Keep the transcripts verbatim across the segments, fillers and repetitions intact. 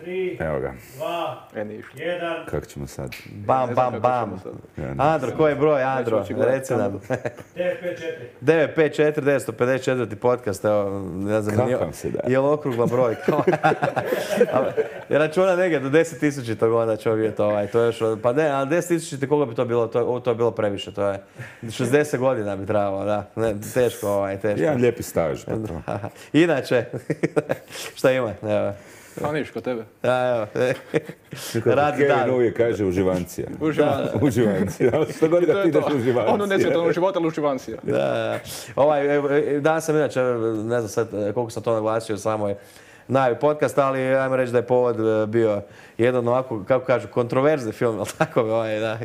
tri, Evo ga. dva, jedan. Kako ćemo sad? Bam, bam, bam. Andro, koji je broj, Andro? Reci nam. devet pet četiri. devet pet četiri devet pet četiri podcast, evo, ne znam, Kako nije, vam se daje? je li okrugla brojka? Je računa negdje do deset tisućitog onda će vidjeti ovaj, to je još, pa ne, ali deset tisućiti koliko bi to bilo, to, to je bilo previše, to je šezdeset godina bi trebalo, da, ne, teško ovaj, teško. Jedan lijepi staž. Pa to. Inače, šta ima, evo. A niš, kod tebe. Da, evo. Radi dan. Kevin uvijek kaže uživancija. Uživancija. Uživancija. Što god da ti ideš uživancija. Ono nesvjetovno života, ali uživancija. Da, da. Ovaj, danas sam inače, ne znam sad koliko sam to naglasio, samo je najavi podcast, ali ajmo reći da je povod bio jedan ovako, kako kažu, kontroverzni film, ali tako ovaj, da.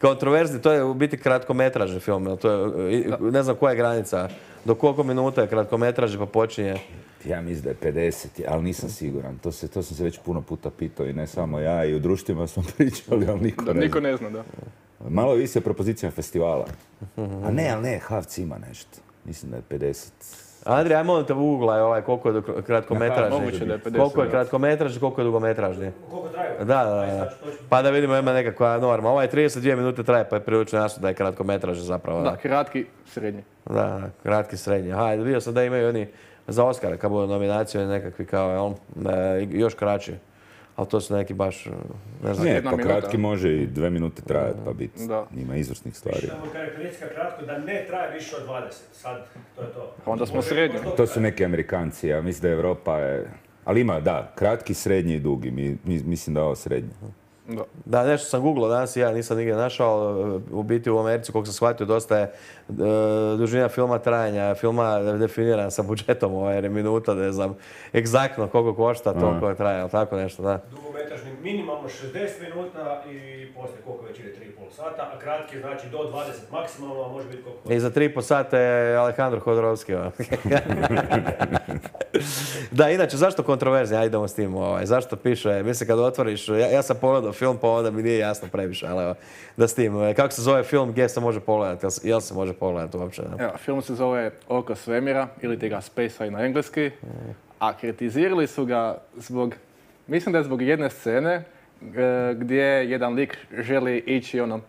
Kontroverzni, to je u biti kratkometražni film, to je, ne znam koja je granica, do koliko minuta je kratkometražni pa počinje. Ja mislim da je pedeset, ali nisam siguran. To, se, to sam se već puno puta pitao i ne samo ja, i u društvima smo pričali, ali niko Da, ne niko zna. ne zna, da. Malo visi o propozicijama festivala. A ne, ali ne, Havc ima nešto. Mislim da je pedeset. Andrija, aj molim te uglaj ovaj, koliko je kratkometražni. Moguće da je pedeset. Koliko je kratkometražni, koliko je dugometražni. Koliko traju? Da, da, da. Pa da vidimo ima nekakva norma. Ovaj trideset dvije minute traje, pa je prilično jasno da je kratkometražni zapravo. Da, kratki, srednji. Da, da, kratki, srednji. Hajde, vidio sam da imaju oni za Oscara, kad budu nominacije, nekakvi kao, jel, e, još kraći. Ali to su neki baš, ne znam. Ne, jedna pa minuta. kratki može i dve minute trajati, pa biti. Da. Ima izvrsnih stvari. Samo karakteristika kratko da ne traje više od dvadeset. Sad, to je to. Onda smo Može- srednji. možda- To su neki Amerikanci, ja mislim da Europa je... Ali ima, da, kratki, srednji i dugi. Mi, mi, mislim da je ovo srednji. Da. Da, nešto sam googlao danas i ja nisam nigdje našao. U biti u Americi, koliko sam shvatio, dosta je e, dužina filma trajanja, filma definirana sa budžetom, ovaj, jer je minuta, ne znam, egzaktno koliko košta, toliko traje, ali tako nešto, da. Dugometražni minimalno šezdeset minuta i poslije koliko već ide tri i pol sata, a kratki znači do dvadeset maksimalno, a može biti koliko. I za tri i po sata je Alejandro Hodorowski. ovaj. Da, inače, zašto kontroverzija? Ajde idemo s tim. Ovaj. Zašto piše? Mislim, kad otvoriš, ja, ja sam pogledao film, pa onda mi nije jasno previše, ali evo, da s tim. Kako se zove film, gdje se može pogledati? Jel, jel se može pogledati uopće? Ne? Evo, film se zove Oko svemira, ili ti ga Space Eye na engleski, a kritizirali su ga zbog, mislim da je zbog jedne scene e, gdje jedan lik želi ići ono,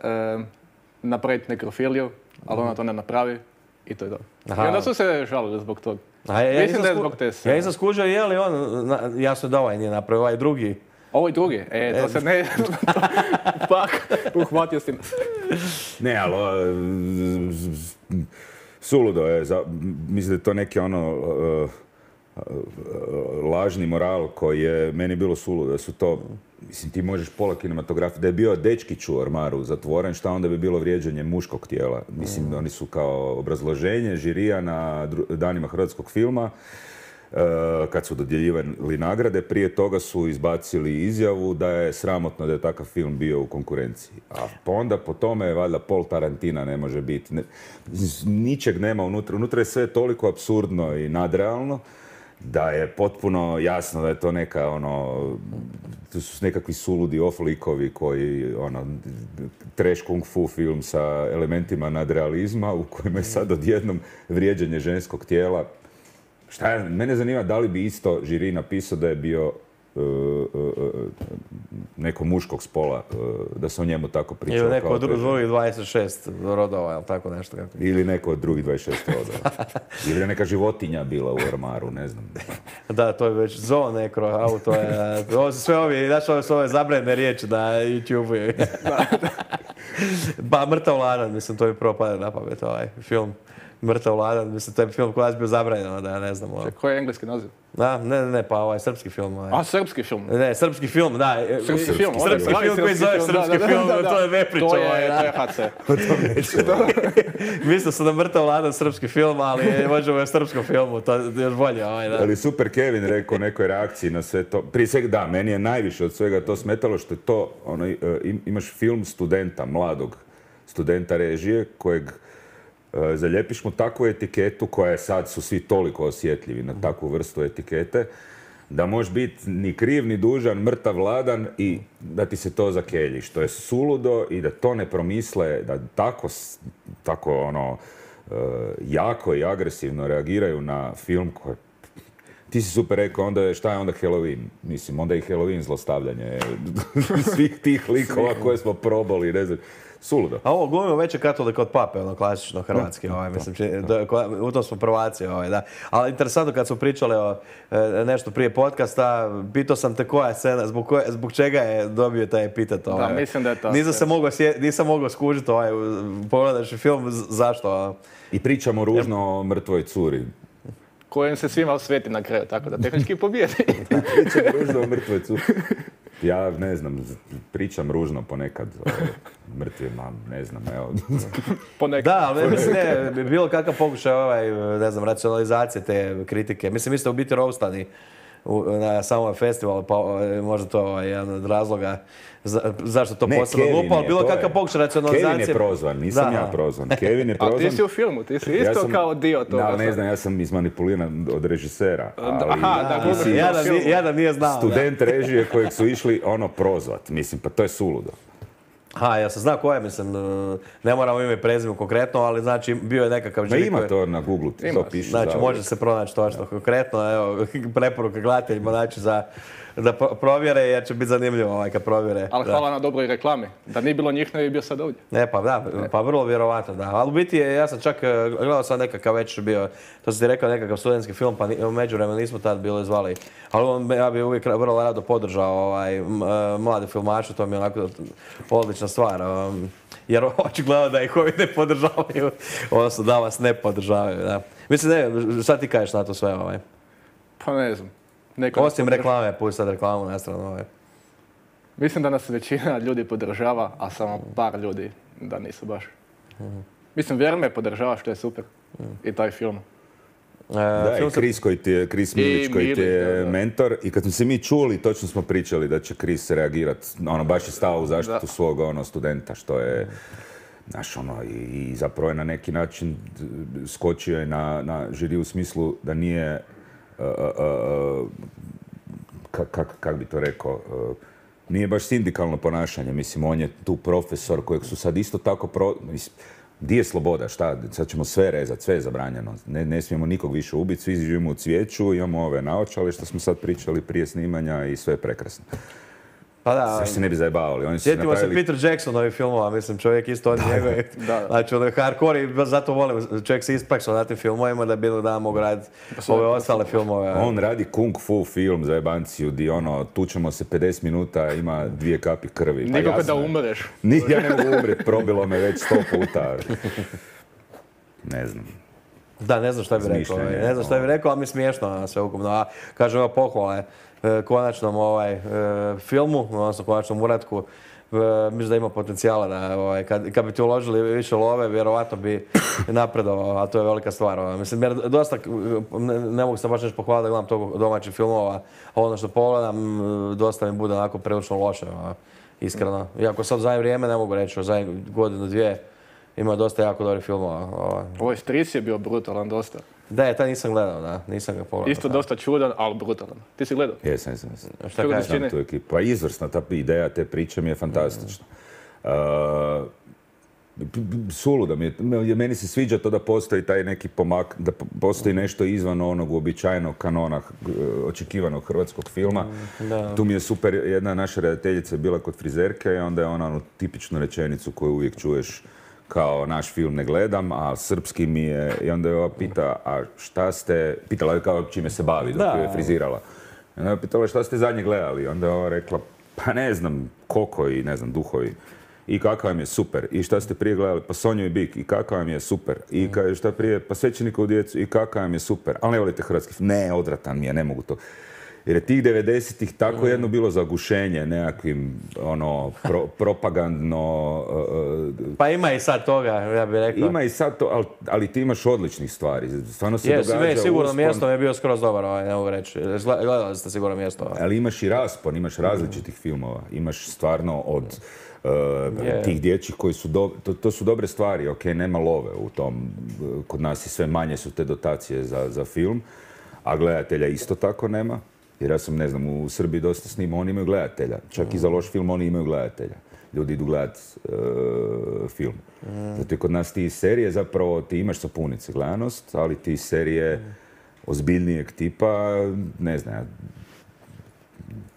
e, napraviti nekrofiliju, ali ona to ne napravi i to je to. Aha. I onda su se žalili zbog toga. A ja, ja Mislim nisam da je sku- zbog te Ja scene. nisam skužio je li on, na, jasno da ovaj nije napravio, ovaj drugi. Ovo i drugi, e, to se ne... Pak, uhvatio si me. Ne, ali o, z- z- suludo je. Za, mislim da je to neki ono uh, uh, lažni moral koji je meni bilo suludo. Da su to, mislim, ti možeš pola kinematografije. Da je bio dečkić u ormaru zatvoren, šta onda bi bilo vrijeđanje muškog tijela. Mislim, oni su kao obrazloženje žirija na dru- danima hrvatskog filma. Uh, kad su dodjeljivali nagrade, prije toga su izbacili izjavu da je sramotno da je takav film bio u konkurenciji. A pa onda po tome, valjda, pol Tarantina ne može biti. Ne, ničeg nema unutra. Unutra je sve toliko apsurdno i nadrealno da je potpuno jasno da je to neka, ono, to su nekakvi suludi off-likovi koji, ono, trash kung fu film sa elementima nadrealizma u kojem je sad odjednom vrijeđanje ženskog tijela. Šta je, mene zanima da li bi isto žiri napisao da je bio uh, uh, uh, neko muškog spola, uh, da se o njemu tako pričao. Ili neko kao od to je- drugih dvadeset šest rodova, ili tako nešto. Kako. Ili neko od drugih dvadeset šest rodova. Ili je neka životinja bila u ormaru, ne znam. Da, to je već zoo nekro, auto je, ovo su sve ovi, znaš, ove su ove zabranjene riječi na YouTube-u. Pa Mrtav ladan, mislim, to mi prvo pada na pamet, ovaj film. Mrtav ladan, mislim, to je film koji je bio zabranjeno, da ja ne znam. Ovo. Koji je engleski naziv? Da, ne, ne, ne, pa ovaj srpski film. Ovaj. A, srpski film. Ne, srpski film, da. Srpski film, Srpski, onda pravi film koji srpski zove film, srpski da, da, film, da, da. to je nepriča. To je, ovaj, to je da. H C. Mislio sam da Mrtav ladan srpski film, ali možemo je srpskom filmu, to je još bolje. Ovaj, da. Ali super Kevin rekao u nekoj reakciji na sve to. Prije svega, da, meni je najviše od svega to smetalo što je to, ono, uh, im- imaš film studenta, mladog studenta režije, kojeg uh, zaljepiš mu takvu etiketu koja je sad, su svi toliko osjetljivi na takvu vrstu etikete, da možeš biti ni kriv, ni dužan, mrtav, ladan i da ti se to zakelji, što je suludo i da to ne promisle, da tako, s- tako ono, uh, jako i agresivno reagiraju na film koji Ti si super rekao, onda je, šta je onda Halloween? Mislim, onda je i Halloween zlostavljanje svih tih likova koje smo probali, ne znam. Suludo. A ovo glumimo veće katolika od pape, ono klasično hrvatski, ovaj, mislim, či, da, u tom smo prvaci, ovaj, da. Ali interesantno kad smo pričali o e, nešto prije podcasta, pitao sam te koja je scena, zbog, koje, zbog čega je dobio taj epitet, ovaj. Da, mislim da je to. Nisam se mogao, nisam mogao skužiti, ovaj, pogledaš film, zašto? I pričamo ružno o mrtvoj curi. Kojem se svima osveti na kraju, tako da tehnički pobijedi. Pričamo ružno o mrtvoj curi. Ja ne znam, pričam ružno ponekad o mrtvima, ne znam, evo. Ponekad. Da, ali mislim, ne, bilo kakav pokušaj, ovaj, ne znam, racionalizacije te kritike. Mislim, vi ste u biti roastani na samom festivalu, pa možda to ovaj, jedan od razloga za, zašto to posebno glupo, ali bilo kakav pokušaj racionalizacije. Kevin je prozvan, nisam da. ja prozvan. Kevin je prozvan. A ti si u filmu, ti si isto ja sam, kao dio toga. Da, ne znam, ja sam izmanipuliran od režisera. Ali, aha, da, da, da, ja, da, ja da nije znao. Student da. režije kojeg su išli ono prozvat, mislim, pa to je suludo. Ha, ja sam zna ko je, mislim, ne moramo ime i prezime konkretno, ali znači bio je nekakav žiri. Ima to na Google, ti to piše. Znači, može se pronaći to što konkretno, evo, preporuka gledateljima, znači, za, da provjere, jer će biti zanimljivo ovaj kad provjere. Ali hvala da. na dobroj reklami, da nije bilo njih, ne bi bio sad ovdje. Ne, pa da, pa vrlo vjerovatno, da. Ali u biti, ja sam čak gledao sam nekakav već bio, to sam ti rekao, nekakav studentski film, pa u međuvremenu nismo tad bili zvali. Ali on, ja bi uvijek vrlo rado podržao ovaj, mlade filmače, to mi je onako odlična stvar. Um, jer očigledno da ih ovi ne podržavaju, odnosno da vas ne podržavaju, da. Mislim, ne, šta ti kažeš na to sve, ovaj? Pa ne znam. Neko Osim reklame, pusti sad reklamu na stranu, ovaj. Mislim da nas većina ljudi podržava, a samo par ljudi da nisu baš. Mm. Mislim, Vjerme podržava, što je super. Mm. I taj film. E, da, film i Chris, koji ti je, Chris Milić koji ti je da, da. mentor. I kad smo se mi čuli, točno smo pričali da će Chris reagirati. Ono, baš je stao u zaštitu da. svog ono, studenta, što je... Znaš, ono, i, i zapravo je na neki način skočio je na, na žiri u smislu da nije... Uh, uh, uh, kak, kak, kak bi to rekao, uh, nije baš sindikalno ponašanje, mislim, on je tu profesor kojeg su sad isto tako, pro, mislim, di je sloboda, šta, sad ćemo sve rezati, sve je zabranjeno, ne, ne smijemo nikog više ubiti, svi živimo u cvijeću, imamo ove naočale što smo sad pričali prije snimanja i sve je prekrasno. Pa da, sve se ne bi zajebavali. Oni sjetimo napravili... se Peter Jacksonovih filmova, mislim, čovjek isto on njegove. Znači, ono je hardcore i zato volim, čovjek se ispaksao na tim filmovima da bilo da mogu raditi ove ostale filmove. On radi kung fu film za jebanciju, di ono, tučemo se pedeset minuta, ima dvije kapi krvi. Pa nikako da umreš. Ni, ja ne mogu umreti, probilo me već sto puta. Ne znam. Da, ne znam šta bi rekao, ne znam šta bi rekao, ali mi je smiješno sve ukupno. A kažem, evo pohvale konačnom ovaj, e, filmu, odnosno konačnom uratku, e, mislim da ima potencijala da, ovaj, kad, kad bi ti uložili više love, vjerovatno bi napredovao, a to je velika stvar. Ovaj. Mislim, jer dosta, ne, ne mogu se baš nešto pohvaliti da gledam toliko domaćih filmova, a ono što pogledam, dosta mi bude onako prilično loše, ovaj, iskreno. Iako sad u zadnje vrijeme ne mogu reći, u zadnje godinu, dvije, ima dosta jako dobrih filmova. Ovaj. Ovo Stris je bio brutalan dosta. Da, je, taj nisam gledao, da, nisam ga pogledao. Isto dosta čudan, ali brutalan. Ti si gledao? Jesam, jesam, jesam. Šta kažeš? Znam tu ekipu. Pa izvrsna ta ideja te priče mi je fantastična. Uh, suluda mi je, meni se sviđa to da postoji taj neki pomak, da postoji nešto izvan onog uobičajenog kanona očekivanog hrvatskog filma. Da. Tu mi je super, jedna naša redateljica je bila kod frizerke i onda je ona onu tipičnu rečenicu koju uvijek čuješ kao naš film ne gledam, a srpski mi je, i onda je ova pita, a šta ste, pitala je kao čime se bavi dok je frizirala. I onda je pitala šta ste zadnje gledali, onda je ova rekla, pa ne znam, Koko i ne znam, Duhovi. I kakav vam je super. I šta ste prije gledali, pa Sonju i Bik. I kakav vam je super. I ka, šta prije, pa Svećenikovu djecu. I kakav vam je super. Ali ne volite hrvatski film. Ne, odvratan mi je, ne mogu to. Jer je tih devedesetih tako jedno bilo zagušenje nekakvim, ono, pro, propagandno... Uh, pa ima i sad toga, ja bih rekao. Ima i sad to, ali, ali ti imaš odličnih stvari. Stvarno se yes, događa... Jes, sigurno uspon... mjesto mi je bio skroz dobar, ovaj, ne mogu reći. Gledali ste sigurno mjesto. Ovaj. Ali imaš i raspon, imaš različitih filmova. Imaš stvarno od... Uh, yeah. tih dječjih koji su, do, to, to su dobre stvari, ok, nema love u tom, kod nas i sve manje su te dotacije za, za film, a gledatelja isto tako nema, jer ja sam, ne znam, u Srbiji dosta snima, oni imaju gledatelja, čak mm. i za loš film oni imaju gledatelja, ljudi idu gledat uh, film. Mm. Zato je kod nas ti serije zapravo, ti imaš sapunice gledanost, ali ti serije, ozbiljnijeg tipa, ne znam,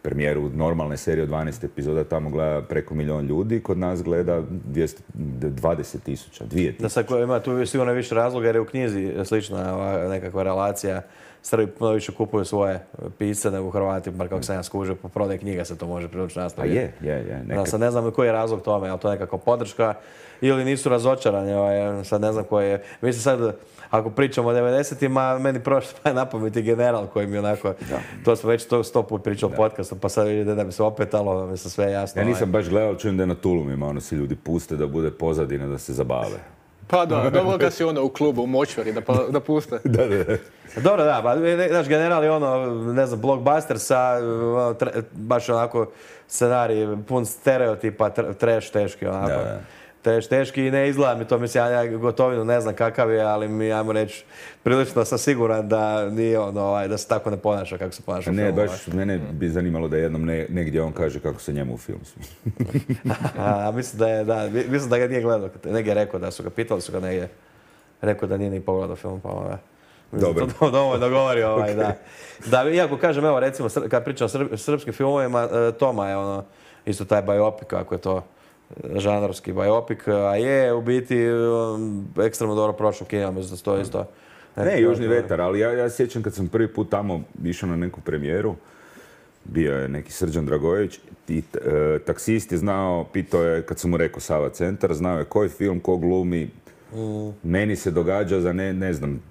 premijeru normalne serije od dvanaest epizoda tamo gleda preko milijon ljudi, kod nas gleda dvjesto dvadeset tisuća, dvije tisuće. Da sad ima tu sigurno više razloga jer je u knjizi slična ova nekakva relacija. Srbi puno više kupuju svoje pisce nego Hrvati, bar kako sam ja skužio, po prodaj knjiga se to može prilično nastaviti. Pa je, je, je. Da, sad ne znam koji je razlog tome, ali to je nekako podrška ili nisu razočarani, ovaj, sad ne znam koji je. Mislim sad, ako pričamo o devedesetima, meni prošlo pa je na pamet i General koji mi onako, da. To smo već to sto put pričali u podcastu, pa sad vidite da bi se opetalo, da mi se sve jasno. Ja nisam baš gledao, čujem da je na Tulumima, ono si ljudi puste da bude pozadina, da se zabave. Pa da, dobro ga si ono u klubu, u močvari, da, pa, da puste. Da, da, da. Dobro, da, ba, naš General je ono, ne znam, blockbuster sa ono, tre, baš onako scenarij pun stereotipa, trash teški onako. Da, da. Trash teški i ne izgleda mi to, mislim, ja Gotovinu ne znam kakav je, ali mi, ajmo reći, prilično sam siguran da nije ono, ovaj, da se tako ne ponaša kako se ponaša u filmu. Ne, baš mene bi zanimalo da jednom ne, negdje on kaže kako se njemu u filmu sviđa. A, mislim da je, da, mislim da ga nije gledao, negdje je rekao da su ga pitali, su ga negdje rekao da nije ni pogledao film, pa ovaj. Dobro. To dovoljno govori, ovaj, da. Da, iako kažem, evo, recimo, kad pričam o srp, srpskim filmovima, Toma je ono, isto taj biopik, ako je to žanrovski biopik, a je u biti um, ekstremno dobro prošlo kina, mislim da to isto. Ne, Južni vetar, ali ja, ja sjećam kad sam prvi put tamo išao na neku premijeru, bio je neki Srđan Dragojević i e, taksist je znao, pitao je, kad sam mu rekao Sava centar, znao je koji film, ko glumi. Mm. Meni se događa za ne, ne znam,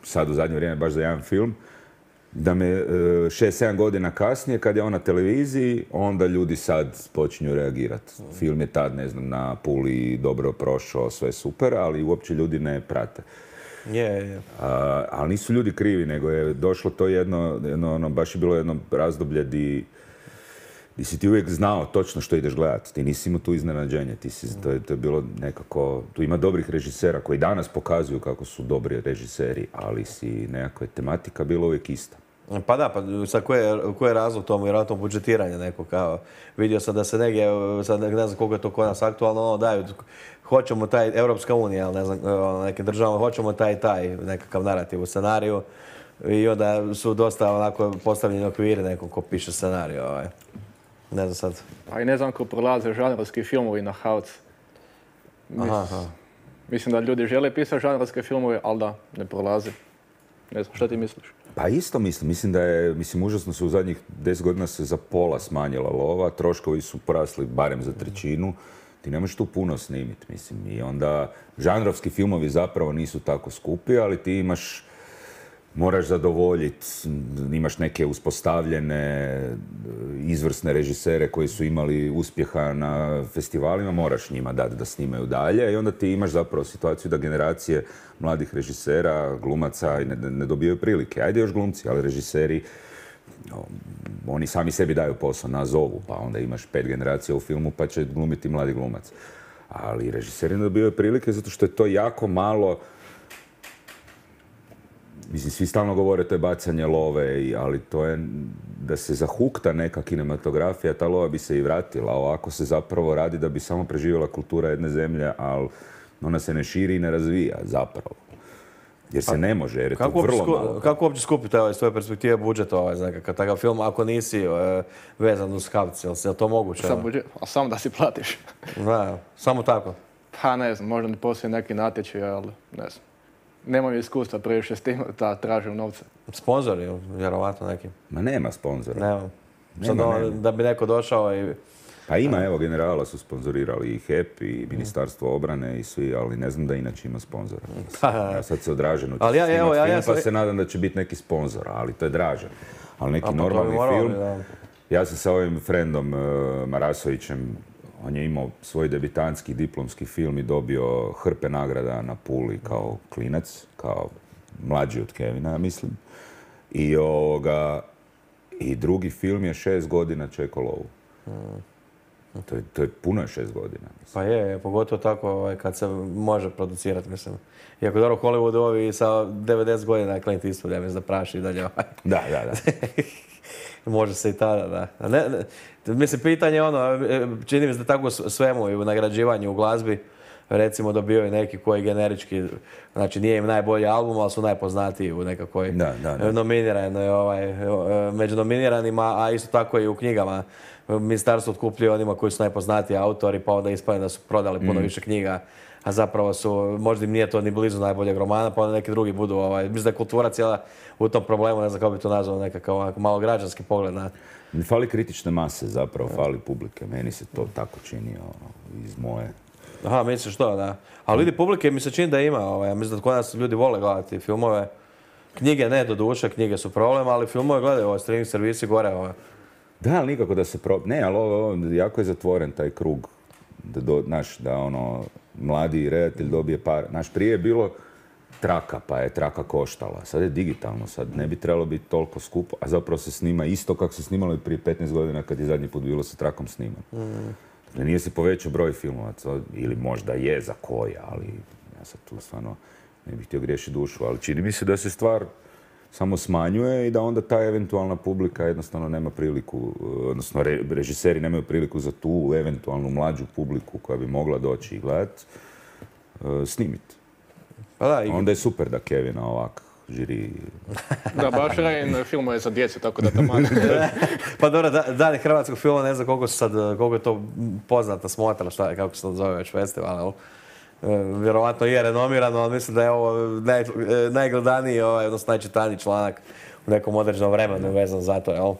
sad u zadnje vrijeme baš za jedan film, da me šest sedam godina kasnije, kad je on na televiziji, onda ljudi sad počinju reagirati. Film je tad, ne znam, na Puli dobro prošao, sve super, ali uopće ljudi ne prate. Je, je. A, ali nisu ljudi krivi, nego je došlo to jedno, jedno ono, baš je bilo jedno razdoblje di, di si ti uvijek znao točno što ideš gledati. Ti nisi imao tu iznenađenje. Ti si, to, je, to je bilo nekako... Tu ima dobrih režisera koji danas pokazuju kako su dobri režiseri, ali si nekako je tematika bila uvijek ista. Pa da, pa sad koji je, koji je razlog tomu, vjerojatno budžetiranje neko kao... Vidio sam da se negdje, sad ne znam koliko je to kod nas aktualno, ono daju, hoćemo taj, Europska unija, ali ne znam, neke države, hoćemo taj taj nekakav narativ u scenariju i onda su dosta onako postavljeni okviri nekom ko piše scenariju, ovaj. Ne znam sad. A i ne znam ko prolaze žanrovski filmovi na Havc. Mis, aha, aha. Mislim da ljudi žele pisati žanrovske filmove, ali da, ne prolaze. Ne znam, šta ti misliš? Pa isto mislim. Mislim da je, mislim, užasno se u zadnjih deset godina se za pola smanjila lova, troškovi su porasli barem za trećinu. Ti ne možeš tu puno snimiti, mislim. I onda žanrovski filmovi zapravo nisu tako skupi, ali ti imaš, moraš zadovoljiti, imaš neke uspostavljene, izvrsne režisere koji su imali uspjeha na festivalima, moraš njima dati da snimaju dalje i onda ti imaš zapravo situaciju da generacije mladih režisera, glumaca ne, ne dobijaju prilike. Ajde još glumci, ali režiseri, oni sami sebi daju posao, nazovu, pa onda imaš pet generacija u filmu pa će glumiti mladi glumac. Ali režiseri ne dobijaju prilike zato što je to jako malo. Mislim, svi stalno govore to je bacanje love, ali to je da se zahukta neka kinematografija, ta lova bi se i vratila. Ovako se zapravo radi da bi samo preživjela kultura jedne zemlje, ali ona se ne širi i ne razvija zapravo. Jer se ne može, jer je to vrlo malo. Kako uopće skupiti ovaj, s tvoje perspektive budžet ovaj, za nekakav takav film, ako nisi e, vezan uz Havc, je li to moguće? Sam budžet, a samo da si platiš. Da, samo tako? Pa ne znam, možda ne postoji neki natječaj, ali ne znam. Nemam iskustva previše s tim da tražim novce. Sponzori, vjerovatno neki? Ma nema sponzora. Nema. Sad nema, nema. Da bi neko došao i... Pa ima, evo, Generala su sponzorirali i H E P i Ministarstvo obrane i svi, ali ne znam da inače ima sponzora. Ja sad se odraženo ću ja, evo, ja, film, ja sam... pa se nadam da će biti neki sponzor, ali to je draže. Ali neki normalni film... Da. Ja sam sa ovim frendom uh, Marasovićem, on je imao svoj debitanski diplomski film i dobio hrpe nagrada na Puli kao klinac, kao mlađi od Kevina, ja mislim. I, ovoga, i drugi film je šest godina čekao lovu. Hmm. To je, to je puno je šest godina. Mislim. Pa je, pogotovo tako ovaj, kad se može producirati, mislim. Iako dobro, Hollywood ovi sa devedeset godina Clint Eastwood, ja mislim da praši i dalje ovaj. Da, da, da. Može se i tada, da. Ne, ne, mislim, pitanje ono, čini mi se da tako svemu i u nagrađivanju u glazbi, recimo dobivaju neki koji generički, znači nije im najbolji album, ali su najpoznatiji u nekakvoj Da, da, da. nominiranoj, ovaj, među nominiranima, a isto tako i u knjigama. Ministarstvo otkupljuje onima koji su najpoznatiji autori, pa onda ispadne da su prodali puno više knjiga, a zapravo su, možda im nije to ni blizu najboljeg romana, pa onda neki drugi budu, ovaj, mislim da je kultura cijela u tom problemu, ne znam kako bi to nazvao, nekakav onako malo građanski pogled na... Fali kritične mase zapravo, fali publike. Meni se to tako čini ono, iz moje... Aha, misliš to, da. Ali vidi, publike mi se čini da ima, ovaj, mislim da kod nas ljudi vole gledati filmove. Knjige ne, do duše, knjige su problem, ali filmove gledaju, ovaj, streaming servisi gore, ovaj. Da, ali nikako da se pro... Ne, ali ovo, ovo jako je zatvoren taj krug. Da, do, naš, da ono, mladi redatelj dobije par... Naš, prije je bilo traka, pa je traka koštala. Sad je digitalno, sad ne bi trebalo biti toliko skupo, a zapravo se snima isto kako se snimalo i prije petnaest godina kad je zadnji put bilo sa trakom sniman. Mm. Dakle, nije se povećao broj filmovaca, ili možda je za koji, ali ja sad tu stvarno ne bih htio griješiti dušu, ali čini mi se da se stvar samo smanjuje i da onda ta eventualna publika jednostavno nema priliku, odnosno re, režiseri nemaju priliku za tu eventualnu mlađu publiku koja bi mogla doći i gledati, uh, snimiti. Pa da, i... Onda je super da Kevina ovak žiri... Da, baš Rain filmuje za djecu, tako da tamo... Pa dobro, da, dani hrvatskog filma, ne znam koliko su sad, koliko je to poznata smotra, šta je, kako se to zove već festival, ali vjerovatno je renomiran, ali mislim da je ovo naj, najgledaniji, ovaj, odnosno najčitaniji članak u nekom određenom vremenu vezan za to, jel?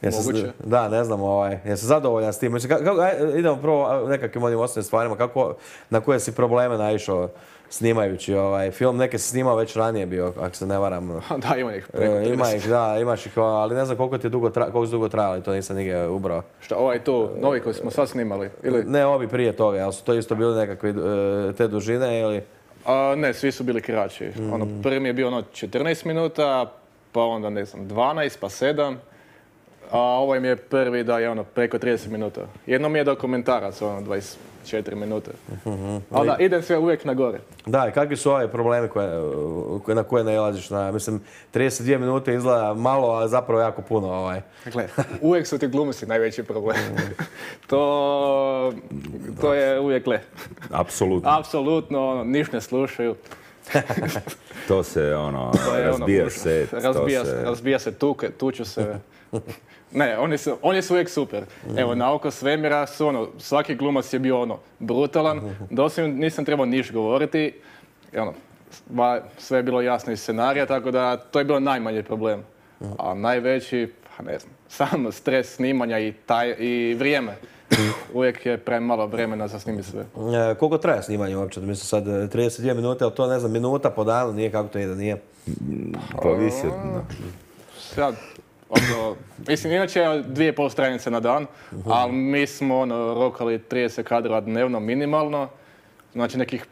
Moguće. Da, ne znam, ovaj, jesam zadovoljan s tim. Mislim, kako, aj, idemo prvo nekakvim onim osnovnim stvarima, kako, na koje si probleme naišao snimajući ovaj film, neke se snimao već ranije bio, ako se ne varam. Da, ima ih preko e, Ima ih, da, imaš ih, ali ne znam koliko ti je dugo, tra, koliko su dugo trajali, to nisam nigdje ubrao. Šta, ovaj tu, novi koji smo sad snimali? Ili? Ne, ovi prije toga, ali su to isto bili nekakve te dužine ili... A, ne, svi su bili kraći. Mm. Ono, prvi mi je bio ono četrnaest minuta, pa onda ne znam, dvanaest, pa sedam. A ovaj mi je prvi da je ono preko trideset minuta. Jedno mi je dokumentarac, ono dvadeset četiri minute. Uh-huh. Ali da, idem sve uvijek na gore. Da, i kakvi su ovi problemi koje, na koje nailaziš? Na, mislim, trideset dvije minute izgleda malo, ali zapravo jako puno. Ovaj. Dakle, uvijek su ti glumci najveći problem. to, to je uvijek le. Apsolutno. Apsolutno, ono, niš ne slušaju. To se, ono, to je razbija ono, se. Razbija se, razbija se tuke, tuču se. Ne, oni su, oni su uvijek super. Evo, na Oko svemira su ono, svaki glumac je bio ono, brutalan, doslovno nisam trebao niš govoriti, i ono, sve je bilo jasno iz scenarija, tako da to je bilo najmanji problem. A najveći, pa ne znam, sam stres snimanja i, taj, i vrijeme. Uvijek je premalo vremena za snimiti sve. E, koliko traje snimanje uopće? Mislim sad trideset dvije minute, ali to ne znam, minuta po danu, nije kako to ide, nije? Pa visi. Sad, ono, mislim, inače je dvije i pol stranice na dan, ali mi smo ono, rokali trideset kadrova dnevno minimalno, znači nekih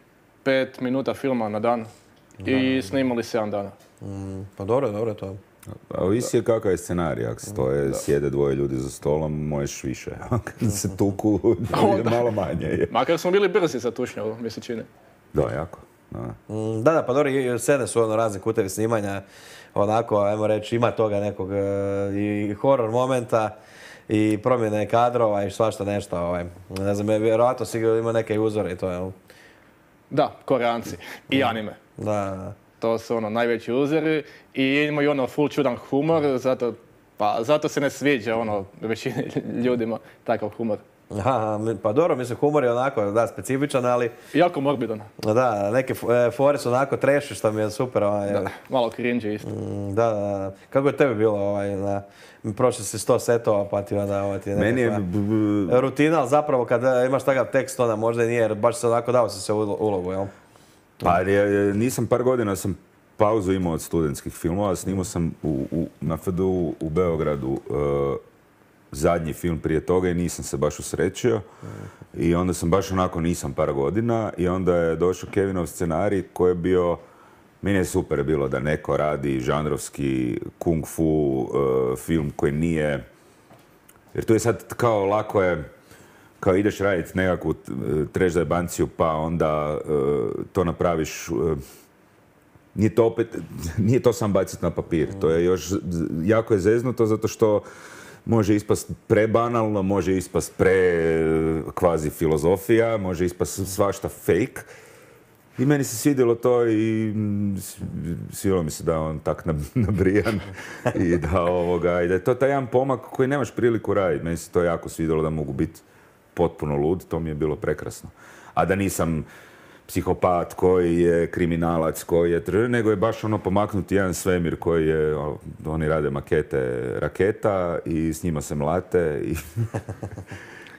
pet minuta filma na dan i snimali sedam dana. Mm, pa dobro, dobro to. A ovisi je kakav je scenarij, ako stoje, da. Sjede dvoje ljudi za stolom, možeš više. Kad se tuku, malo manje je. Makar smo bili brzi sa tušnjavom, mi se čini. Da, jako. Da, da, da pa dobro, scene su ono razne kutevi snimanja, onako, ajmo reći, ima toga nekog i horor momenta i promjene kadrova i svašta nešto. Ovaj. Ne znam, vjerojatno si ima neke uzore i to, jel? Da, Koreanci i anime. Da. To su ono najveći uzori i imaju ono full čudan humor, zato, pa, zato se ne sviđa ono većini ljudima takav humor. Aha, pa dobro, mislim, humor je onako, da, specifičan, ali... Jako morbidan. Da, neke fore su onako treši, što mi je super. Ovaj, da, malo cringe isto. Da, da, kako je tebi bilo, ovaj, na, prošli si sto setova, pa ti onda ovaj, ti je Meni je... rutina, ali zapravo kad imaš takav tekst, onda možda i nije, jer baš se onako dao si se ulogu, jel? Pa nisam par godina, sam pauzu imao od studentskih filmova, snimao sam u, u, na F D U u Beogradu uh, zadnji film prije toga i nisam se baš usrećio. I onda sam baš onako nisam par godina i onda je došao Kevinov scenarij koji je bio, meni je super bilo da neko radi žanrovski kung fu uh, film koji nije, jer tu je sad kao lako je, kao ideš raditi nekakvu trash zajebanciju pa onda uh, to napraviš, uh, nije to opet, nije to sam baciti na papir, to je još, jako je zeznuto zato što može ispast prebanalno, može ispast pre kvazi filozofija, može ispast svašta fake. I meni se svidjelo to i svidjelo mi se da on tak nabrijan i da, ovoga, i da je to taj jedan pomak koji nemaš priliku raditi. Meni se to jako svidjelo da mogu biti potpuno lud, to mi je bilo prekrasno. A da nisam psihopat koji je kriminalac, koji je tr... nego je baš ono pomaknuti jedan svemir koji je, oni rade makete raketa i s njima se mlate i,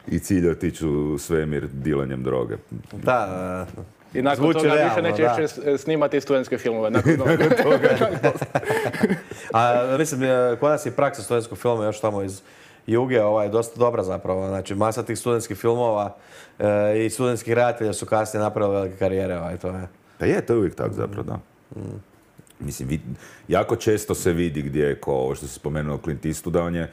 i cilj je otići u svemir dilanjem droge. Da, da. I nakon Zvuči toga realno, više da. neće snimati studentske filmove. Nakon toga. A mislim, kod nas je praksa studentskog filma još tamo iz Juge, ovaj, dosta dobra zapravo. Znači, masa tih studentskih filmova e, i studentskih redatelja su kasnije napravili velike karijere. Ovaj, to je. Pa je, to je uvijek tako zapravo, da. Mm. Mislim, vid, jako često se vidi gdje je, ko ovo što se spomenuo Clint Eastwood, da on je,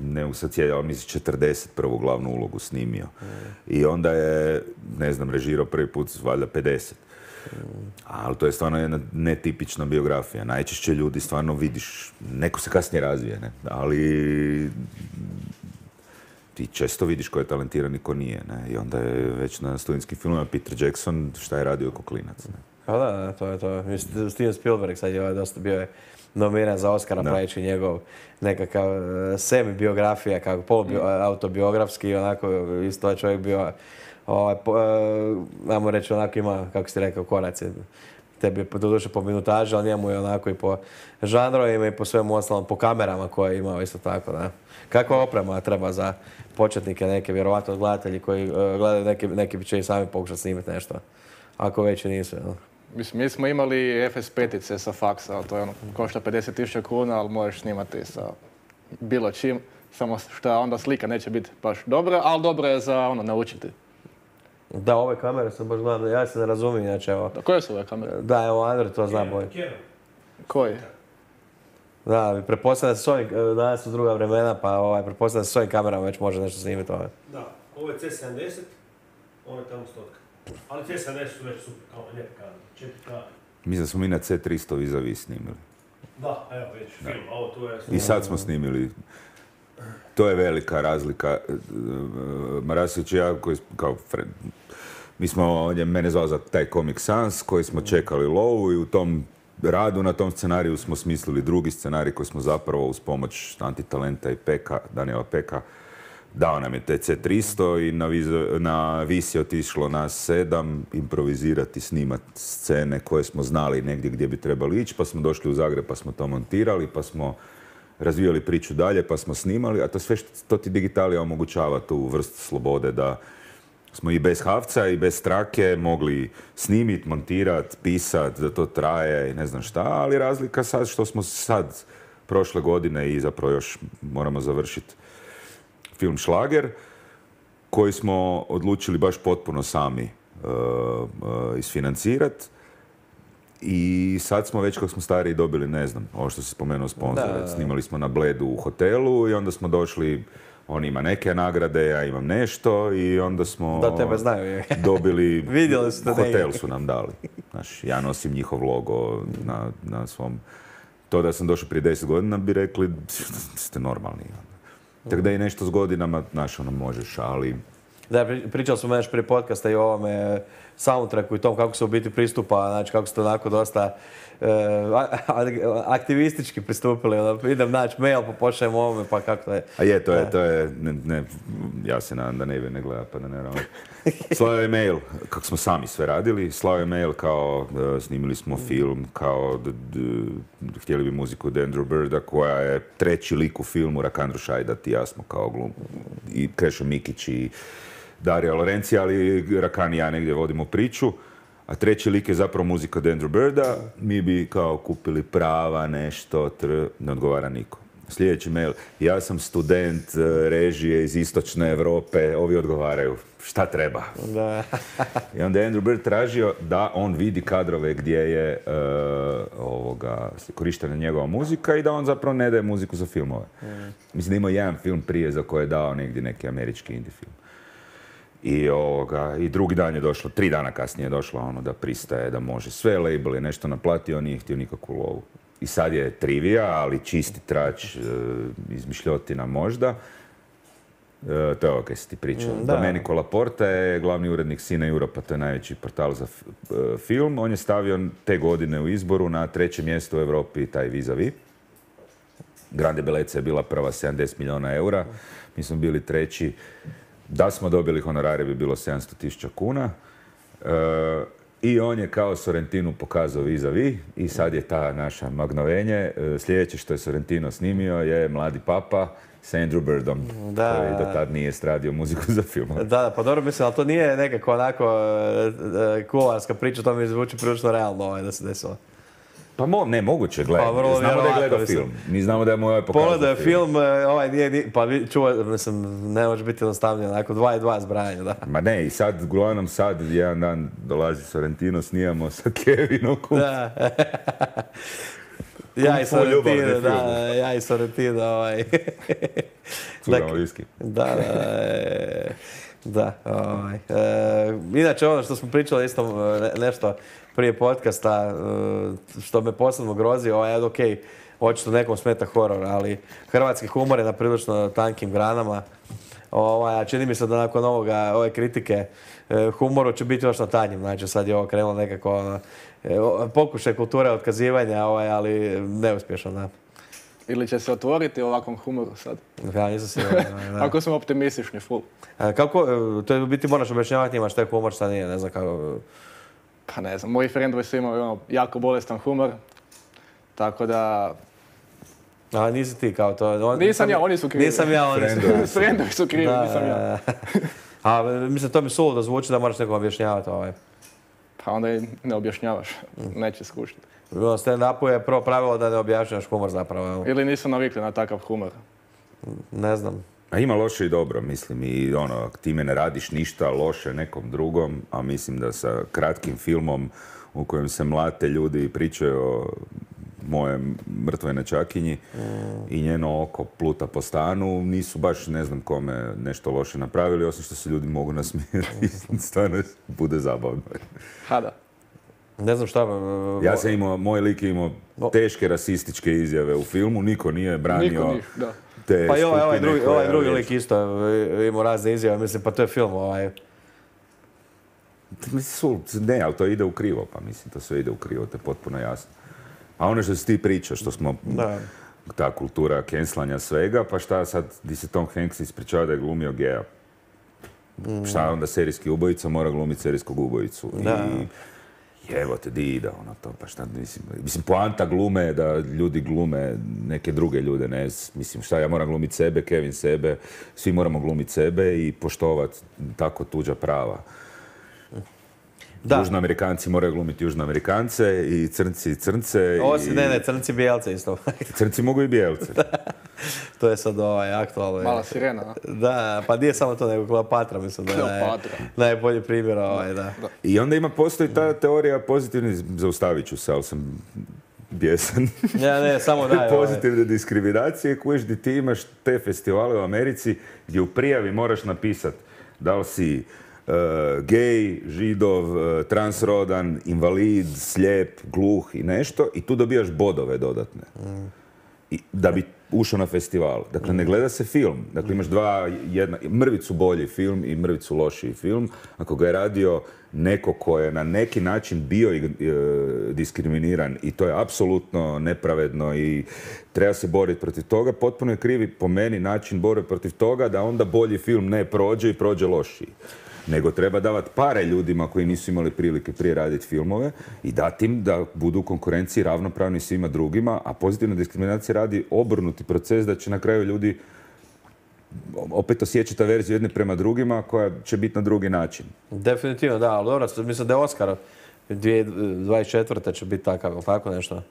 ne mogu sad cijeli, ali mislim četrdeset prvu glavnu ulogu snimio. Mm. I onda je, ne znam, režirao prvi put, valjda pedeset. Mm. Ali to je stvarno jedna netipična biografija. Najčešće ljudi stvarno vidiš, neko se kasnije razvije, ne? Ali ti često vidiš ko je talentiran i ko nije, ne? I onda je već na studentskim filmima Peter Jackson šta je radio ko klinac, ne? Pa da, da, to je to. Steven Spielberg sad je ovaj dosta bio je nominiran za Oscara, pravići njegov nekakav semi-biografija, kako polu-autobiografski, onako isto je čovjek bio, ovaj, ajmo reći, onako ima, kako si rekao, koraci. Tebi je doduše po minutaži, ali njemu je onako i po žanrovima i po svemu ostalom, po kamerama koje je imao isto tako, da. Kakva oprema treba za početnike neke, vjerovatno gledatelji koji gledaju, neki, neki će i sami pokušati snimiti nešto, ako već i nisu, no. Mislim, mi smo imali F S pet-ice sa faksa, to je ono, košta pedeset tisuća kuna, ali možeš snimati sa bilo čim, samo što onda slika neće biti baš dobra, ali dobra je za ono, naučiti. Da, ove kamere sam baš gledam, ja se ne razumijem, znači evo. Da, koje su ove kamere? Da, evo, Andrej to zna bolje. Koji? Da, pretpostavljam da se s ovim, danas su druga vremena, pa ovaj, pretpostavljam da se s ovim kamerama već može nešto snimiti. Ovaj. Da, ovo je C sedamdeset, ovo je tamo stotka. Ali C sedamdeset su već super, kao lijepe kamere, četiri K. Mislim da smo mi na C tristo vis-a-vis snimili. Da, evo već, film, a ovo tu je... I sad smo snimili. To je velika razlika. Marasić i ja, koji kao friend, mi smo, on je mene zvao za taj Comic Sans, koji smo čekali lovu i u tom radu na tom scenariju smo smislili drugi scenarij koji smo zapravo uz pomoć Antitalenta i Peka, Daniela Peka, dao nam je te C tristo i na, viz, na vis je otišlo nas sedam, improvizirati, snimati scene koje smo znali negdje gdje bi trebali ići, pa smo došli u Zagreb pa smo to montirali, pa smo razvijali priču dalje, pa smo snimali, a to sve što to ti digitalija omogućava tu vrstu slobode da smo i bez havca i bez strake mogli snimiti, montirati, pisati, da to traje i ne znam šta, ali razlika sad što smo sad prošle godine i zapravo još moramo završiti film Šlager, koji smo odlučili baš potpuno sami uh, uh, isfinancirati. I sad smo već kako smo stariji dobili, ne znam, ovo što si spomenuo sponzore. Snimali smo na Bledu u hotelu i onda smo došli, on ima neke nagrade, ja imam nešto i onda smo da tebe znaju. dobili, vidjeli ste hotel su nam dali. Znaš, ja nosim njihov logo na, na svom... To da sam došao prije deset godina bi rekli, ste normalni. Tako da i nešto s godinama, znaš, ono možeš, ali... Da, pričali smo već prije podcasta i o ovome soundtracku i tom kako se u biti pristupa, znači kako ste onako dosta e, aktivistički pristupili. Ono, idem naći mail, pa pošaljem ovome, pa kako to je. A je, to je, to je, ne, ne, ja se nadam da ne ne gleda, pa da ne ramo. Slao je mail, kako smo sami sve radili, slao je mail kao, uh, snimili smo film, kao, d, d, htjeli bi muziku od Andrew Birda, koja je treći lik u filmu, Rakandru Šajdat i ja smo kao glum, i Krešo Mikić i Dario Lorenzi, ali Rakan i ja negdje vodimo priču, a treći lik je zapravo muzika od Andrew Birda, mi bi kao kupili prava, nešto, tr, ne odgovara niko. Sljedeći mail, ja sam student režije iz istočne Europe, ovi odgovaraju, šta treba? Da. I onda je Andrew Bird tražio da on vidi kadrove gdje je uh, ovoga, korištena njegova muzika i da on zapravo ne daje muziku za filmove. Mm. Mislim da ima jedan film prije za koje je dao negdje neki američki indie film. I, ovoga, I drugi dan je došlo, tri dana kasnije je došlo ono da pristaje, da može sve label je nešto naplatio, on nije htio nikakvu lovu. i sad je trivija, ali čisti trač, e, izmišljotina možda. E, to je ovo kaj si ti pričao. Mm, da. Domenico Laporta je glavni urednik Cine Europa, to je najveći portal za f- e, film. On je stavio te godine u izboru na treće mjesto u Europi taj Vis-a-Vis. Grande Bellezza je bila prva, sedamdeset milijuna eura. Mi smo bili treći. Da smo dobili honorare bi bilo sedamsto tisuća kuna. E, I on je kao Sorrentinu pokazao Vis-a-Vis i sad je ta naša magnovenje. E, sljedeće što je Sorrentino snimio je Mladi papa s Andrew Birdom, Da. koji do tad nije stradio muziku za film. Da, pa dobro mislim, ali to nije nekako onako e, e, kularska priča, to mi zvuči prilično realno ovaj, da se desilo. Pa mo, ne, moguće, gledaj. Pa vrlo Znamo da je vjerovatno, gledao mislim. film. Mi znamo da je mu ovaj pokazao Pogledao je film. film, e, ovaj nije, nije pa vi- čuva, mislim, ne može biti jednostavnije, onako dva i dva zbrajanje, da. Ma ne, i sad, uglavnom sad, jedan dan dolazi Sorrentino, snijamo sa Kevinom. Da. Ja i Kung fu ljubavni Sorrentino, da, film. ja i Sorrentino, ovaj. Curamo viski. Da, da, e, da, ovaj. E, inače ono što smo pričali isto e, nešto prije podcasta, e, što me posebno grozi, ovaj, ok, očito nekom smeta horor, ali hrvatski humor je na prilično tankim granama. Ovaj, a čini mi se da nakon ovoga, ove kritike e, humoru će biti još na tanjim, znači sad je ovo krenulo nekako ono, e, o- pokušaj kulture otkazivanja, ovaj, ali neuspješno, da. Ili će se otvoriti ovakvom humoru sad? Ja nisam siguran. da. Ako smo optimistični, full. A kako, e, to je u biti moraš objašnjavati njima šta je humor, šta nije, ne znam kako. Pa ne znam, moji friendovi su imali ono jako bolestan humor. Tako da... A nisi ti kao to. On, Nisam ja, oni su krivi. Nisam ja, oni su Friendovi. Friendovi su krivi, Da, nisam ja. da, da. A mislim, to mi suludo zvuči da moraš nekom objašnjavati ovaj. Pa onda i ne objašnjavaš, neće skušati. U stand-upu je prvo pravilo da ne objašnjavaš humor zapravo. evo. Ili nisu navikli na takav humor. Ne znam. A ima loše i dobro, mislim, i ono, ako time ne radiš ništa loše nekom drugom, a mislim da sa kratkim filmom u kojem se mlate ljudi i pričaju o moje mrtvoj nečakinji i njeno oko pluta po stanu, nisu baš ne znam kome nešto loše napravili, osim što se ljudi mogu nasmijeti. Stvarno bude zabavno. Ha da. Ne znam šta. e, Ja sam imao, moj lik je imao teške rasističke izjave u filmu, niko nije branio Niko nije, da. te Pa i ovaj, ovaj skupine drugi, koje- ovaj drugi lik isto e, imao razne izjave, mislim, pa to je film ovaj. Mislim, su- ne, ali to ide u krivo, pa mislim, to sve ide u krivo, to je potpuno jasno. A ono što si ti pričao, što smo, Da. ta kultura kenslanja svega, pa šta sad, di se Tom Hanks ispričava da je glumio geja? Šta onda serijski ubojica mora glumiti serijskog ubojicu? Da. I evo te, di ide ono to, pa šta, mislim, mislim, poanta glume je da ljudi glume neke druge ljude, ne, mislim, šta, ja moram glumiti sebe, Kevin sebe, svi moramo glumiti sebe i poštovati tako tuđa prava. Da. Južnoamerikanci moraju glumiti Južnoamerikance i crnci crnce. Osim, i... ne, ne, crnci bijelce isto. Crnci mogu i bijelce. To je sad ovaj aktualno. Mala sirena, a? Da, pa nije samo to, nego Kleopatra, mislim da je Kleopatra. najbolji primjer ovaj, da. I onda ima, postoji ta teorija pozitivni, zaustavit ću se, ali sam bijesan. Ja, ne, samo daj. ovaj. Pozitivne diskriminacije, kuješ di ti imaš te festivale u Americi gdje u prijavi moraš napisat da li si uh, gej, židov, uh, transrodan, invalid, slijep, gluh i nešto i tu dobijaš bodove dodatne. I, da bi ušao na festival. Dakle, ne gleda se film. Dakle, imaš dva, jedna, mrvicu bolji film i mrvicu lošiji film. Ako ga je radio neko ko je na neki način bio e, diskriminiran i to je apsolutno nepravedno i treba se boriti protiv toga, potpuno je krivi po meni način borbe protiv toga da onda bolji film ne prođe i prođe lošiji. Nego treba davati pare ljudima koji nisu imali prilike prije raditi filmove i dati im da budu u konkurenciji ravnopravni svima drugima, a pozitivna diskriminacija radi obrnuti proces da će na kraju ljudi opet osjećati verziju jedne prema drugima koja će biti na drugi način. Definitivno, da, ali dobro, mislim da je Oscar dvije tisuće dvadeset četvrte će biti takav, ili tako nešto?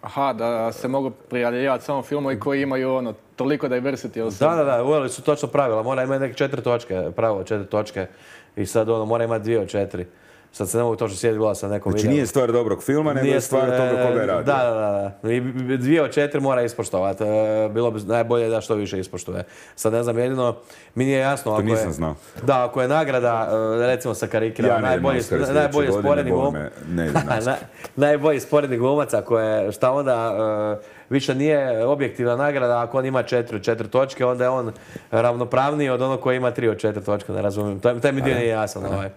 Aha, da se mogu prijavljivati samo filmovi koji imaju ono, toliko diversity u sebi. Da, da, da, uveli su točno pravila, mora imati neke četiri točke, pravilo četiri točke i sad ono, mora imati dvije od četiri. Sad se ne mogu točno sjetiti, gleda sam nekom Znači videu. nije stvar dobrog filma, nego je stvar toga koga je radio. Da, da, da. I dvije od četiri mora ispoštovati. Bilo bi najbolje da što više ispoštuje. Sad ne znam, jedino mi nije jasno To ako nisam je... znao. Da, ako je nagrada, recimo sa karikirama, Ja ne najbolji, idem na Oscar najbolji sljedeće sporedni godine, glum... bome, ne idem na Oscar. najbolji sporedni glumac, ako je, šta onda, uh, više nije objektivna nagrada, ako on ima četiri od četiri točke, onda je on ravnopravniji od onog koji ima tri od četiri točke, ne razumijem. Taj, taj mi dio nije jasan. Ovaj.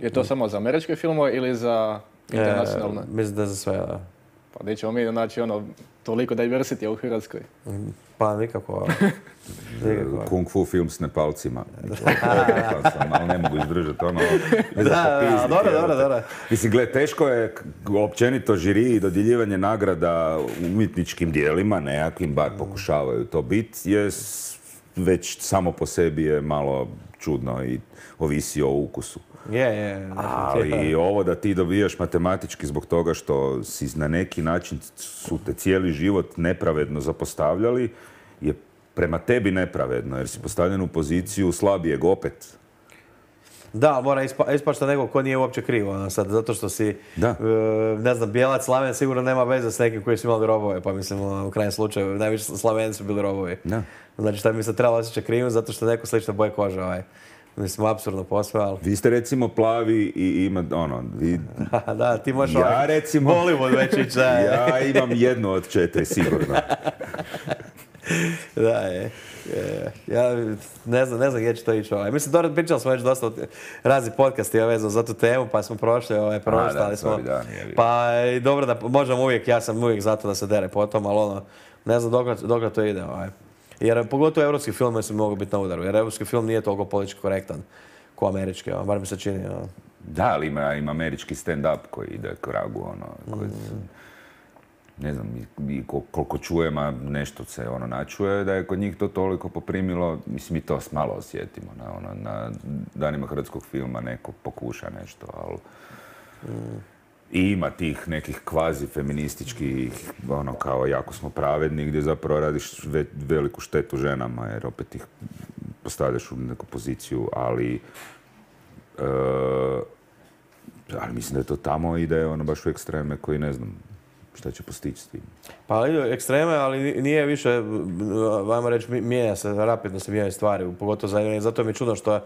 Je to samo za američke filmove ili za internacionalne? E, mislim da je za sve, da. Pa gdje ćemo mi naći ono, toliko diversity u Hrvatskoj. Pa nikako. nikako. Kung fu film s Nepalcima. Rekao sam, ali ne mogu izdržati ono. Da, da, dobro, dobro, dobro. Mislim, gle, teško je k- općenito žiri i dodjeljivanje nagrada umjetničkim dijelima, nekakvim, bar pokušavaju to biti, je s- već samo po sebi je malo čudno i ovisi o ukusu. Je, je. Ali ovo da ti dobijaš matematički zbog toga što si na neki način su te cijeli život nepravedno zapostavljali, je prema tebi nepravedno, jer si postavljen u poziciju slabijeg opet. Da, mora ispa, ispašta neko ko nije uopće krivo, ono, sad, zato što si, Da. e, ne znam, bijelac Slaven sigurno nema veze s nekim koji su imali robove, pa mislim, ono, u krajnjem slučaju, najviše Slaveni su bili robovi. Da. Znači, šta bi se trebalo osjećati krivim, zato što neko slično boje kože, ovaj. Mislim, apsurdno posve, ali... Vi ste recimo plavi i ima, ono, vi... da, ti možeš Ja ovaj, recimo... Hollywood već ići, da, je. Ja imam jednu od četiri, sigurno. Da, je. je. Ja ne znam, ne znam gdje će to ići. Ovaj. Mislim, dobro, pričali smo već dosta od razni podcasti vezano za tu temu, pa smo prošli, ovaj, proštali smo. sorry, da, nije bilo. Pa i dobro da možemo uvijek, ja sam uvijek zato da se dere potom, ali ono, ne znam dokle, dokle to ide. Ovaj. Jer pogotovo evropski film su mogu biti na udaru, jer evropski film nije toliko politički korektan ko američki, ovaj, bar mi se čini. Ovaj. Da, ali ima, ima američki stand-up koji ide k vragu, ono, koji, ne znam, i, i kol- koliko čujem, a nešto se ono načuje, da je kod njih to toliko poprimilo, mislim, mi to malo osjetimo, na, ono, na danima hrvatskog filma neko pokuša nešto, ali... I ima tih nekih kvazi feminističkih, ono, kao jako smo pravedni, gdje zapravo radiš ve- veliku štetu ženama, jer opet ih postavljaš u neku poziciju, ali... e, ali mislim da je to tamo i da je ono baš u ekstreme koji ne znam šta će postići s tim. Pa idu ekstreme, ali ni- nije više, ajmo reći, mi- mijenja se, rapidno se mijenjaju stvari, pogotovo za anime. Zato mi je čudno što e,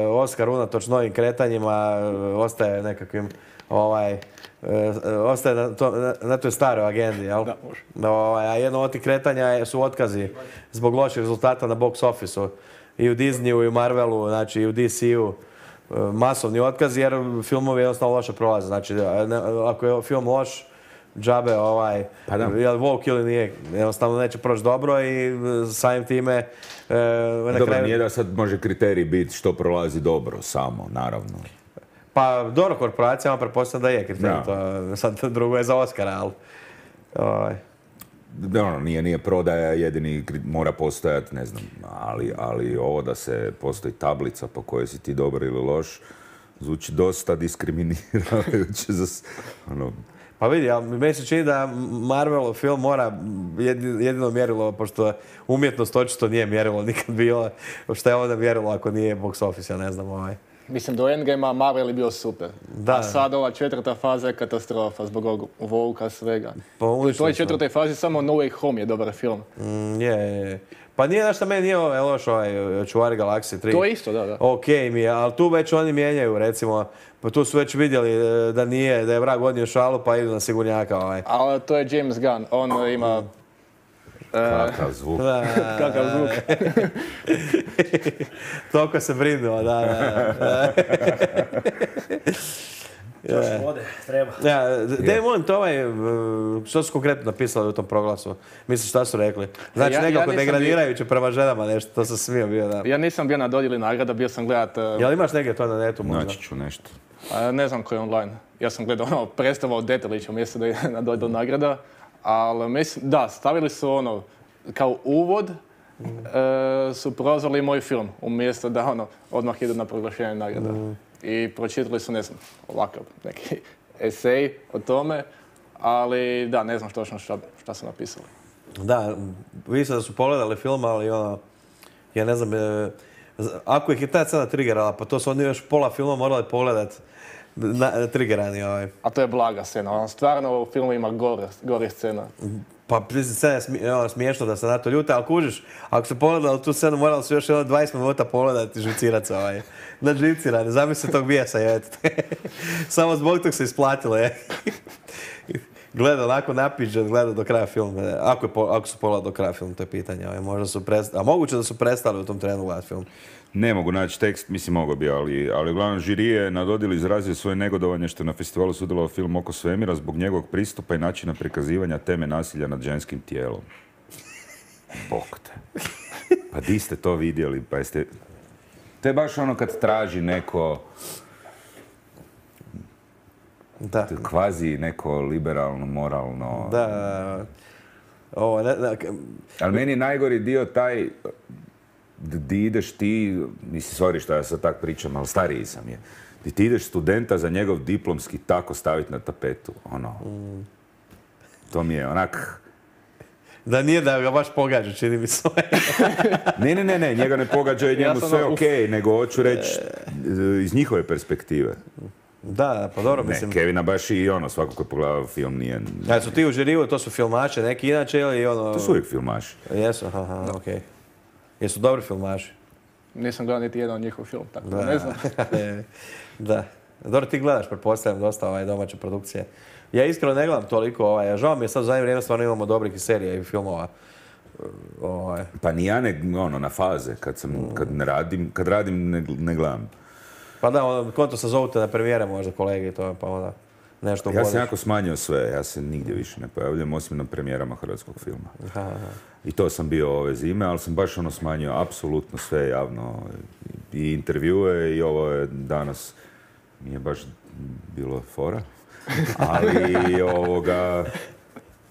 Oscar unatoč novim kretanjima e, ostaje nekakvim, ovaj, e, ostaje na, to, na, na toj staroj agendi, jel? Da, može. No, ovaj, a jedno od tih kretanja je- su otkazi zbog loših rezultata na box office-u. I u Disneyu, i u Marvelu, znači i u D C-u. e, Masovni otkazi jer filmovi jednostavno loše prolaze. Znači, ne- ako je film loš, džabe ovaj, Pa da. jel woke ili nije, jednostavno neće proći dobro i e, samim time e, na Dobro, kraju... nije da sad može kriterij biti što prolazi dobro samo, naravno. Pa dobro, korporacijama pretpostavljam da je kriterij, Da. to sad drugo je za Oscara, ali... Ovaj, Da, ono, nije, nije prodaja jedini, kri- mora postojati, ne znam, ali, ali ovo da se postoji tablica po kojoj si ti dobar ili loš, zvuči dosta diskriminirajuće za, s- ono, Pa vidi, ali meni se čini da Marvelov film mora jedi- jedino mjerilo, pošto umjetnost očito nije mjerilo nikad bilo, što je onda mjerilo ako nije box office, ja ne znam, ovaj. Mislim, do Endgame-a Marvel je bio super. Da. A sad ova četvrta faza je katastrofa zbog ovog Volka svega. Pa U uništili toj su. četvrtoj fazi samo No Way Home je dobar film. Mm, je, je, je. Pa nije nešto meni nije ovaj loš ovaj Čuvari galaksije tri. To je isto, da, da. Ok mi je, ali tu već oni mijenjaju, recimo, pa tu su već vidjeli e, da nije, da je vrag odnio šalu, pa idu na sigurnjaka, ovaj. Ali to je James Gunn, on ima... e, kakav zvuk. Da, Kakav zvuk. toliko se brinuo, da, da, da. Još vode, treba. Ja, daj molim te ovaj, e, što su konkretno napisali u tom proglasu? Misliš šta su rekli? Znači Ja- ja nekako nisam degradirajuće prema ženama nešto, to sam smio bio, da. Ja nisam bio na dodjeli nagrada, bio sam gledat... e, Jel imaš negdje to na netu možda? Naći ću nešto. a ne znam koji je online. Ja sam gledao ono predstava od Detelića umjesto da je na dodjelu nagrada. Ali mislim, da, stavili su ono, kao uvod, e, su prozvali moj film, umjesto da ono, odmah idu na proglašenje nagrada. I pročitali su, ne znam, ovakav neki esej o tome, ali da, ne znam točno šta, šta su napisali. Da, vi ste da su pogledali film, ali ono, ja ne znam, e, ako ih je ta scena triggerala, pa to su oni još pola filma morali pogledat na, triggerani ovaj. A to je blaga scena, on stvarno u filmu ima gore, gore scena. Pa scena je smi, ono, smiješno da se na to ljute, ali kužiš, ako se pogledali tu scenu, morali su još jedno dvadeset minuta pogledati živcirac se ovaj. Na živcirane, zamisli tog bijesa, je. Samo zbog tog se isplatilo, je. Gleda onako napiđen, gleda do kraja filma. Ako, je, ako su pogledali do kraja filma, to je pitanje. Ovaj. Možda su prestali, a moguće da su prestali u tom trenu gledati film. Ne mogu naći tekst, mislim mogo bi, ali, ali uglavnom žiri je na dodjeli izrazio svoje negodovanje što je na festivalu sudjelovao film Oko svemira zbog njegovog pristupa i načina prikazivanja teme nasilja nad ženskim tijelom. Bog te. Pa di ste to vidjeli? Pa jeste... To je baš ono kad traži neko... Da. Kvazi neko liberalno, moralno... Da. Ovo, ne, ne, ali meni je najgori dio taj... Di ideš ti, mislim, sorry što ja sad tak pričam, ali stariji sam je. Di ti ideš studenta za njegov diplomski tako staviti na tapetu, ono. Mm. To mi je onak... Da nije da ga baš pogađa, čini mi se. ne, ne, ne, ne, njega ne pogađa i njemu ja sve ono, okej, okay, nego hoću reći iz njihove perspektive. Da, pa dobro, mislim... Ne, Kevina baš i ono, svako ko je pogledao film nije... Ja, su ti u žiriju, to su filmače, neki inače ili ono... To su uvijek filmaši. Jesu, aha, okej. Okay. Jesu dobri filmaši? Nisam gledao niti jedan njihov film, tako da, ne znam. Da. Dobro, ti gledaš, pretpostavljam, dosta ovaj, domaće produkcije. Ja iskreno ne gledam toliko, ovaj, žao mi je sad u zadnje vrijeme stvarno imamo dobrih serija i filmova. Ovaj. Pa ni ja ne, ono, na faze, kad, sam, kad ne radim, kad radim ne, ne gledam. Pa da, ono, konto se zovute na premijere možda kolege i to, pa onda nešto Ja sam jako smanjio sve, ja se nigdje više ne pojavljam, osim na premijerama hrvatskog filma. Aha, aha. I to sam bio ove zime, ali sam baš ono smanjio apsolutno sve javno. I intervjue i ovo je danas, mi je baš bilo fora. Ali ovoga,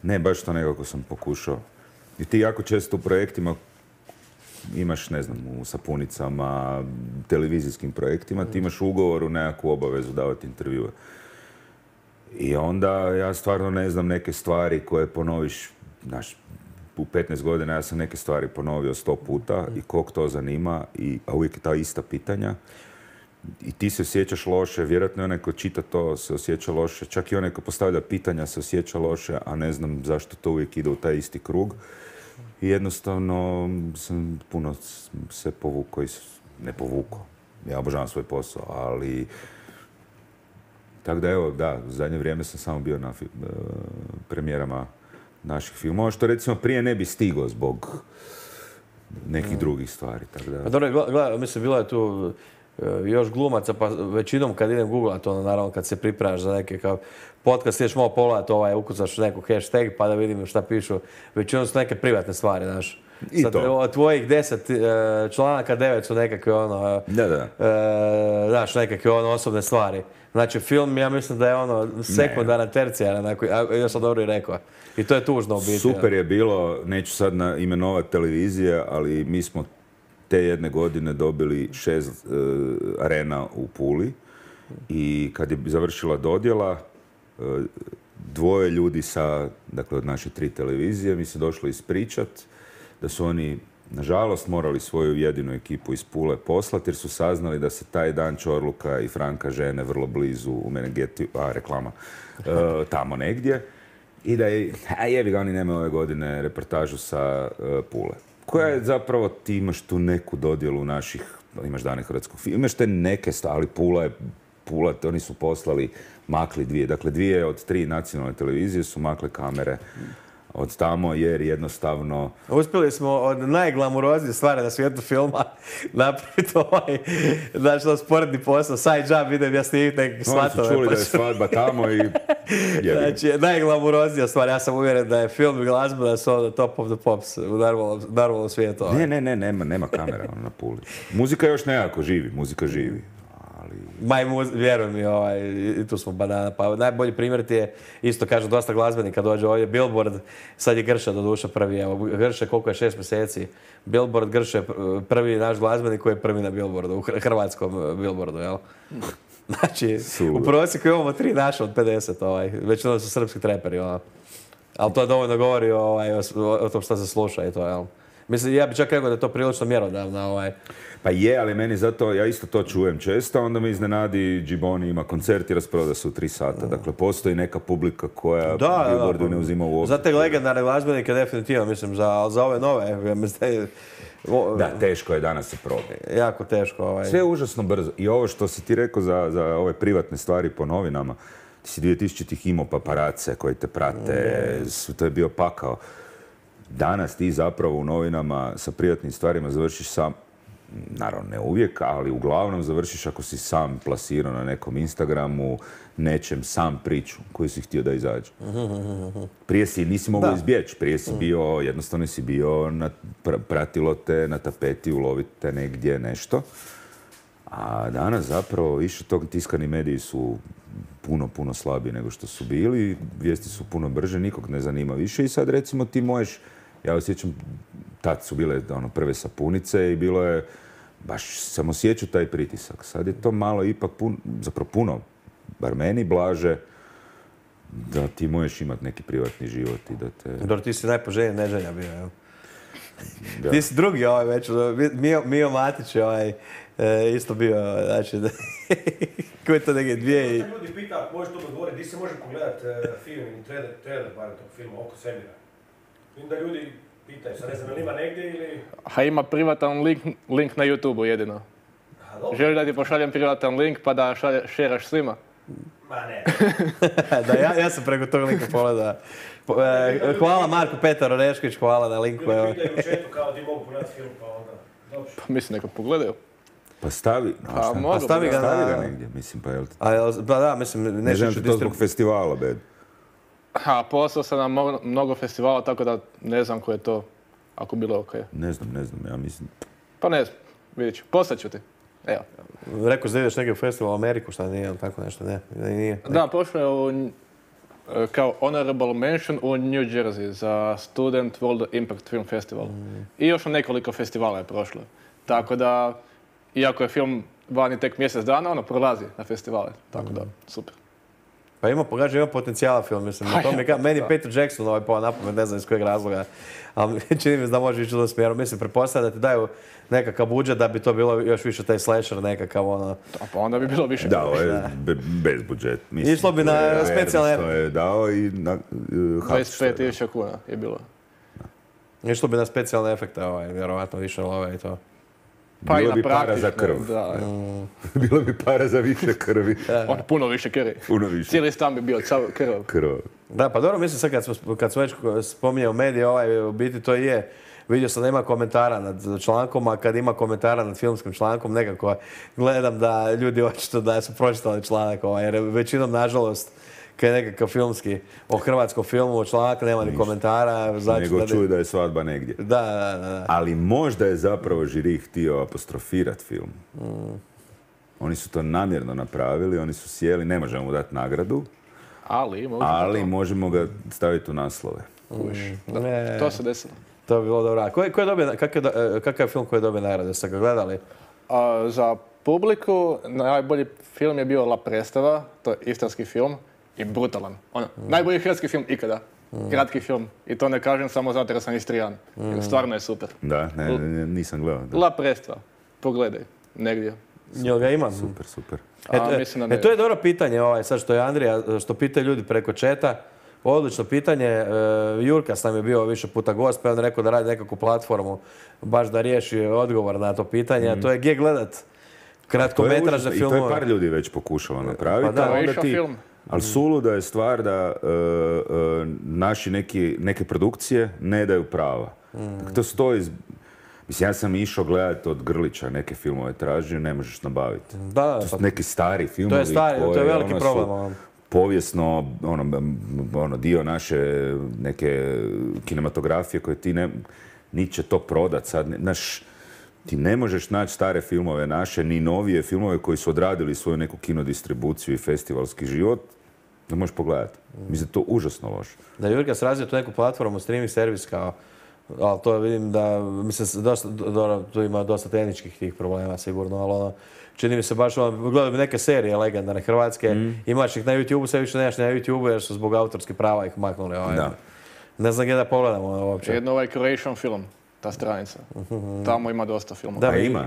ne, baš to nekako sam pokušao. I ti jako često u projektima imaš, ne znam, u sapunicama, televizijskim projektima, ti imaš ugovor u nekakvu obavezu davati intervjue. I onda ja stvarno ne znam neke stvari koje ponoviš, znaš, u petnaest godina ja sam neke stvari ponovio sto puta i kog to zanima, i, a uvijek je ta ista pitanja. I ti se osjećaš loše, vjerojatno onaj ko čita to se osjeća loše, čak i onaj ko postavlja pitanja se osjeća loše, a ne znam zašto to uvijek ide u taj isti krug. I jednostavno sam puno se povukao i ne povukao. Ja obožavam svoj posao, ali... Tako da evo, da, u zadnje vrijeme sam samo bio na uh, premijerama naših filmova, što recimo prije ne bi stigao zbog nekih mm. drugih stvari. Tako da... Pa dobro, gledaj, mislim, bilo je tu uh, još glumaca, pa većinom kad idem googlat, ono, naravno kad se pripremaš za neke kao podcast, ideš malo pogledat, ovaj, ukucaš neku hashtag pa da vidim šta pišu. Većinom su neke privatne stvari, znaš. I sad, to. Od tvojih deset uh, članaka, devet su nekakve ono, da, da. Uh, znaš, nekakve ono osobne stvari. Znači, film, ja mislim da je ono sekundarna, tercijarna, ja sam dobro i rekao. I to je tužno u biti. Super je bilo, neću sad na imenovati televizije, ali mi smo te jedne godine dobili šest uh, arena u Puli i kad je završila dodjela, uh, dvoje ljudi sa, dakle od naše tri televizije, mi se došlo ispričat da su oni, nažalost, morali svoju jedinu ekipu iz Pule poslati jer su saznali da se taj dan Čorluka i Franka žene vrlo blizu u Menegeti, a reklama, uh, tamo negdje. I da je, a jebi ga, oni nemaju ove godine reportažu sa uh, Pule. Koja je zapravo, ti imaš tu neku dodjelu naših, imaš dane hrvatskog filma, imaš te neke stvari, Pula je, Pula, oni su poslali, makli dvije, dakle dvije od tri nacionalne televizije su makle kamere od tamo jer jednostavno... Uspjeli smo od najglamuroznije stvari na svijetu filma napraviti ovaj, znači, sporedni posao, side job, idem ja snimiti nekakve svatove. Oni su čuli pa da je svadba tamo i... Znači, najglamuroznija stvar, ja sam uvjeren da je film i glazba da su ono top of the pops u normalnom, normalnom svijetu. Ne, ne, ne, nema, nema kamera ono, na Puli. Muzika još nekako živi, muzika živi. Maj, vjeruj mi, ovaj, i tu smo banana. Pa najbolji primjer ti je, isto kažem, dosta glazbenika dođe ovdje, Billboard, sad je Grša do duša prvi, evo, Grše koliko je šest mjeseci, Billboard Grše prvi naš glazbenik koji je prvi na Billboardu, u hrvatskom Billboardu, jel? Znači, u prosjeku imamo tri naše od pedeset, ovaj, većinom su srpski treperi, ovaj. Ali to dovoljno govori ovaj, o, o tom što se sluša i to, jel? Mislim, ja bih čak rekao da je to prilično mjerodavna ovaj... Pa je, ali meni zato, ja isto to čujem često, onda me iznenadi Džiboni ima koncert i rasproda se u tri sata. Dakle, postoji neka publika koja Da, Billboardu da, ne uzima u obzir. Za te legendarne glazbenike definitivno, mislim, za, za ove nove, ja mislim, o, Da, teško je danas se probiti. jako teško. Ovaj. Sve je užasno brzo. I ovo što si ti rekao za, za ove privatne stvari po novinama, ti si dvije tisućitih imao paparace koji te prate, mm. to je bio pakao. Danas ti zapravo u novinama sa privatnim stvarima završiš sam, naravno ne uvijek, ali uglavnom završiš ako si sam plasirao na nekom Instagramu, nečem sam priču koju si htio da izađe. Prije si nisi mogao izbjeći, prije si bio, jednostavno si bio, na, pr- pratilo te na tapeti, ulovite negdje nešto. A danas zapravo više tog tiskani mediji su puno, puno slabiji nego što su bili, vijesti su puno brže, nikog ne zanima više i sad recimo ti možeš, ja osjećam, tad su bile ono, prve sapunice i bilo je, baš sam osjećao taj pritisak. Sad je to malo ipak puno, zapravo puno, bar meni blaže, da ti možeš imati neki privatni život i da te... Dobro, ti si najpoželjniji neželja bio, jel? Da. Ti si drugi ovaj već, Mio, Mio Matić je ovaj, e, isto bio, znači, koji je to neke dvije i... Ljudi pita, možeš to odgovoriti, di se može pogledat uh, film ili trailer, trailer barem tog filma oko svemira? Vidim da ljudi pitaju, sad ne znam, ili ima negdje ili... A ima privatan link, link na YouTubeu jedino. Aha, dobro. Želiš da ti pošaljem privatan link pa da šalje, šeraš svima? Ma ne. Da, ja, ja sam preko tog linka pogledao. Po, e, hvala Marko Petar Orešković, hvala na linku. Ljudi pitaju u chatu kao ti mogu pogledati film, pa onda... Dobro. Pa mislim neka pogledaju. Pa stavi, Pa a šta? mogu A stavi ga Stavi na... ga negdje, mislim, pa jel ti... A, jel- pa da, mislim, Ne nešto želim ću ti to zbog distribu... festivala, bed. A poslao sam na mo- mnogo festivala, tako da ne znam ko je to, ako bilo ok. Ne znam, ne znam, ja mislim... Pa ne znam, vidjet ću. Poslat ću ti. Evo. Rekao da ideš negdje u festival u Ameriku, šta nije, ali tako nešto, ne, ne, nije. Da, prošlo je u, e, kao honorable mention u New Jersey za Student World Impact Film Festival. I još na nekoliko festivala je prošlo. Tako da, iako je film vani tek mjesec dana, ono prolazi na festivale. Tako da, super. Pa ima, pogađa, ima potencijala film, mislim. Pa To mi, ja, ka- meni je da. Peter Jackson ovaj pao napamet, ne znam iz kojeg razloga, ali čini mi se da može ići u tom smjeru. Mislim, pretpostavljam da ti daju nekakav budžet da bi to bilo još više taj slasher nekakav, ono... A pa onda bi bilo više. Da, ovo je be- bez budžet. Mislim, Išlo bi to na je specijalne- Ernst To je dao i na uh, dvadeset pet tisuća kuna je bilo. Išlo bi na specijalne efekte, ovaj, vjerovatno više love i to. Pa Bilo i na bi para za praktično, krv. Da, Bilo bi para za više krvi. on puno više krvi. Puno više Cijeli stan bi bio cav krv. krv. Da, pa dobro, mislim sad kad smo, kad smo već spominjao medije, ovaj, u biti to i je. Vidio sam da ima komentara nad člankom, a kad ima komentara nad filmskim člankom, nekako gledam da ljudi očito da su pročitali članak, ovaj, jer većinom, nažalost, kad je nekakav filmski, o hrvatskom filmu, članak nema ni komentara. Znači Nego da, čuju da je svadba negdje. da, da, da, da. Ali možda je zapravo žiri htio apostrofirati film. Oni su to namjerno napravili, oni su sjeli, ne možemo mu dati nagradu, Ali, možda ali to. možemo ga staviti u naslove. Kužiš. Da, Ne. to se desilo. To bi bilo dobro. A ko je, ko je dobio, kakav, je do- kakav je film koji je dobio nagrade? Ste ga gledali? A, za publiku najbolji film je bio La Predstava, to je istarski film i brutalan. Ono, najbolji hrvatski film ikada. Kratki film. I to ne kažem samo zato jer sam Istrijan. Jer stvarno je super. Da, ne, ne, nisam gledao. Da. La Predstava. Pogledaj. Negdje. Jel ga ima? Super, super. A, E, mislim da e, ne. to je dobro pitanje, ovaj, sad što je Andrija, što pita ljudi preko četa. Odlično pitanje. E, Jurkas nam je bio više puta gost, pa je on rekao da radi nekakvu platformu baš da riješi odgovor na to pitanje. A to je gdje gledat To je kratkometražne užasno. I to je filmove. par ljudi već pokušalo napraviti. Pa da, a Ovo je onda išao ti- film. Ali suluda je stvar da e, e, naši neki, neke produkcije ne daju prava. Dakle, to stoji... iz- Mislim, ja sam išao gledati od Grlića neke filmove tražio, ne možeš nabaviti. Da, da, To su pa neki stari filmovi. to je stari, to je koje, veliki ono, su problem. ono. Povijesno, ono, m- ono, dio naše neke kinematografije koje ti ne... Niti će to prodat sad. ne- Znaš, ti ne možeš naći stare filmove naše, ni novije filmove koji su odradili svoju neku kinodistribuciju i festivalski život, da možeš pogledati. Mislim, da je to užasno loše. Da je Jurkas razvio tu neku platformu, streaming servis kao, ali to vidim da, mislim, dosta, do, tu ima dosta tehničkih tih problema sigurno, ali ono, čini mi se baš, ono, gledam neke serije legendarne hrvatske, imaš ih na YouTubeu, sve više nemaš na YouTubeu jer su zbog autorskih prava ih maknuli. Ovaj. Da. Ne znam gdje da pogledamo ono, uopće. Jedno ovaj Croatian film. ta stranica. Tamo ima dosta filmova. Da, A ima.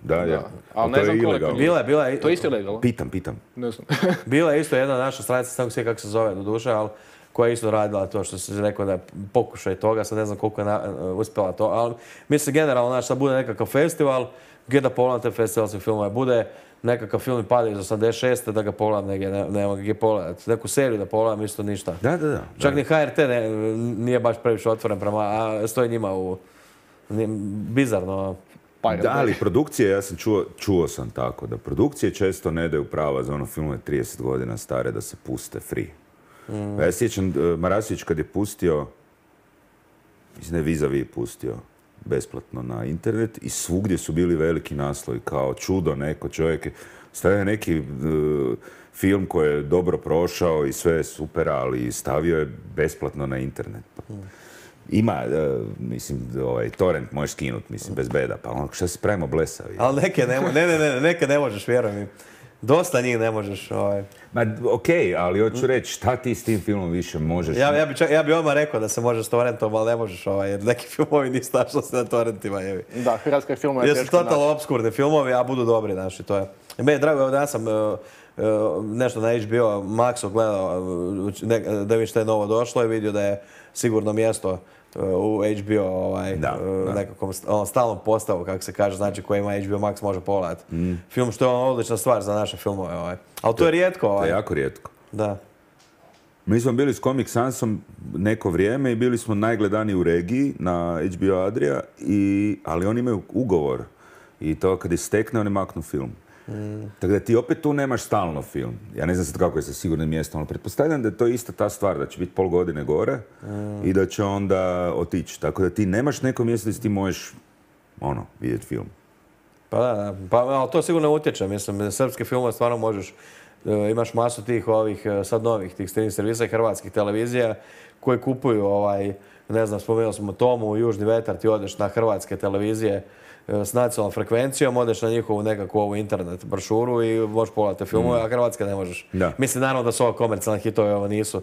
Da, ja. Ali Ali ne to znam je koliko. ilegalno. Bila je, bila je, To je isto ilegalno? Pitam, pitam. Ne znam. bila je isto jedna naša stranica, samo sve kako se zove do duše, ali koja je isto radila to što si rekao da je pokušaj toga, sad ne znam koliko je na, uspjela to, ali mislim generalno, znaš, sad bude nekakav festival, gdje da pogledam te festivalske filmove, bude nekakav film i pada iz osamdeset šeste da ga pogledam negdje, ne, nema gdje pogledati, neku seriju da pogledam, isto ništa. Da, da, da. Čak da. ni H R T ne, nije baš previše otvoren prema, a stoji njima u, nije, bizarno. Pirate Da, Bay. ali produkcije, ja sam čuo, čuo sam tako, da produkcije često ne daju prava za ono filmove trideset godina stare da se puste free. Mm. Ja sjećam, uh, Marasović kad je pustio, mislim da je Vis-a-Vis pustio besplatno na internet i svugdje su bili veliki naslovi kao čudo neko čovjek. Stavio neki uh, film koji je dobro prošao i sve je super, ali stavio je besplatno na internet. Mm. Ima, uh, mislim, ovaj, torrent možeš skinuti, mislim, bez beda, pa ono, šta se pravimo blesavi? Ali neke ne, ne, ne, ne, neke ne možeš, vjerujem mi. Dosta njih ne možeš. Ovaj. Ma, okej, okay, ali hoću reći, šta ti s tim filmom više možeš? Ja, ja, bi, čak, ja bi odmah rekao da se može s torrentom, ali ne možeš, ovaj, jer neki filmovi nisu našli se na torrentima. Jevi. Da, hrvatske filmove je Jer su teško totalno naći. obskurni filmovi, a budu dobri, znaš, i to je. I meni je drago, evo danas sam uh, uh, nešto na H B O Maxu gledao, uh, ne, da vidim što je novo došlo i vidio da je sigurno mjesto u H B O ovaj, Da, da. nekakvom ono, stalnom postavu, kako se kaže, znači koji ima H B O Max može pogledati. Mm. Film što je ono odlična stvar za naše filmove. Ovaj. Ali to je rijetko. Ovaj. To je jako rijetko. Da. Mi smo bili s Comic Sansom neko vrijeme i bili smo najgledaniji u regiji na H B O Adria, i, ali oni imaju ugovor i to kad istekne oni maknu film. Mm. Tako da ti opet tu nemaš stalno film. Ja ne znam sad kako je sa sigurnim mjestom, ali pretpostavljam da je to ista ta stvar, da će biti pol godine gore mm. i da će onda otići. Tako da ti nemaš neko mjesto gdje ti možeš ono, vidjeti film. Pa da, pa, ali to sigurno utječe. Mislim, srpske filmove stvarno možeš, imaš masu tih ovih, sad novih, tih streaming servisa i hrvatskih televizija koji kupuju, ovaj, ne znam, spomenuli smo Tomu, Južni vetar, ti odeš na hrvatske televizije s nacionalnom frekvencijom, odeš na njihovu nekakvu ovu internet brošuru i možeš pogledati filmove, mm. a hrvatske ne možeš. Da. Mislim, naravno da su ovo komercijalne hitove, ovo nisu.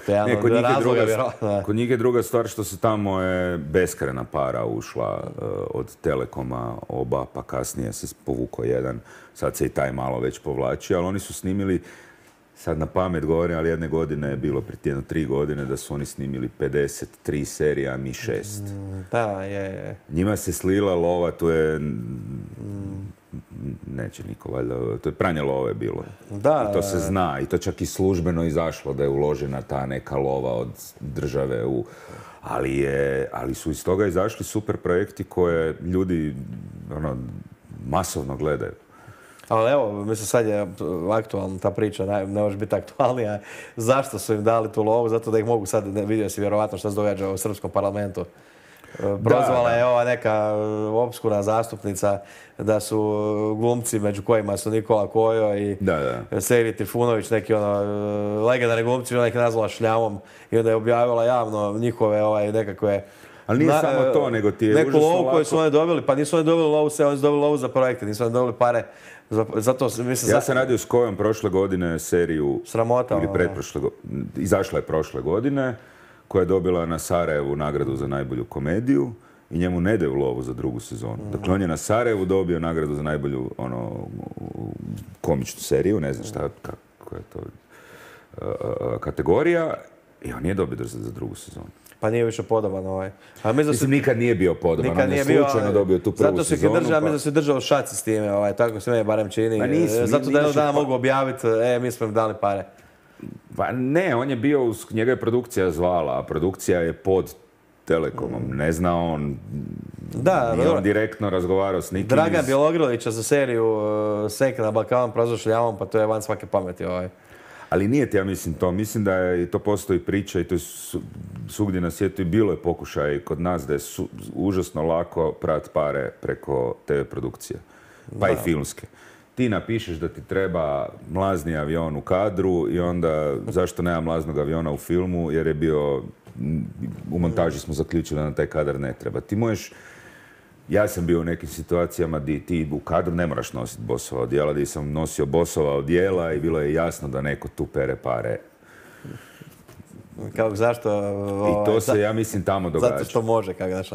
Ne, kod, njih druga, kod njih je druga stvar što se tamo je beskrajna para ušla uh, od Telekoma, oba, pa kasnije se povukao jedan, sad se i taj malo već povlači, ali oni su snimili, sad na pamet govorim, ali jedne godine je bilo, prije jedno tri godine, da su oni snimili pedeset tri serija, a mi šest. Mm, da, je, je. Njima se slila lova, to je... Neće niko, valjda, to je pranje love bilo. Da, i to se zna, i to čak i službeno izašlo da je uložena ta neka lova od države u... Ali, je, ali su iz toga izašli super projekti koje ljudi ono, masovno gledaju. Ali evo, mislim sad je aktualna ta priča, ne, ne može biti aktualnija. Zašto su im dali tu lovu? Zato da ih mogu sad, vidio si vjerovatno što se događa u srpskom parlamentu. Prozvala je ova neka opskurna zastupnica da su glumci među kojima su Nikola Kojo i da, da. Serij Trifunović, neki ono legendarni glumci, ona ih nazvala šljamom i onda je objavila javno njihove ovaj, nekakve... Ali nije na, samo to, nego ti je neku užasno lovu lako... koju su oni dobili, pa nisu oni dobili lovu sve, oni su dobili lovu za projekte, nisu oni dobili pare. Zato, mislim, ja sam radio s Kojom prošle godine seriju... Sramota. Ili pretprošle godine. Izašla je prošle godine, koja je dobila na Sarajevu nagradu za najbolju komediju i njemu ne daju lovu za drugu sezonu. Mm. Dakle, on je na Sarajevu dobio nagradu za najbolju ono, komičnu seriju, ne znam šta, kako je to uh, kategorija, i on nije dobio za, za drugu sezonu. Pa nije više podoban ovaj. A mislim, mislim, nikad nije bio podoban, nikad on je slučajno bio, dobio tu prvu zato sezonu. Zato pa... mislim da se držao šaci s time, ovaj, tako se meni barem čini. Ma nisu, zato da jednog dana pa... mogu objaviti, e, mi smo im dali pare. Pa ne, on je bio, njega je produkcija zvala, a produkcija je pod Telekomom. Mm. Ne zna on, da, nije on direktno razgovarao s nikim. Dragan iz... Bjelogrlića za seriju uh, Sek na Balkanom prozor šljamom, pa to je van svake pameti ovaj. Ali nije ti, ja mislim to. Mislim da je, i to postoji priča i to je su, svugdje na svijetu i bilo je pokušaj kod nas da je su, užasno lako prat pare preko te ve produkcije. Pa da. I filmske. Ti napišeš da ti treba mlazni avion u kadru i onda zašto nema mlaznog aviona u filmu, jer je bio, u montaži smo zaključili da na taj kadar ne treba. Ti možeš, ja sam bio u nekim situacijama gdje ti u kadru ne moraš nositi Bossova odijela, gdje sam nosio Bossova odijela i bilo je jasno da neko tu pere pare. Kako, zašto? Ovaj, I to se, ja mislim, tamo događa. Zato što može, kako daš.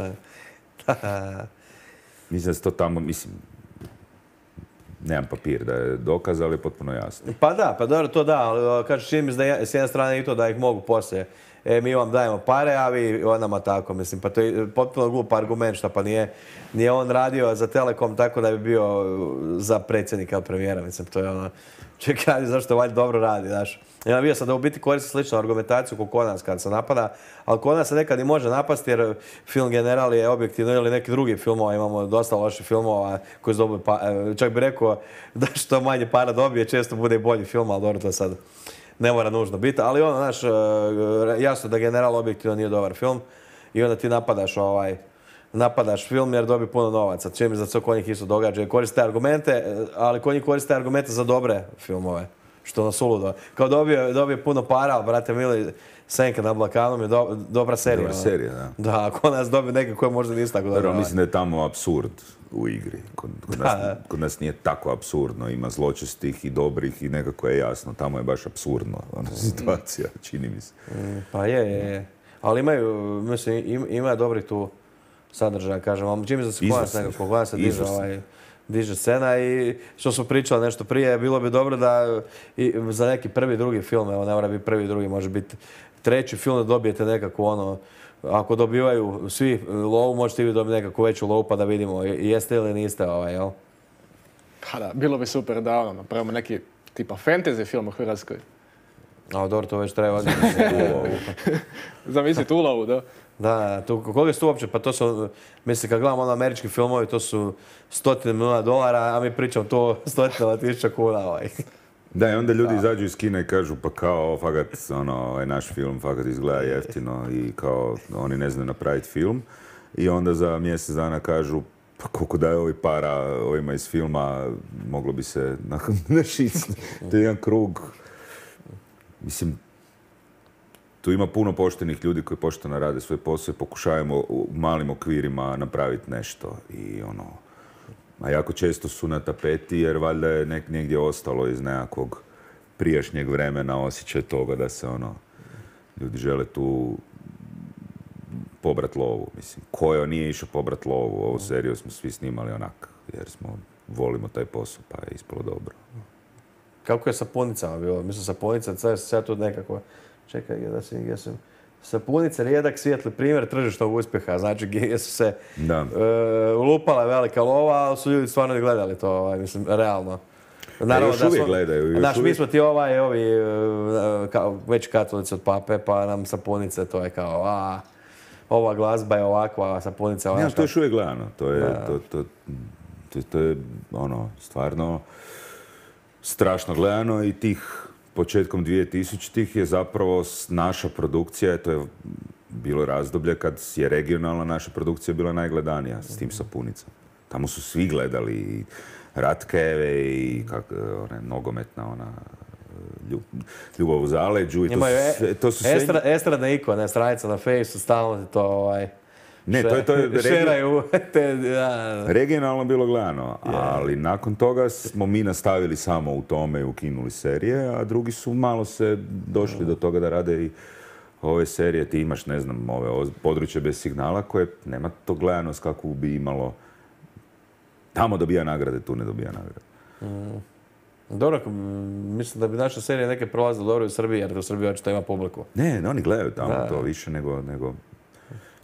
Mislim da se to tamo, mislim, nemam papir da je dokaz, ali je potpuno jasno. Pa da, pa dobro, to da, ali kažeš čini mi se da je s jedne strane i to da ih mogu poslije. E, mi vam dajemo pare, a vi onama tako, mislim, pa to je potpuno glup argument, šta pa nije, nije on radio za Telekom tako da bi bio za predsjednika ili premijera, mislim, to je ono, čekaj, zašto valjda dobro radi, znaš. Ja vidio sam da u biti koristi sličnu argumentaciju kao kod nas kad se napada, ali kod nas se nekad i može napasti jer film General je objektivno ili neki drugi filmova, imamo dosta loših filmova koji su dobili, pa, čak bi rekao da što manje para dobije, često bude i bolji film, ali dobro to sad ne mora nužno biti, ali ono, znaš, jasno da General objektivno nije dobar film i onda ti napadaš ovaj, napadaš film jer dobi puno novaca. Čim za to kod njih isto događa. Koriste argumente, ali kod njih koriste argumente za dobre filmove. Što nas uludo. Kao dobio, dobio puno para, ali brate mili, Senka na Balkanu je do, dobra serija. Dobra serija, da. Da, a kod nas dobio neke koje možda nisu tako dobro. Dobro, mislim da je tamo apsurd u igri. Kod, kod, nas, kod nas nije tako apsurdno. Ima zločestih i dobrih i nekako je jasno. Tamo je baš apsurdno ona situacija, čini mi se. Pa je, je, je. Ali imaju, mislim, im, ima dobrih tu sadržaja, kažem. Ali čini mi se da se kod nas nekako, kod nas se diže ovaj... diže scena i što smo pričali nešto prije, bilo bi dobro da i za neki prvi, drugi film, evo ne mora biti prvi, drugi, može biti treći film da dobijete nekako ono, ako dobivaju svi lovu, možete i vi dobiti nekako veću lovu pa da vidimo jeste ili niste ovaj, jel? Pa da, bilo bi super da ono, napravimo neki tipa fantasy film u Hrvatskoj. A dobro, to već treba Zamisliti ulovu, da. Da, tu, koliko su uopće, pa to su, mislim, kad gledamo ono američki filmovi, to su stotine milijuna dolara, a mi pričamo to stotinama tisuća kuna. Ovaj. Da, i onda ljudi izađu iz kina i kažu, pa kao, fakat, ono, ovaj naš film, fakat izgleda jeftino i kao, oni ne znaju napraviti film. I onda za mjesec dana kažu, pa koliko daje ovi para ovima iz filma, moglo bi se našiti. To je jedan krug. Mislim, tu ima puno poštenih ljudi koji pošteno rade svoj posao i pokušavamo u malim okvirima napraviti nešto. I ono, a jako često su na tapeti jer valjda je nek, negdje ostalo iz nekakvog prijašnjeg vremena osjećaj toga da se ono, ljudi žele tu pobrat lovu. Mislim, ko nije išao pobrat lovu, ovu seriju smo svi snimali onak, jer smo, volimo taj posao, pa je ispalo dobro. Kako je sapunicama bilo? Mislim, sapunica, sad tu nekako... Čekaj, da si, gdje sam... Sapunice, rijedak, svijetli primjer tržišnog uspjeha. Znači, gdje su se e, ulupala velika lova, ali su ljudi stvarno i gledali to, ovaj, mislim, realno. Naravno, još da uvijek smo, gledaju. Još znaš, uvijek... mi smo ti ovaj, ovi, kao, već katolici od pape, pa nam sapunice, to je kao, a, ova glazba je ovakva, a sapunica ovakva. Ne, to je još uvijek gledano. To je, to, to, to, to je, ono, stvarno strašno gledano i tih početkom dvije tisućitih je zapravo naša produkcija, to je bilo razdoblje kad je regionalna naša produkcija bila najgledanija s tim sapunicama. Tamo su svi gledali i Ratkeve i kak, one, nogometna ona ljub, Ljubav u zaleđu. I to, su, to su sve... Estra, estradna ikona, stranica na Fejsu, stalno to ovaj... Ne, to je, to je regi... te, ja. regionalno bilo gledano, ali nakon toga smo mi nastavili samo u tome i ukinuli serije, a drugi su malo se došli do toga da rade i ove serije. Ti imaš, ne znam, ove Područje bez signala koje nema to gledanost kakvu bi imalo. Tamo dobija nagrade, tu ne dobija nagrade. Mm. Dobro, mislim da bi naša serija neke prolazile dobro u Srbiji, jer u Srbiji očito ima publiku. Ne, oni gledaju tamo da. To više nego... nego...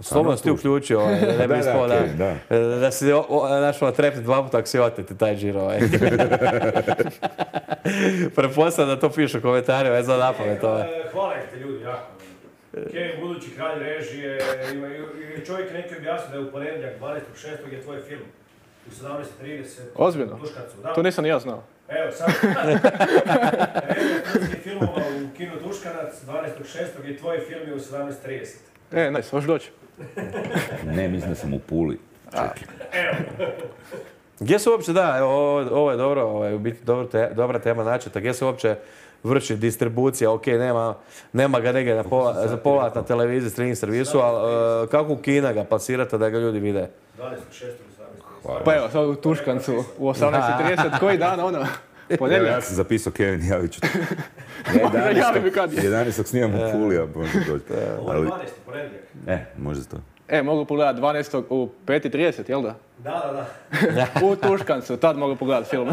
Slobodno si ti uključio, ovaj, ne bi ispao da, da, da. da si našao trepni dva puta ako si oteti taj džir. Ovaj. Prepostavljam da to pišu u komentarima, je za napamet. Ovaj. Hvala te ljudi, jako. Kevin, budući kralj režije, ima, i čovjek neki objasnio da je u ponedjeljak dvanaestog šestog je tvoj film. U sedamnaest trideset. Ozbiljno? To nisam ni ja znao. Evo, sad. Režija filmova u kinu Tuškanac, dvanaestog šestog je tvoj film je u sedamnaest trideset. E, nice, možeš doći. Ne, mislim da sam u Puli. Evo. Gdje se uopće, da, ovo, ovo je dobro, ovo je u biti dobro te, dobra tema načeta, gdje se uopće vrši distribucija, ok, nema, nema ga negdje za povrat na televiziji, streaming servisu, ali uh, kako u kina ga plasirate da ga ljudi vide? dvanaestog šestog Pa evo, sad u Tuškancu, u osamnaest trideset, koji dan, ono? Ponedjeljak. Ja sam zapisao Kevin, javit ću te. jedanaestog snimam u Puli, a možda doći. Ovo je dvanaesti ponedjeljak. E, možda to. E, mogu pogledati dvanaestog u pet i trideset, jel da? Da, da, da. U Tuškancu, tad mogu pogledati film.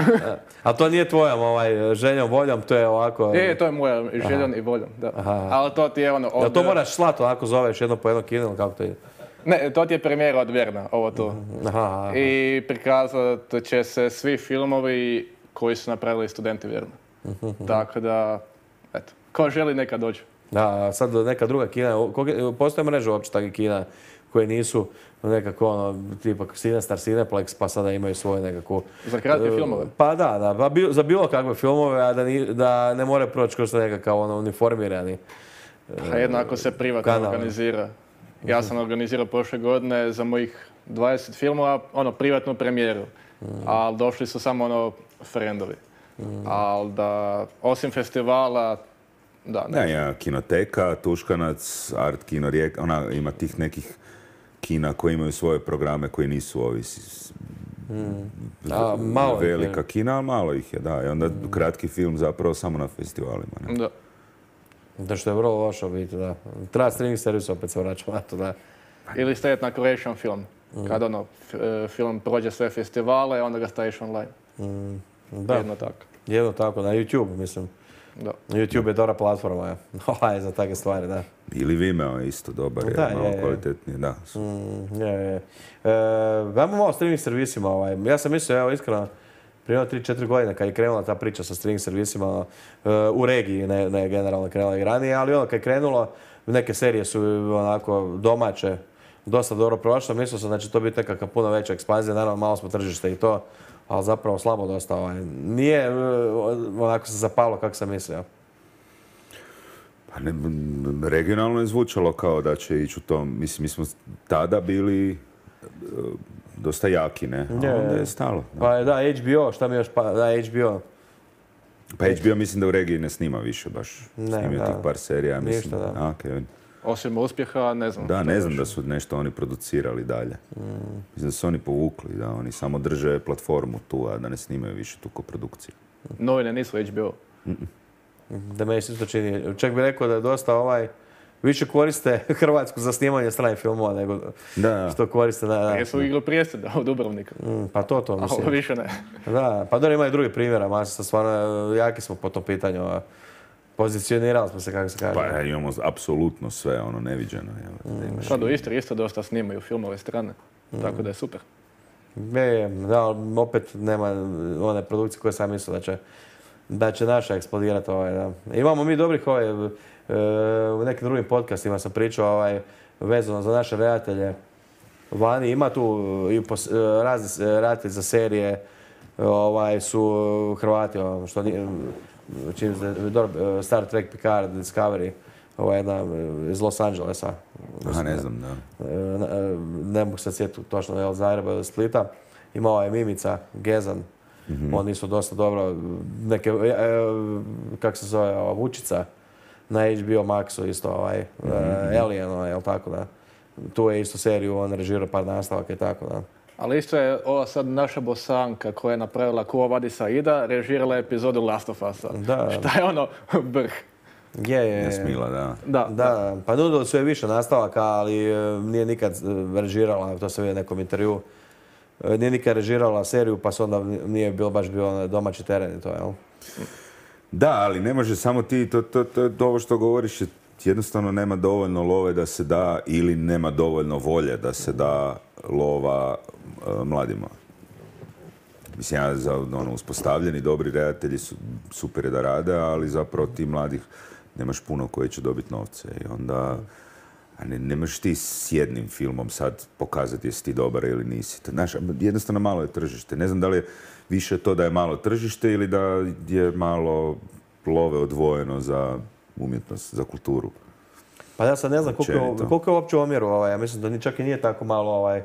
A to nije tvojom ovaj, željom, voljom, to je ovako... E, to je moja željom i voljom, da. Aha. Ali to ti je ono... Jel Od... to moraš slati onako zoveš jedno po jedno kino ili kako to ide? Ne, to ti je premijera od Verna, ovo tu. Aha, aha. I prikazat će se svi filmovi koji su napravili studenti Verna. Tako da, eto, ko želi neka dođe. Da, sad neka druga kina, koga- postoje mreže uopće takvih kina koje nisu nekako ono, tipa Cinestar, Cineplex, pa sada imaju svoje nekako... Za kratke filmove? Pa da, da, pa bi- za bilo kakve filmove, a da, ni, da ne more proći kroz nekakav ono, uniformirani. A jednako se privatno kanal. organizira. Ja sam organizirao prošle godine za mojih dvadeset filmova, ono, privatnu premijeru. Ali došli su samo ono, frendovi. Ali da, osim festivala, da, ne. Ne, ja, Kinoteka, Tuškanac, Art Kino Rijeka, ona ima tih nekih kina koji imaju svoje programe koji nisu ovi s- A, malo ih je. velika kina, ali malo ih je, da. I onda kratki film zapravo samo na festivalima. Ne? Da. Da što je vrlo loše u biti, da. Treba streaming servis, opet se vraćamo na to, da. Ili staviti na Croatian film. Kad ono, f- e, film prođe sve festivale, onda ga staviš online. Da, Jedno tako. jedno tako, na YouTube, mislim. Da. YouTube je dobra platforma, je. Ovaj, za takve stvari, da. Ili Vimeo je isto dobar, je Da, malo je, je. kvalitetniji, da. Mm, je, je. E, ajmo malo o streaming servisima. Ovaj. Ja sam mislio, evo iskreno, prije tri četiri godine kad je krenula ta priča sa streaming servisima e, u regiji, ne, ne generalno krenula i ranije, ali ono kad je krenulo, neke serije su onako domaće, dosta dobro prošle. Mislio sam da će to biti nekakva puno veća ekspanzija, naravno malo smo tržište i to, ali zapravo slabo dosta. Ovaj. Nije e, onako se zapalo kako sam mislio. Pa ne, m, regionalno je zvučalo kao da će ići u tom, mislim, mi smo tada bili e, dosta jaki, ne? A Je, onda je. je stalo. Da. Pa da, H B O, šta mi još pa, da, H B O. Pa H B O mislim da u regiji ne snima više baš. Ne, Snimio da. tih par serija, mislim. Ništa, da. A, okej. Osim uspjeha, ne znam. Da, što ne još. znam da su nešto oni producirali dalje. Mislim da su oni povukli, da oni samo drže platformu tu, a da ne snimaju više tu koprodukciju. Novine nisu H B O. Da me isto čini. Čak bih rekao da je dosta ovaj, više koriste Hrvatsku za snimanje stranih filmova nego Da, što koriste na... A da. jesu igru prijestolja u Dubrovnika. Mm, pa to to A ovo mislim. više ne. Da, pa dobro ima i drugi primjera, masa stvarno jaki smo po tom pitanju. a Pozicionirali smo se kako se kaže. pa imamo apsolutno sve ono neviđeno. Jel? Da imaš- Sad u Istri isto dosta snimaju filmove strane. Tako da je super. Je, da, ali opet nema one produkcije koje sam mislio da će, da će naša eksplodirati. Ovaj, da. Imamo mi dobrih ovaj, e, u nekim drugim podcastima sam pričao ovaj, vezano za naše redatelje vani. Ima tu i pos, e, razni e, redatelji za serije ovaj, su Hrvati, ono, što nije, čini se, dobro, e, Star Trek, Picard, Discovery, ovaj, jedna e, iz Los Angelesa. Aha, ne znam, da. E, ne- ne mogu se sjetiti točno je li Zagreba ili Splita. Ima ovaj Mimica, Gezan, oni su dosta dobro, neke, e, e, kak se zove, ova Vučica na H B O Maxu isto, ovaj, e, Alien, ovaj, jel tako da. Tu je isto seriju, on režirao par nastavaka i tako da. Ali isto je ova sad naša Bosanka koja je napravila Kuo Vadi Saida, režirala epizodu Last of Usa. Da. Šta je ono vrh. Je, je, je. Jasmila, da. Da, Da, pa nudili su je više nastavaka, ali e, nije nikad e, režirala, to se vidi u nekom intervju, e, nije nikad režirala seriju, pa se onda nije bilo baš bio onaj domaći teren i to, jel? Da, ali ne može samo ti, to, to, to, to ovo što govoriš je jednostavno nema dovoljno love da se da ili nema dovoljno volje da se da lova e, mladima. Mislim, ja za ono, uspostavljeni, dobri redatelji su super je da rade, ali zapravo ti mladih nemaš puno koji će dobiti novce i onda a ne, ne možeš ti s jednim filmom sad pokazati jesi ti dobar ili nisi. Znaš, jednostavno malo je tržište. Ne znam da li je više to da je malo tržište ili da je malo love odvojeno za umjetnost, za kulturu. Pa ja sad ne znam koliko, je- Općenito. koliko je uopće u omjeru, ovaj, ja mislim da ni čak i nije tako malo ovaj,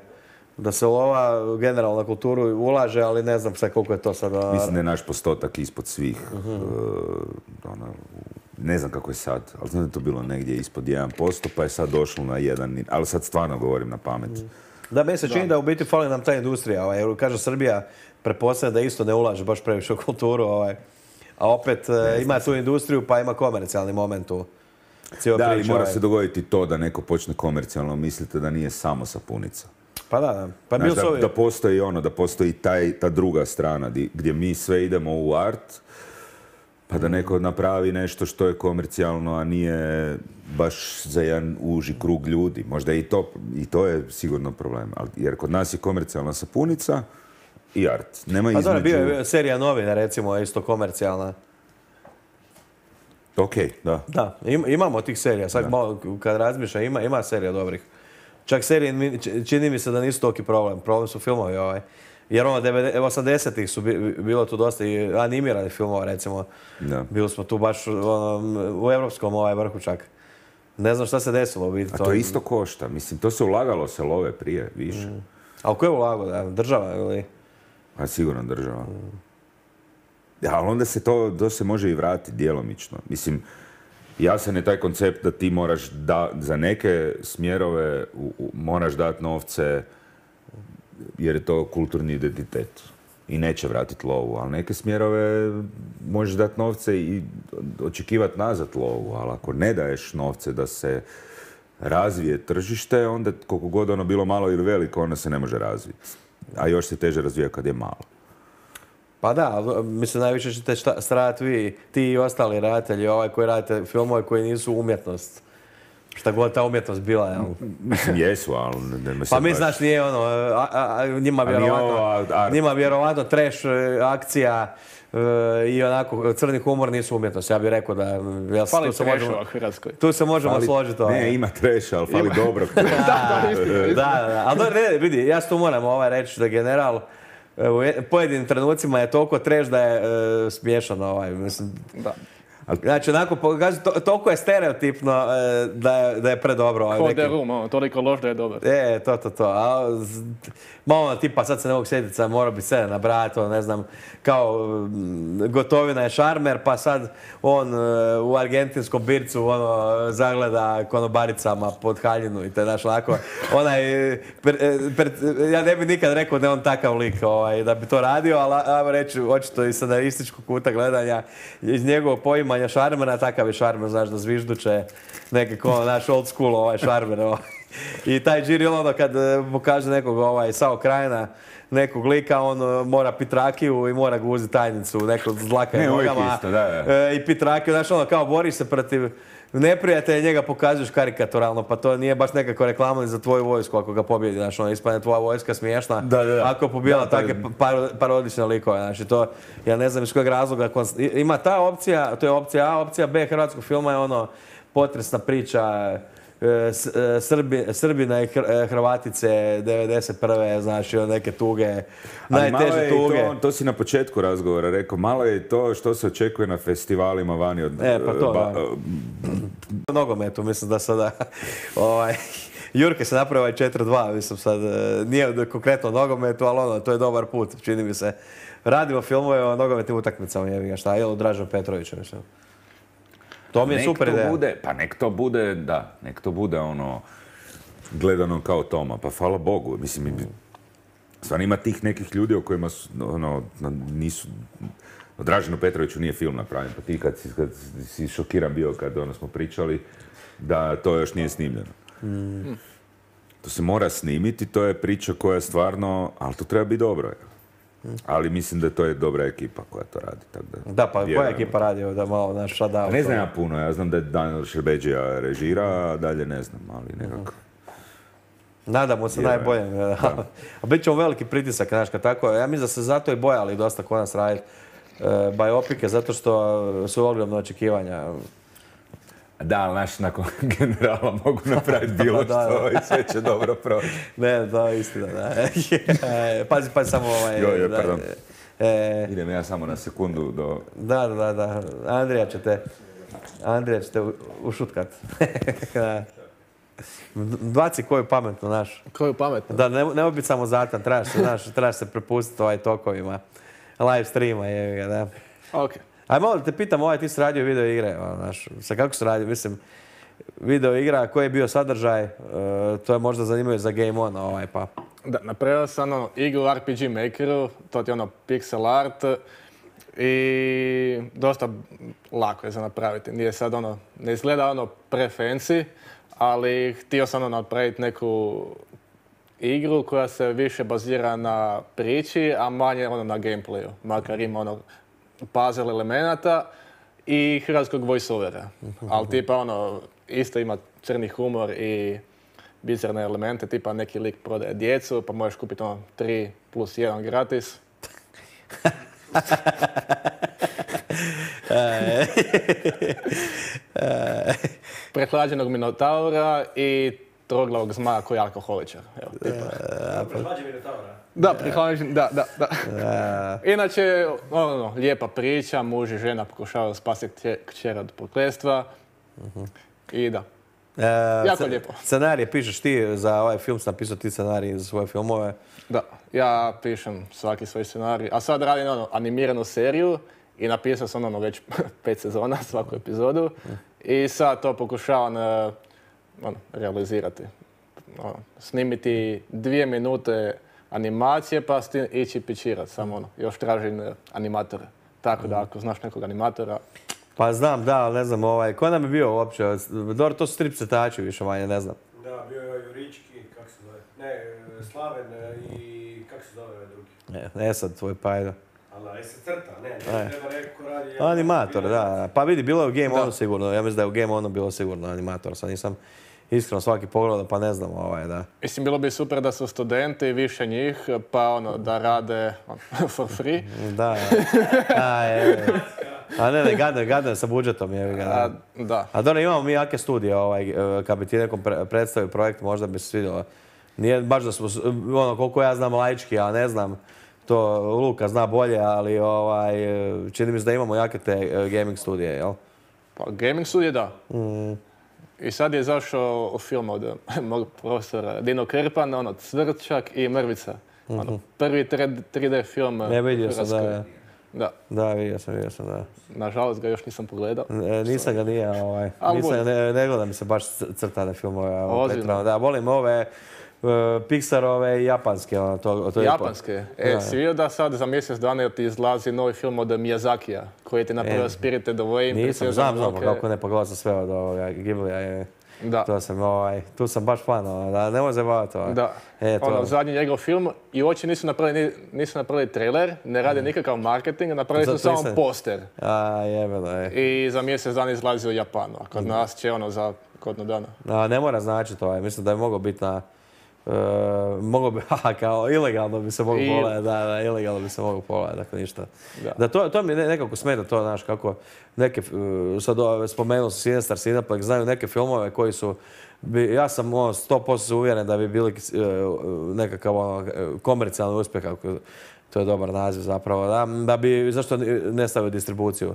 da se lova generalno na kulturu ulaže, ali ne znam sad koliko je to sad. a, Mislim da je naš postotak ispod svih. e, ono, ne znam kako je sad, ali znam da je to bilo negdje ispod jedan posto, pa je sad došlo na jedan, ali sad stvarno govorim na pamet. Da, meni se čini da u biti fali nam ta industrija, ovaj, jer kaže Srbija prepoznaje da isto ne ulaže baš previše u kulturu, ovaj, a opet e, ima tu industriju pa ima komercijalni moment tu. cijela Da, ali priča. mora ovaj. se dogoditi to da neko počne komercijalno misliti da nije samo sapunica. Pa da, da. Pa Znaš, bil da, su ovi... da postoji ono, da postoji taj, ta druga strana di- gdje mi sve idemo u art, pa da neko napravi nešto što je komercijalno, a nije baš za jedan uži krug ljudi. Možda i to, i to je sigurno problem. Ali, jer kod nas je komercijalna sapunica i art. Nema Pa između... dobro, bio je serija novina, recimo, isto komercijalna. Ok, da. Da, im, imamo tih serija. Sad malo, kad razmišljam, ima, ima serija dobrih. Čak serije, mi- č- čini mi se da nisu toliki problem. Problem su filmovi ovaj. Jer ono, devedesetih osamdesetih su bi- bilo tu dosta i animiranih filmova, recimo. Da. Bili smo tu baš ono, u evropskom ovaj vrhu čak. Ne znam šta se desilo u biti. A to isto košta. Mislim, to se ulagalo se love prije, više. A u koje ulago, da? Država ili? A sigurno država. Ja, ali onda se to, to se može i vratiti djelomično. Mislim, jasan je taj koncept da ti moraš da, za neke smjerove u, u, moraš dati novce jer je to kulturni identitet i neće vratiti lovu, ali neke smjerove možeš dati novce i očekivati nazad lovu, ali ako ne daješ novce da se razvije tržište, onda koliko god ono bilo malo ili veliko, ono se ne može razviti. A još se teže razvija kad je malo. Pa da, ali, mislim, najviše ćete šta- stradati vi, ti i ostali redatelji, ovaj koji radite filmove koji nisu umjetnost. Šta god ta umjetnost bila, jel? Mislim, jesu, ali ne me Pa sad mi, baš- znaš, nije ono, a, a, a, njima nije vjerovatno, ovo art. njima vjerovatno trash e, akcija e, i onako crni humor nisu umjetnost. Ja bih rekao da, jel, Fali tu se trešova možemo, u Hrvatskoj. tu se možemo Fali- složiti. ovaj. Ne, ima treša, ali fali dobrog. Da, da, da. Ali dobro, ne, vidi, ja se tu moram ovaj reći da general e, u je- pojedinim trenucima je toliko trash da je e, smiješan ovaj, mislim. Da. Znači, onako, po- kažem, to, toliko je stereotipno e, da, je, da je predobro. Ovaj, Ko neki- The Room, ono, toliko loš da je dobar. E, to, to, to. A, z- malo ono, tipa, sad se ne mogu sjetiti, sad mora bi se nabrati, ono, ne znam, kao mm, Gotovina je šarmer, pa sad on e, u argentinskom bircu, ono, zagleda konobaricama pod haljinu i te, znaš, onako, onaj, e, per- e, per- ja ne bi nikad rekao da je on takav lik, ovaj, da bi to radio, ali ajmo reći, očito iz scenarističkog kuta gledanja, iz njegovog poimanja šarmera, takav je šarmer, znaš, da zvižduće, nekako, naš old school, ovaj, šarmer, ovaj. I taj Džiri, ono, kad e, pokaže nekog, ovaj, Sao Krajina, nekog lika, on e, mora pit rakiju i mora guziti tajnicu, nekog zlaka Ne, uvijek nogama. isto, da, da. E, I pit rakiju, znaš, ono, kao boriš se protiv neprijatelja, njega pokazuješ karikaturalno, pa to nije baš nekako reklama ni za tvoju vojsku ako ga pobjedi, znaš, ono, ispadne tvoja vojska smiješna, Da, da, da. ako je pobijala Da, to je- takve paro- parodične likove, znači to, ja ne znam iz kojeg razloga, konst- i- ima ta opcija, to je opcija A, opcija B hrvatskog filma je ono, potresna priča, e, S- e, Srbi, Srbina i Hr- e, Hrvatice devedeset prve, znači ono, neke tuge, Ali malo najteže je i tuge. to, to si na početku razgovora rekao, malo je i to što se očekuje na festivalima vani od... E, pa to, ba- da. U nogometu, mislim da sada, ovaj, Jurke se napravio ovaj četiri dva, mislim sad, e, nije konkretno o nogometu, ali ono, to je dobar put, čini mi se. Radimo filmove o nogometnim utakmicama, jebi ga, šta, ili Dražan Petrovića, mislim. To mi je nek super to ideja. bude, pa nek to bude, da, nek to bude ono, gledano kao Toma, pa hvala Bogu, mislim, i- stvarno ima tih nekih ljudi o kojima su, ono, na- nisu, o Draženu Petroviću nije film napravljen, pa ti kad si, kad si šokiran bio kad ono smo pričali, da to još nije snimljeno. To se mora snimiti, to je priča koja je stvarno, ali to treba biti dobro. Ali mislim da to je dobra ekipa koja to radi. Tako da, Da, pa koja vjerujem. ekipa radi da malo naš shutdown? Ne znam ja puno, ja znam da je Daniel Šerbeđija režira, a dalje ne znam, ali nekako. Nadamo se Vjerujem. najboljem. A bit će veliki pritisak, znaš, kad tako. Ja mislim da se zato i bojali dosta kod nas raditi e, bajopike, zato što su ogromne očekivanja. Da, ali naš nakon generala mogu napraviti bilo Da, da. što i sve će dobro proći. Ne, da, istina, da. pazi, pazi samo ovaj... Joj, joj, da, pardon. e, Idem ja samo na sekundu do... da, da, da. Andrija će te... Andrija će te u- ušutkat. Da. Baci koju pametnu, znaš. Koju pametno. Da, ne, nemoj biti samo zatan, trebaš se, znaš, trebaš se prepustiti ovaj tokovima. Live streama, jevi ga, da. Ok. Aj, malo da te pitam, ovaj, ti si radio video igre, ono, znaš, sa kako si radio, mislim, video igra, koji je bio sadržaj, e, to je možda zanimljivo za Game On, ovaj, pa. Da, napravio sam ono igru u R P G Makeru, to ti je ono pixel art. I dosta lako je za napraviti. Nije sad ono, ne izgleda ono pre-fancy, ali htio sam ono napraviti neku igru koja se više bazira na priči, a manje ono na gameplayu. Makar ima ono puzzle elemenata i hrvatskog voice-overa. Ali tipa ono, isto ima crni humor i bizarne elemente, tipa neki lik prodaje djecu, pa možeš kupiti ono tri plus jedan gratis. Prehlađenog minotaura i troglavog zmaja koji je alkoholičar. Evo, tipa. Prehlađen Minotaura. Da, prehlađen, da, da, da. Inače, ono, lijepa priča, muž i žena pokušavaju spasiti kćer od prokletstva. I da. E, jako sc- lijepo. Scenarije pišeš ti za ovaj film, sam napisao ti scenarij za svoje filmove. Da, ja pišem svaki svoj scenarij, a sad radim ono, animiranu seriju i napisao sam ono već pet sezona, svaku epizodu. I sad to pokušavam uh, ono, realizirati. Ono, snimiti dvije minute animacije pa s tim ići pičirati, samo ono, još tražim uh, animatore. Tako da ako znaš nekog animatora... Pa znam, da, ali ne znam, ovaj, ko nam je bio uopće? Dobro, to su strip crtači više manje, ne znam. Da, bio je Jurički, kako se zove? Ne, Slaven i kako se zove ovaj drugi? Ne, ne sad tvoj pajdo. Ali se crta, ne, ne, treba neko ko radi... Animator, da. Pa vidi, bilo je u Game Onu sigurno, ja mislim da je u Game Onu bilo sigurno animator, sad nisam iskreno svaki pogledao, pa ne znam, ovaj, da. Mislim, bilo bi super da su studenti, više njih, pa ono, da rade on, for free. Da, a, je, a ne, ne, gadno, gadno je sa budžetom, je ga. A, da. A dobro, imamo mi jake studije, ovaj, kad bi ti nekom pre- predstavio projekt, možda bi se svidjelo. Nije baš da smo, ono, koliko ja znam laički, a ne znam, to Luka zna bolje, ali ovaj, čini mi se da imamo jake te gaming studije, jel? Pa gaming studije, da. Mm. I sad je zašao film od mog profesora Dino Krpan, ono, Cvrčak i Mrvica. Ono, prvi tri D film Ne, vidio sam, Hrvatskoj. da. Da. Da, vidio sam, vidio sam, da. Nažalost ga još nisam pogledao. E, nisam ga nije, ovaj, Al nisam, volim. ne, ne gledam se baš c- crtane filmove. ovaj, Ozbiljno? pretjerano. Da, volim ove uh, Pixarove i japanske, ono, to, to je Japanske. E, Da. si vidio da sad za mjesec dana ti izlazi novi film od Miyazakija, koji ti napravio E, Spirited Away, Nisam, Princesa znam, znam, pa Mononoke. kako ne, pogledao sam sve od ovoga Ghiblija. Je, Da. to sam, ovaj, tu sam baš fan, ono, da ne može zabavati. Ovaj. Da. E, to, Ono, zadnji njegov film i uopće nisu napravili, ni- nisu napravili trailer, ne rade nikakav marketing, napravili su Zato samo nisam- poster. A, jebeno je. I za mjesec dana izlazi u Japanu, a kod nas će ono za godinu dana. A, ne mora značiti ovaj, mislim da je mogao biti na... Uh, mogao bi, haha, kao ilegalno bi se mogao I- pogledati, da, da, ilegalno bi se mogao pogledati, dakle ništa. Da. Da, to, to mi ne- nekako smeta to, znaš, kako neke, uh, sad ove, spomenuo sam Sinister Cineplex, znaju neke filmove koji su, bi, ja sam ono, sto posto uvjeren da bi bili uh, nekakav ono, komercijalni uspjeh, ako to je dobar naziv zapravo, da, da bi, zašto ne stavio distribuciju?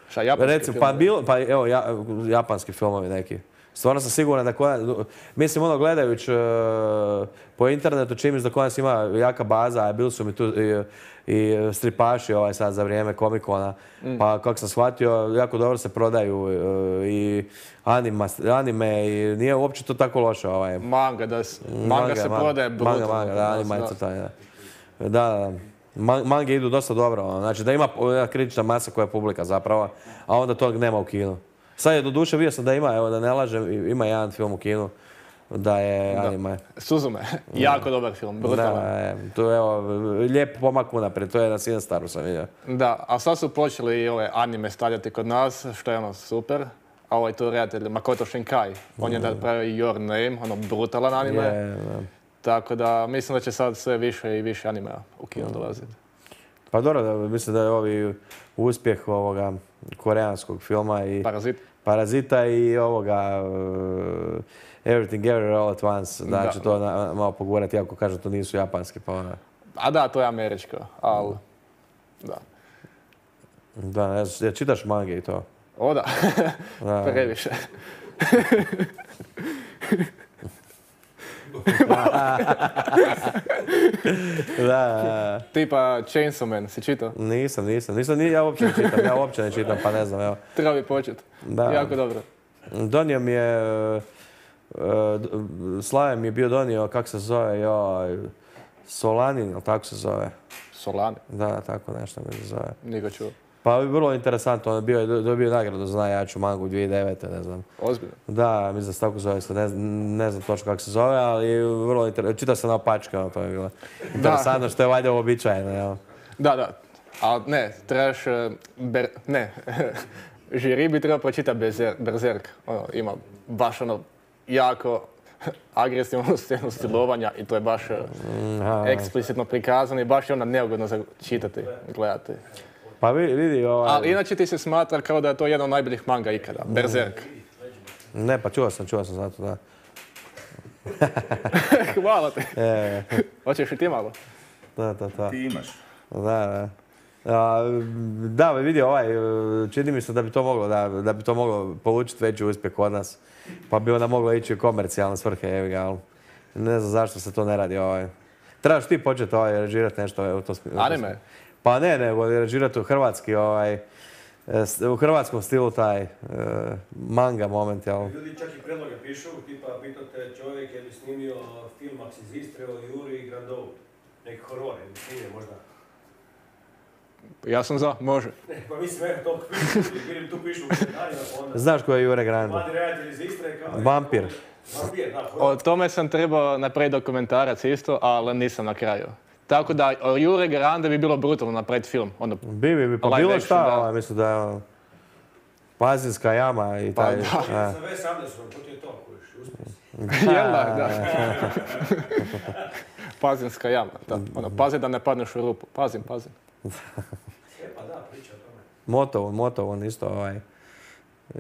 Šta, japanski Recimo, film? pa, bilo, pa evo, ja, japanski filmovi neki. Stvarno sam siguran da kod nas, mislim ono gledajući uh, po internetu čim da kod nas ima jaka baza, a bili su mi tu i, i stripaši ovaj sad za vrijeme Comic-Cona, mm. pa kako sam shvatio, jako dobro se prodaju uh, i anima, anime i nije uopće to tako loše. Ovaj. Manga, da, s- manga, se prodaje brutalno. Manga, manga, kod da, nas, anima je da. crtanje, da. Da, da. Ma- Mange idu dosta dobro, ono. Znači da ima jedna kritična masa koja je publika zapravo, a onda tog nema u kinu. Sad je doduše vidio sam da ima, evo da ne lažem, ima jedan film u kinu da je anime. Suzume, jako dobar film, brutalan. Da, je, to je evo, lijep pomak unaprijed, to je na Sinstaru sam vidio. Da, a sad su počeli i ove anime stavljati kod nas, što je ono super. A ovaj tu redatelj Makoto Shinkai, on je napravio i Your Name, ono brutalan anime. Je, da. Tako da mislim da će sad sve više i više animea u kino dolaziti. Pa dobro, da, mislim da je ovi uspjeh ovoga koreanskog filma i Parazit. Parazita i ovoga uh, Everything Everywhere All at Once, da Da. će to na, malo pogurati, iako kažem to nisu japanski, pa ona. A da, to je američko, ali da. Da, ne znam, čitaš mange i to. O da, Da. previše. Da, Tipa Chainsaw Man, si čitao? nisam, nisam, nisam, ni ja uopće ne čitam, ja uopće ne čitam, pa ne znam, evo. Treba bi početi. Da. Jako dobro. Donio mi je, uh, uh, Slaven mi je bio donio, kak se zove, joj, Solanin, ili tako se zove? Solani. Da, tako nešto mi se zove. Nije ga čuo. Pa vrlo interesantno, on je bio, dobio nagradu za najjaču mangu dvije tisuće devete. ne znam. Ozbiljno? Da, mislim da se tako zove, ne, ne znam točno kako se zove, ali vrlo interesantno. Čitao sam na opačkama, to je bilo interesantno što je valjda uobičajeno, jel? Da, da. Ali ne, trebaš... Ber, ne, žiri bi trebao pročitati Berzer, Berzerk. Ono, ima baš ono jako agresivnu scenu silovanja i to je baš Aha. eksplicitno prikazano i baš je onda neugodno za čitati, gledati. Pa vidi ovaj... Ali inače ti se smatra kao da je to jedan od najboljih manga ikada, Berzerk. Ne, pa čuo sam, čuo sam zato, da. Hvala ti. E, Hoćeš i ti malo? da, da, da. Ti imaš. Da, da. A, da, vidi ovaj, čini mi se da bi to moglo, da, da bi to moglo polučiti veći uspjeh kod nas. Pa bi onda moglo ići u komercijalne svrhe, evi ga, ali ne znam zašto se to ne radi ovaj. Trebaš ti početi ovaj, režirati nešto u to smislu. Anime? Pa ne, nego režirati u hrvatski, ovaj, u hrvatskom stilu taj uh, manga moment, jel? Ljudi čak i predloge pišu, tipa pitate čovjek je li snimio film Max iz Istre o Juri i Grandovu. Neki horor, ili snimio možda. Ja sam za, može. Ne, pa mislim, evo to pišu, vidim tu pišu u komentarima, pa onda... Znaš ko je Jure Grande? Mladi redatelj iz Istre kao... Vampir. Vampir, da, O horor. tome sam trebao napraviti dokumentarac isto, ali nisam na kraju. Tako da, o Jure Grande bi bilo brutalno napraviti film. Ono, Bi, bi, bi, pa live bilo action, šta, da. ovaj, mislim da je ono, Pazinska jama i Pa taj... da. a. Sa Wes Andersonom, to ti je to, kojiš, uspjesi. Jel da, da. Pazinska jama, da. Ono, pazi da ne padneš u rupu. Pazim, pazim. E, pa da, priča o tome. Motovon, Motovon isto ovaj...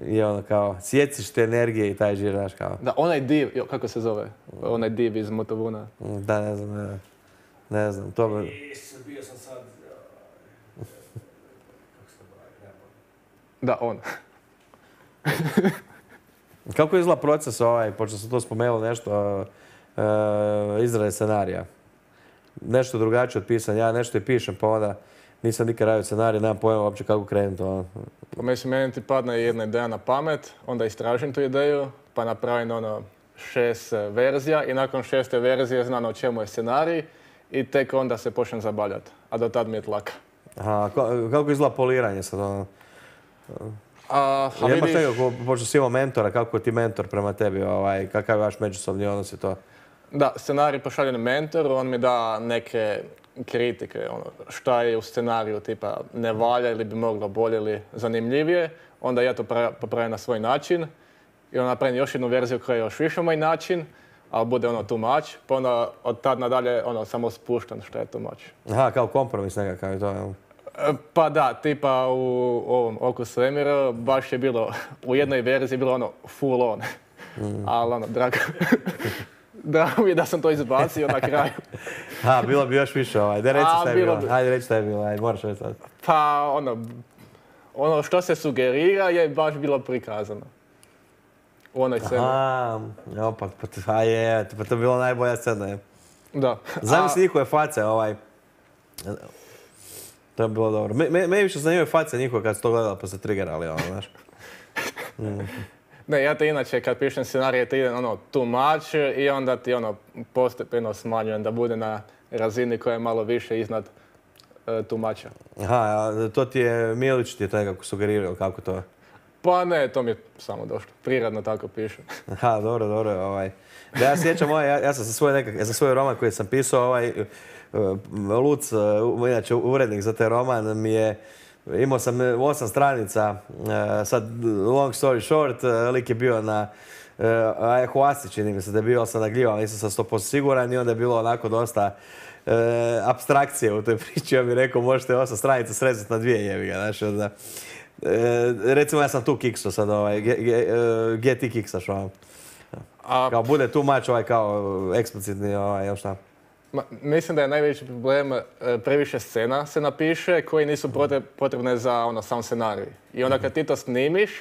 I ono kao, sjeciš te energije i taj žir, znaš kao... Da, onaj div, jo, kako se zove? Onaj div iz Motovuna. Da, ne znam, ne, ne znam, to bi... Is, bio sam sad... uh, Kako se to pravi, nema pojma. Da, on. Kako izgleda proces ovaj, pošto sam to spomenuo nešto, uh, izrade scenarija? Nešto drugačije od pisanja, ja nešto i pišem, pa onda nisam nikad radio scenarij, nemam pojma uopće kako krenuti. Ono. Pa mislim, meni ti padne jedna ideja na pamet, onda istražim tu ideju, pa napravim ono šest e, verzija i nakon šeste verzije znam o čemu je scenarij i tek onda se počnem zabavljati, a do tad mi je tlaka. Aha, ko- kako izgleda poliranje sad? Ono? A, a Ja imaš vidiš, nekako, pošto si imao mentora, kako je ti mentor prema tebi, ovaj, kakav je vaš međusobni odnos i to? da, scenarij pošaljem mentoru, on mi da neke kritike, ono, šta je u scenariju, tipa ne valja ili bi moglo bolje ili zanimljivije, onda ja to pra- popravim na svoj način i onda napravim još jednu verziju koja je još više moj način, ali bude ono too much, pa onda od tad nadalje ono samo spuštam šta je too much. Aha, kao kompromis nekakav je to, jel? E, Pa da, tipa u ovom Oku svemira baš je bilo, u jednoj verziji je bilo ono full on, ali ono, drago, drago mi je da sam to izbacio na kraju. Ha, bilo bi još više ovaj, daj reci A, šta je bilo bilo, bi. hajde reci šta je bilo, ajde, moraš reći sad. Pa ono, ono što se sugerira je baš bilo prikazano. U onoj sceni. Aha, evo pa, pa, to- a je, pa to je bila najbolja scena, je. Da. Zamisli njihove face, ovaj... To je bilo dobro. Me, me, me više zanimaju face njihove kad su to gledali pa se triggerali, ono, znaš. Ne, ja te inače kad pišem scenarije ti idem ono too much i onda ti ono postepeno smanjujem da bude na razini koja je malo više iznad uh, too mucha. Aha, a to ti je, Milić ti je to nekako sugerirao, kako to? Pa ne, to mi je samo došlo. Prirodno tako pišem. Aha, dobro, dobro, ovaj. Da ja sjećam, ovaj, ja, ja sam za svoj, nekak, za svoj roman koji sam pisao, ovaj, uh, Luc, uh, inače urednik za taj roman, mi je, imao sam osam stranica, uh, sad long story short, uh, lik je bio na uh, ayahuasci, čini mi se da je bio, ali sam nagljivao, nisam sam sto posto siguran i onda je bilo onako dosta uh, apstrakcije u toj priči, on mi rekao možete osam stranica srezati na dvije jebiga, znaš, onda, uh, recimo ja sam tu kikso sad, ovaj, ge, ge, uh, gdje ti kiksaš, ovaj. A Kao bude tu mač ovaj kao eksplicitni, ovaj, još šta. ma, mislim da je najveći problem e, previše scena se napiše koji nisu potre- potrebne za ono sam scenarij. I onda kad ti to snimiš,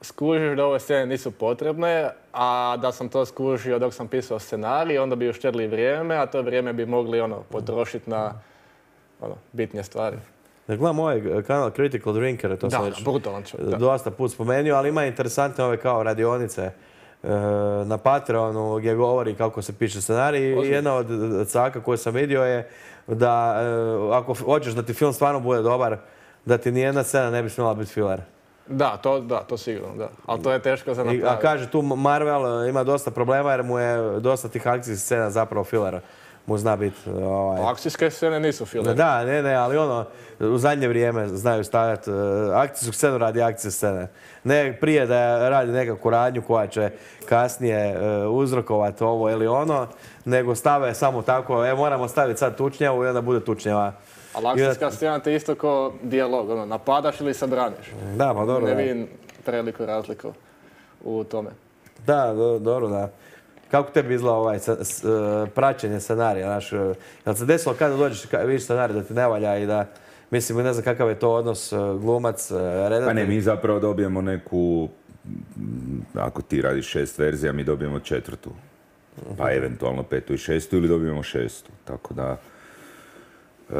skužiš da ove scene nisu potrebne, a da sam to skužio dok sam pisao scenarij, onda bi uštedili vrijeme, a to vrijeme bi mogli ono potrošiti na ono, bitnije stvari. Da gledam ovaj kanal Critical Drinker, to sam Da, već brutalan čovjek, da. dosta put spomenuo, ali ima interesantne ove kao radionice na Patreonu gdje govori kako se piše scenarij. I jedna od caka koju sam vidio je da ako hoćeš da ti film stvarno bude dobar, da ti nijedna scena ne bi smjela biti filler. Da, to, da, to sigurno, da. Ali to je teško za napraviti. A kaže, tu Marvel ima dosta problema jer mu je dosta tih akcijskih scena zapravo fillera. Mu zna biti... Ovaj... Akcijske scene nisu filler. Da, ne, ne, ali ono, u zadnje vrijeme znaju stavljati uh, akcijsku scenu radi akcijske scene. Ne prije da radi nekakvu radnju koja će kasnije uh, uzrokovati ovo ili ono, nego stave samo tako, e, moramo staviti sad tučnjavu i onda bude tučnjava. Ali akcijska scena te isto kao dijalog, ono, napadaš ili se braniš. Da, pa dobro, ne da. vidim preliku razliku u tome. Da, do, dobro, da. Kako tebi izgleda ovaj s, s, praćenje scenarija, znaš, jel se desilo kada dođeš i vidiš scenarij da ti ne valja i da, mislim, ne znam kakav je to odnos glumac, redatelj? Pa ne, mi zapravo dobijemo neku, ako ti radiš šest verzija, mi dobijemo četvrtu, pa eventualno petu i šestu ili dobijemo šestu, tako da... Uh,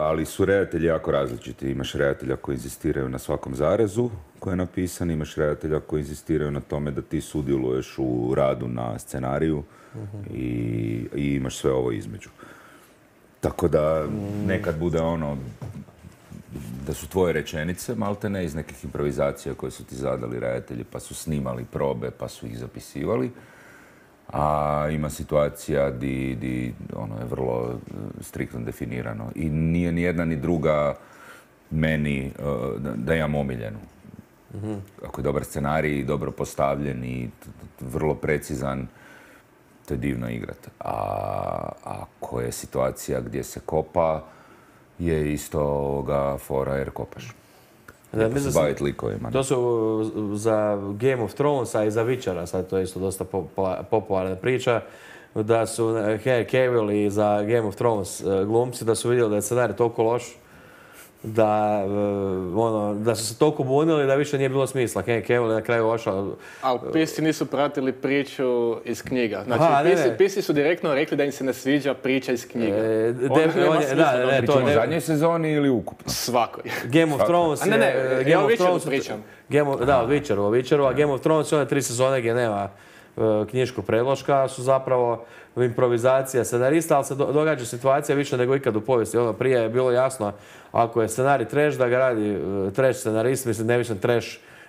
ali su redatelji jako različiti. Imaš redatelja koji inzistiraju na svakom zarezu koji je napisan, imaš redatelja koji inzistiraju na tome da ti sudjeluješ u radu na scenariju uh-huh. i, i imaš sve ovo između. Tako da nekad bude ono da su tvoje rečenice malte ne iz nekih improvizacija koje su ti zadali redatelji pa su snimali probe pa su ih zapisivali. A ima situacija di, di ono je vrlo striktno definirano i nije ni jedna ni druga meni uh, da, da imam omiljenu. Mm-hmm. Ako je dobar scenarij, dobro postavljen i t- t- vrlo precizan, to je divno igrat. A ako je situacija gdje se kopa, je isto ovoga fora jer kopaš. Da, mislim se baviti likovima. To su za Game of Thrones, a i za Witchera, sad to je isto dosta popularna priča, da su Henry Cavill i za Game of Thrones glumci, da su vidjeli da je scenarij toliko loš, da, ono, da su se toliko bunili da više nije bilo smisla. Henry Cavill je na kraju ošao. Ali pisci nisu pratili priču iz knjiga. Znači, Aha, ne, pisci, ne. pisci su direktno rekli da im se ne sviđa priča iz knjiga. E, Onda de, nema on je, smisla da, da ne, Pričamo to o ne, zadnjoj sezoni ili ukupno? Svakoj. Game of Thrones A ne, ne, je... ja Game o of Witcheru Thrones, pričam. Game of, da, o Witcheru, o Witcheru, a Game of Thrones je one tri sezone gdje nema uh, knjiškog predloška, su zapravo improvizacija scenarista, ali se do, događa situacija više nego ikad u povijesti. Ono, prije je bilo jasno, ako je scenarij trash, da ga radi uh, trash scenarist, mislim, ne mislim trash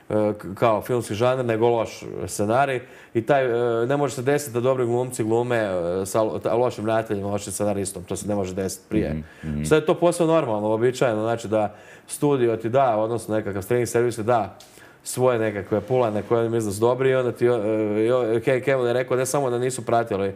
uh, kao filmski žanr, nego loš scenarij. I taj, uh, ne može se desiti da dobri glumci glume uh, sa lošim redateljem, lošim scenaristom. To se ne može desiti prije. Mm-hmm. Sve je to posve normalno, uobičajeno. Znači da studio ti da, odnosno nekakav streaming servis ti da svoje nekakve pulane koje misle su dobri i onda ti uh, Henry Cavill je rekao ne samo da nisu pratili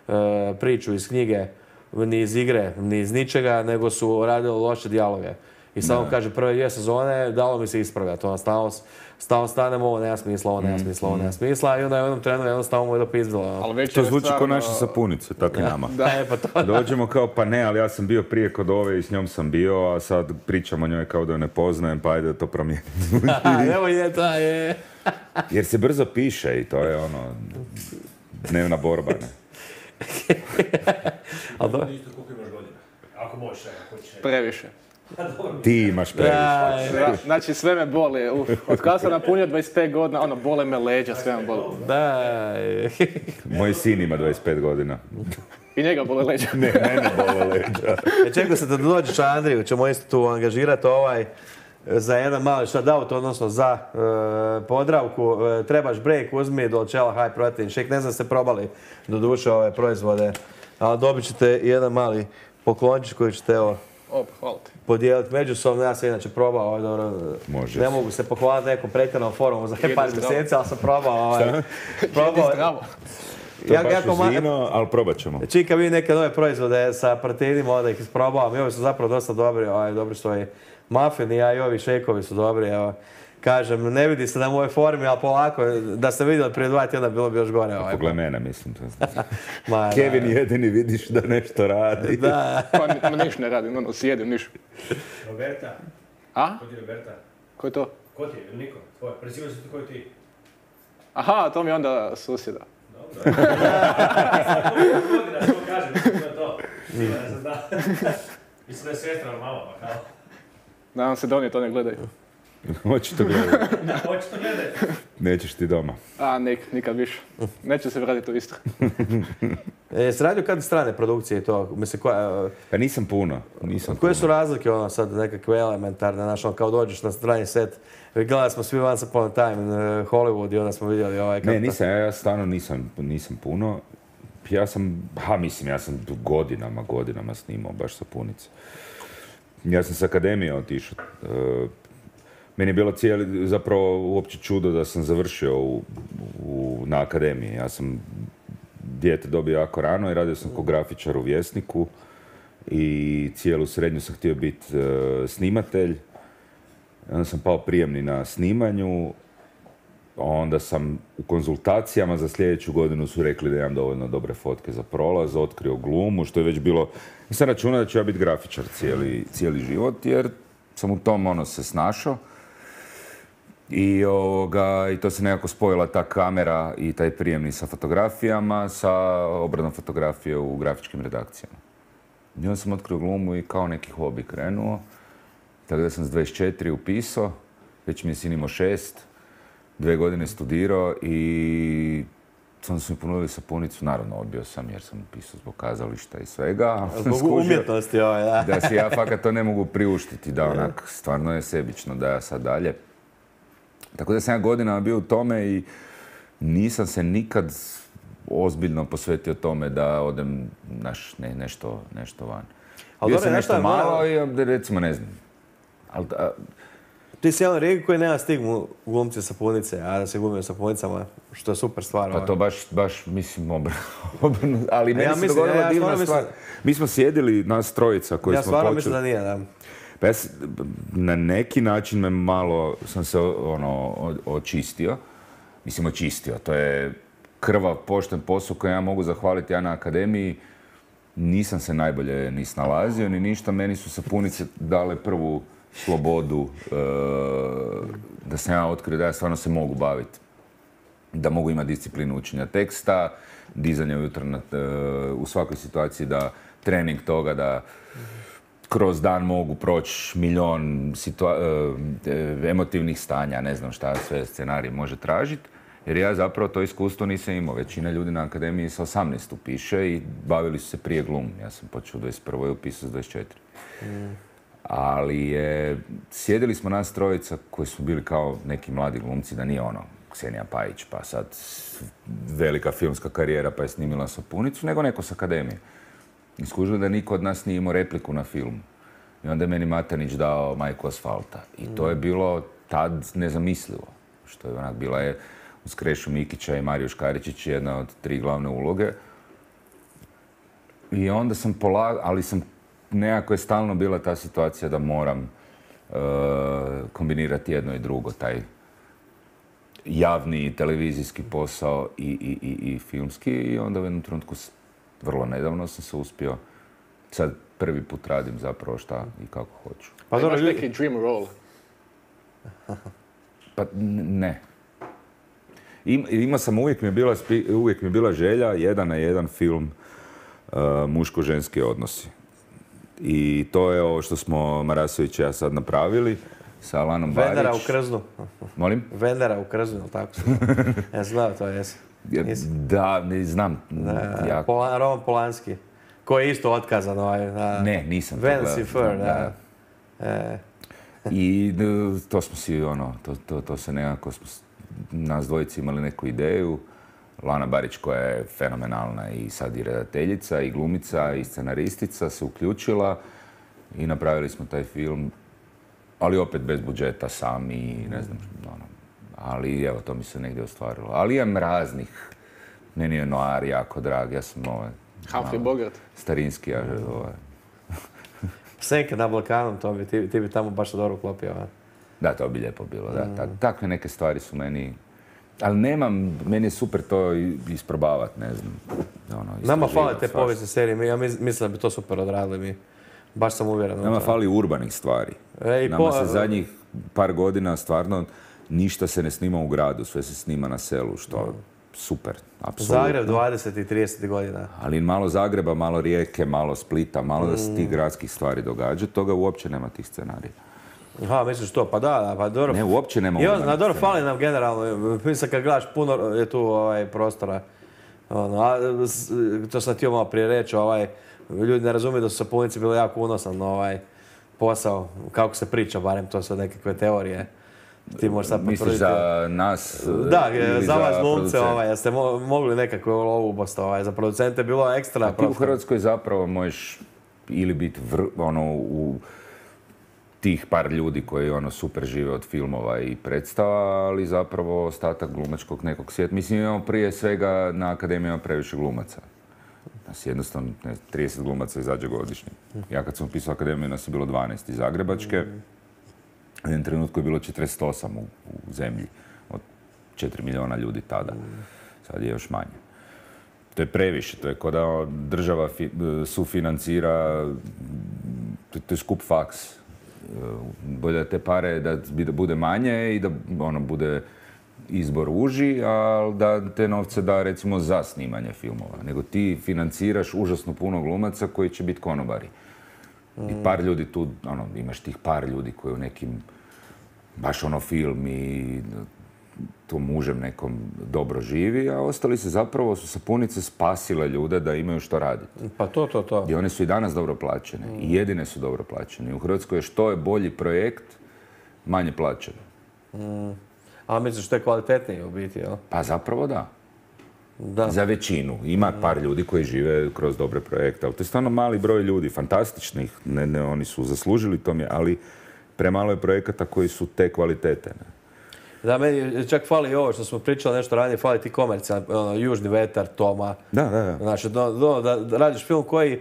uh, priču iz knjige, ni iz igre, ni iz ničega, nego su radili loše dijaloge. I samo kaže prve dvije sezone dalo mi se ispravljati. Ono, stalno, stalno stanemo, ovo nema smisla, ovo nema smisla, ovo nema smisla i onda je u jednom trenu jednostavno mu je dopizdilo. To zvuči kao naše sapunice, tako i nama. Da, je, pa to, Dođemo kao pa ne, ali ja sam bio prije kod ove i s njom sam bio, a sad pričam o njoj kao da je ne poznajem, pa ajde da to promijenim. Evo je, to je. Jer se brzo piše i to je ono, dnevna borba, ne? Ali dobro. Isto koliko imaš godina. Ako možeš, ako hoćeš. Previše. Ti imaš previše. Da, znači sve me boli. Uf, od kada sam napunio dvadeset pet godina, ono, bole me leđa, sve me boli. Da. Moj sin ima dvadeset pet godina. I njega bole leđa. Ne, mene bole leđa. E, čekaj se da dođeš Andriju, ćemo isto tu angažirati ovaj za jedan mali shoutout, odnosno za e, Podravku. E, trebaš break, uzmi Dolcella High Protein Shake. Ne znam ste probali do duše ove proizvode, ali dobit ćete jedan mali poklončić koji ćete evo Op, hvala ti. podijeliti međusobno. Ja sam inače probao, ovaj, dobro, Može. ne mogu se pohvaliti nekom pretjeranom forumu za par mjeseci, ali sam probao. Ovaj, probao. Zdravo. To je Ja- baš jako uz ma- vino, ali probat ćemo. Čika vi neke nove proizvode sa proteinima, onda ih isprobavam i ovi su zapravo dosta dobri, ovaj, dobri su i muffini, a i ovi šejkovi su dobri, evo. Kažem, ne vidi se na mojoj formi, ali polako, da ste vidjeli prije dva tjedna bilo bi još gore. Ovaj. Pogled mene, mislim. Ma, Kevin da. jedini vidiš da nešto radi. Da. Pa ni- niš ne radim, ono, sjedim, niš. Roberta. A? Ko ti je Roberta? Ko je to? Ko ti je? Ili niko? Tvoj. Prezivaju se ti koji ti. Aha, to mi je onda susjeda. Dobro. Godina, što kažem, mislim da je to. Ne znam da. Mislim da je sestra, ali mama, pa kao. Nadam se da oni to ne gledaju. Očito gledaj. Očito gledaj. Nećeš ti doma. A, nik, nikad više. Neće se vratiti u Istru. E, jesi radio kad strane produkcije i to? Mislim, koja, Pa nisam puno. Nisam koje puno. su razlike, ono, sad nekakve elementarne, znaš, ono, kao dođeš na strani set, gledali smo svi Once Upon a Time, uh, Hollywood i onda smo vidjeli ovaj... Ne, nisam, ja, ja stvarno nisam, nisam puno. Ja sam, ha mislim, ja sam godinama, godinama snimao baš sapunice. Ja sam s akademije otišao. Uh, meni je bilo cijeli, zapravo uopće čudo da sam završio u, u, na akademiji. Ja sam dijete dobio jako rano i radio sam kao grafičar u Vjesniku i cijelu srednju sam htio biti uh, snimatelj. Onda sam pao prijemni na snimanju. Onda sam u konzultacijama za sljedeću godinu su rekli da imam dovoljno dobre fotke za prolaz, otkrio glumu, što je već bilo... Nisam računao da ću ja biti grafičar cijeli, cijeli život, jer sam u tom ono se snašao. I, ovoga, I to se nekako spojila ta kamera i taj prijemni sa fotografijama, sa obradom fotografije u grafičkim redakcijama. I onda sam otkrio glumu i kao neki hobi krenuo. Tako da sam s dvadeset četiri upisao, već mi je sin imao šest. Dve godine studirao i onda su mi ponudili sapunicu, naravno odbio sam jer sam upisao zbog kazališta i svega. Zbog umjetnosti ovaj, da. Da si ja fakat to ne mogu priuštiti, da onak stvarno je sebično da ja sad dalje. Tako da sam ja godinama bio u tome i nisam se nikad ozbiljno posvetio tome da odem naš, ne, nešto, nešto van. Ali bio dobro, sam nešto nešto je malo moralo- i recimo ne znam. Ali, a, Ti si jedan rijek koji nema stigmu glumci sapunice, a da se glumio sapunicama, što je super stvar. Pa ovaj. to baš, baš mislim, obr- obrnuto. Ali meni ja se mislim- dogodila ja- ja divna stvarno stvar. mislim- Mi smo sjedili, nas trojica koji Ja smo stvarno počeli. mislim da nije, da. Pa ja s- na neki način me malo sam se ono, o- očistio. Mislim, očistio. To je krvav, pošten posao koji ja mogu zahvaliti ja na akademiji. Nisam se najbolje ni snalazio, ni ništa. Meni su sapunice dale prvu slobodu e, da sam ja otkrio da ja stvarno se mogu baviti. Da mogu imati disciplinu učenja teksta, dizanja ujutro na, e, u svakoj situaciji, da trening toga, da kroz dan mogu proći milion situa- e, emotivnih stanja, ne znam šta sve scenarij može tražiti. Jer ja zapravo to iskustvo nisam imao. Većina ljudi na akademiji sa osamnaest upiše i bavili su se prije glumom. Ja sam počeo u dvadeset prvoj i upisao s dvadeset četiri. Mm. Ali je, sjedili smo nas trojica koji su bili kao neki mladi glumci, da nije ono Ksenija Pajić, pa sad velika filmska karijera pa je snimila sapunicu, nego neko s akademije. I skužili da niko od nas nije imao repliku na filmu. I onda je meni Matanić dao Majku asfalta. I to je bilo tad nezamislivo. Što je onak bila je uz Krešu Mikića i Mariju Škaričić jedna od tri glavne uloge. I onda sam polagao, ali sam nekako je stalno bila ta situacija da moram uh, kombinirati jedno i drugo, taj javni televizijski posao i, i, i, i filmski. I onda u jednom trenutku, vrlo nedavno sam se uspio, sad prvi put radim zapravo šta i kako hoću. Pa Pa dobro, imaš ljudi- neki dream role. Pa n- ne. Im, imao sam, uvijek mi, je bila, spi- uvijek mi je bila želja, jedan na jedan film uh, muško-ženski odnosi. I to je ovo što smo Marasović i ja sad napravili sa Alanom Barić. Vendera u Krznu. Molim? Vendera u Krznu, ili tako se ja znao to, jesam. Ja, da, ne znam. Da, jako. Pola, Roman Polanski, koji je isto otkazan. Ovaj, da. Ne, nisam to Vance gledao. i Fur, da. Da. E, I d- to smo si, ono, to, to, to se nekako, smo, s- nas dvojici imali neku ideju. Lana Barić, koja je fenomenalna i sad i redateljica, i glumica, i scenaristica, se uključila i napravili smo taj film, ali opet bez budžeta, sami, i ne znam, ono, ali evo, to mi se negdje ostvarilo. Ali imam raznih, meni je noir jako drag, ja sam ovaj, Humphrey malo Bogart. starinski, ja, ovaj, Senke na Balkanu, to bi, ti, ti bi tamo baš dobro uklopio. a? da, to bi lijepo bilo, da. Tak, takve neke stvari su meni, ali nemam, meni je super to i- isprobavat, ne znam. Ono, Nama istraživat fale te svašta. povijesne serije, mi- ja mis- mislim da bi to super odradili mi. Baš sam uvjeren. u Nama to. fali urbanih stvari. E, i Nama po- se zadnjih par godina stvarno ništa se ne snima u gradu, sve se snima na selu, što super, apsolutno. Zagreb dvadeset i trideset godina. Ali malo Zagreba, malo Rijeke, malo Splita, malo da se tih gradskih stvari događa, toga uopće nema tih scenarija. Aha, misliš to, pa da, da, pa dobro. Ne, uopće ne mogu. I on, naći dobro, scenu. fali nam generalno, mislim kad gledaš puno je tu ovaj, prostora. Ono, a, s- to sam htio malo prije reći, ovaj, ljudi ne razumiju da su sapunici bili jako unosan ovaj, posao, kako se priča, barem to su nekakve teorije. Ti možeš sad Misliš potvrditi. za nas Da, ili za vas glumce, producente? ovaj, jeste mo- mogli nekakve lovu bosta, ovaj, za producente je bilo ekstra. A ti u Hrvatskoj zapravo možeš ili biti vr, ono, u tih par ljudi koji ono super žive od filmova i predstava, ali zapravo ostatak glumačkog nekog svijeta. Mislim, imamo prije svega na akademijama previše glumaca. Nas jednostavno, ne, znam, trideset glumaca izađe godišnje. Ja kad sam upisao akademiju, nas je bilo dvanaest iz Zagrebačke. U jednom trenutku je bilo četrdeset osam u, u zemlji od četiri milijuna ljudi tada. Sad je još manje. To je previše, to je kao da država fi, sufinancira, to, to je skup faks. Bolje da te pare da bude manje i da ono bude izbor uži, ali da te novce da recimo za snimanje filmova. Nego ti financiraš užasno puno glumaca koji će biti konobari. I par ljudi tu, ono, imaš tih par ljudi koji u nekim, baš ono film i to mužem nekom dobro živi, a ostali se zapravo su sapunice spasile ljude da imaju što raditi. Pa to, to, to. I one su i danas dobro plaćene. I jedine su dobro plaćene. U Hrvatskoj je što je bolji projekt, manje plaćeno. A misliš što je kvalitetnije u biti, jel? Pa zapravo da. Da. Za većinu. Ima par ljudi koji žive kroz dobre projekte, ali to je stvarno mali broj ljudi, fantastičnih. Ne, ne, oni su zaslužili to mi, ali premalo je projekata koji su te kvalitete. Ne? Da, meni čak fali i ovo što smo pričali nešto ranije, fali ti komercijalni, ono, Južni vetar, Toma. Da, da, da. Znači, do, do, da, da radiš film koji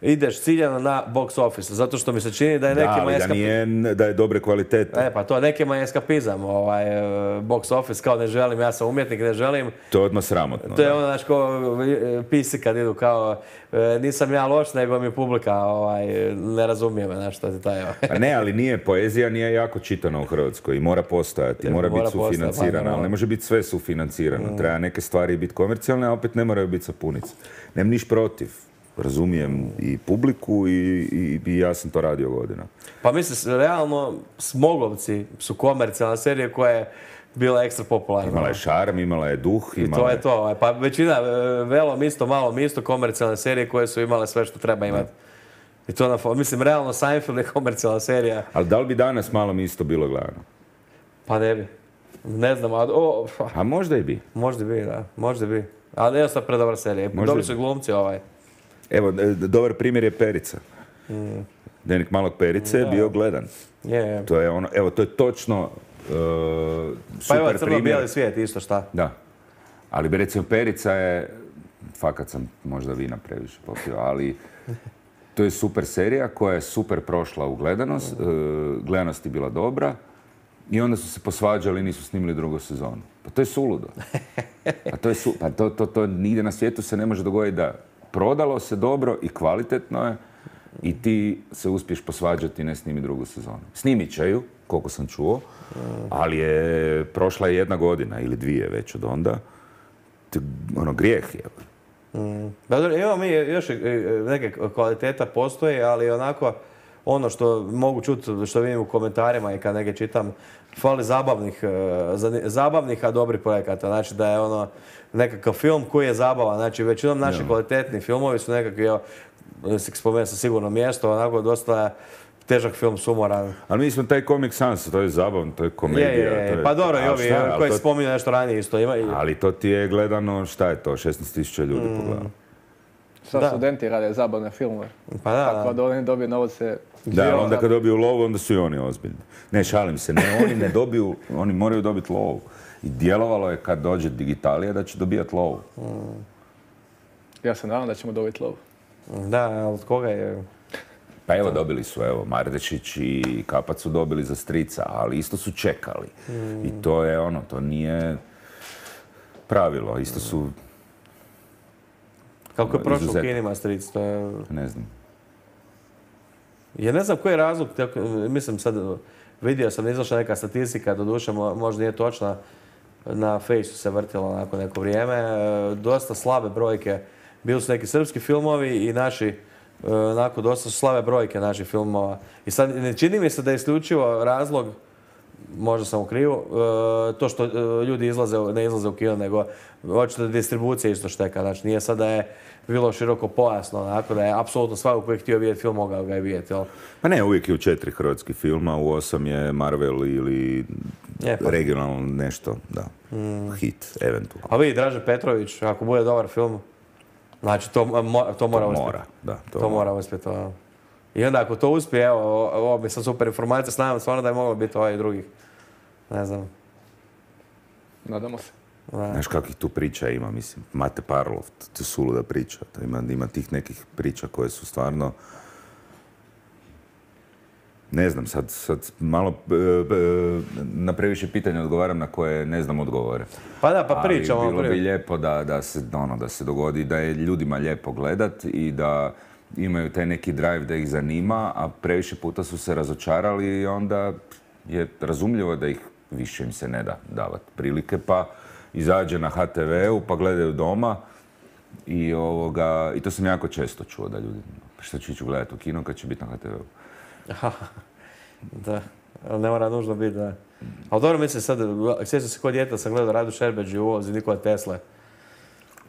ideš ciljano na box office, zato što mi se čini da je Da, nekima ali da, eskapizam. nije, da je dobre kvalitete. E, pa to nekima je eskapizam, ovaj, e, box office, kao ne želim, ja sam umjetnik, ne želim. To je odmah sramotno. To je da. ono, znaš, ko e, pisi kad idu kao, e, nisam ja loš, nego mi publika, ovaj, ne razumije me, znaš, što ti taj, ovaj. Pa ne, ali nije, poezija nije jako čitana u Hrvatskoj i mora postojati, E, mora, mora biti postojati, sufinancirana, pa, ali ne može biti sve sufinancirano. Treba neke stvari biti komercijalne, a opet ne moraju biti sapunice. Nemam niš protiv. Razumijem i publiku i, i, i ja sam to radio godina. Pa mislim, realno, Smogovci su komercijalna serija koja je bila ekstra popularna. Imala je šarm, imala je duh, I imala to je to. ovaj, Pa većina, e, velom isto, malom isto, komercijalne serije koje su imale sve što treba imati. I to na, fo- mislim, realno Seinfeld je komercijalna serija. Ali da li bi danas malo mi isto bilo gledano? Pa ne bi. Ne znam, a, o, pa, A možda i bi. možda bi, da, možda bi. Ali ne sad predobra serija. Možda Dobri bi. su i glumci ovaj. Evo, e, dobar primjer je Perica. Dnevnik malog Perice je Da. bio gledan. Je, je. To je ono, evo, to je točno uh, Pa evo, super primjer. crno-bijeli svijet, isto šta. Da. Ali bi recimo Perica je, fakat sam možda vina previše popio, ali to je super serija koja je super prošla u gledanost, uh, gledanost je bila dobra i onda su se posvađali i nisu snimili drugu sezonu. Pa to je suludo. Pa to je su, pa to, to, to nigdje na svijetu se ne može dogoditi da prodalo se dobro i kvalitetno je i ti se uspiješ posvađati i ne snimi drugu sezonu. Snimit će ju, koliko sam čuo, ali je prošla je jedna godina ili dvije već od onda. To, ono, grijeh je. Da, dobro, imamo mi još e, neke kvaliteta postoje, ali onako ono što mogu čuti, što vidim u komentarima i kad neke čitam, fali zabavnih, e, zani- zabavnih, a dobrih projekata. Znači da je ono nekakav film koji je zabavan. Znači većinom naši Ja. kvalitetni filmovi su nekakvi, evo, si spomenuo sam sigurno mjesto, onako dosta težak film, sumoran. Ali mi smo taj Comic Sans, to je zabavno, to je komedija. Je, je, je. to je- Pa dobro, i a ovi šta, ali koji to- spominju nešto ranije isto ima. i- Ali to ti je gledano, šta je to, šesnaest tisuća ljudi pogledalo. Sad Da. studenti rade zabavne filmove. Pa da, Tako da. da oni dobiju novce. Da, ali Dio- onda kad dobiju lovu, onda su i oni ozbiljni. Ne, šalim se, ne, oni ne dobiju, oni moraju dobiti lovu. I djelovalo je kad dođe digitalija da će dobijati lovu. Ja se nadam da ćemo dobiti lovu. Da, ali od koga je? Pa evo, dobili su, evo, Mardešić i Kapac su dobili za strica, ali isto su čekali. I to je ono, to nije pravilo, isto su, Kako je prošlo u Izuzetak. kinima Stric, to je... ne znam. Ja ne znam koji je razlog, tako, mislim sad, vidio sam, izašla neka statistika, doduše mo- možda nije točna, na Fejsu se vrtilo nakon neko vrijeme, e, dosta slabe brojke. Bili su neki srpski filmovi i naši onako dosta su slave brojke naših filmova. I sad ne čini mi se da je isključivo razlog, možda sam u krivu, e, to što e, ljudi izlaze, ne izlaze u kino, nego očito distribucija isto šteka. Znači nije sad da je bilo široko pojasno, onako da je apsolutno svako koji je htio vidjeti film mogao ga je vidjeti, jel? Pa ne, uvijek je u četiri hrvatski filma, u osam je Marvel ili Je, pa. regionalno nešto, da, Mm. hit, eventualno. A vidi, Dražen Petrović, ako bude dobar film, znači to, mo- to mora To uspjeti. mora, da. To mora uspjeti. ono. I onda ako to uspije, evo, o- ovo bi sad super informacija, znam stvarno da je moglo biti ovaj drugih. Ne znam. Nadamo se. Da. Znaš kakvih tu priča ima, mislim, Mate Parlov, to je suluda priča. To ima, ima tih nekih priča koje su stvarno... Ne znam, sad, sad malo e, e, na previše pitanja odgovaram na koje ne znam odgovore. Pa da, pa pričamo. Ali bilo bi pri- lijepo da, da, se, ono, da se dogodi, da je ljudima lijepo gledat i da imaju taj neki drive da ih zanima, a previše puta su se razočarali i onda je razumljivo da ih više im se ne da davati prilike, pa izađe na ha te veu, pa gledaju doma i, ovoga, i to sam jako često čuo da ljudi, što ću ići gledati u kino kad će biti na ha te veu. Da, ali ne mora nužno biti, da. Ali dobro, mislim sad, sjećam se kod djeta sam gledao Radu Šerbeđi u ulozi Nikola Tesle.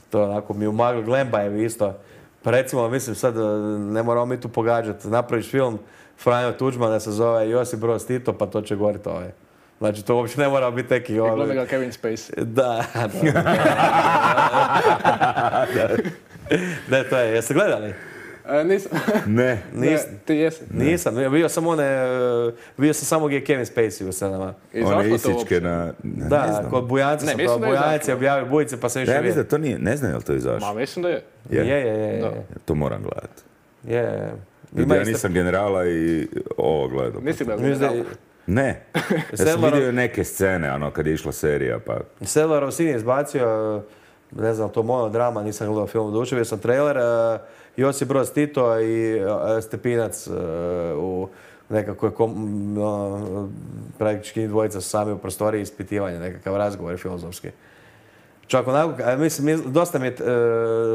To onako mi u maglu Glembajevi isto. Pa recimo, mislim sad, ne moramo mi tu pogađati, napraviš film Franjo Tuđman da se zove Josip Broz Tito, pa to će goriti ovaj. Znači, to uopće ne mora biti neki... I glumi Ovaj... ga Kevin Spacey. Da, da. Ne, to je, jeste gledali? E, nisam. Ne. Nis, Ne, ti jesi. nisam, bio sam one, bio sam samo gdje je Kevin Spacey u scenama. I One zašto to isičke uopće? na... Ne, Da, ne znam. kod Bujanca Ne, sam mislim to, da je Bujanci izašlo. objavio Bujice pa sam Da, više ja vidio. mislim da to nije, ne znam je li to izašlo. Ma, mislim da je. Je, je, je. je. Da. To moram gledati. je, je. Ima ja isto- nisam generala i ovo gledao. Nisi gledao. Mislim da je- general. Ne. Ja sam Sedlarov- vidio neke scene, ono, kad je išla serija, pa... Sedlarov sin je izbacio, ne znam, to monodrama, nisam gledao film duše, vidio sam trailer, eh, Josip Broz Tito i eh, Stepinac eh, u nekakvoj, kom, m, ono, praktički njih dvojica su sami u prostoriji ispitivanja, nekakav razgovor filozofski. Čak onako, a mislim, mi- dosta mi je, e,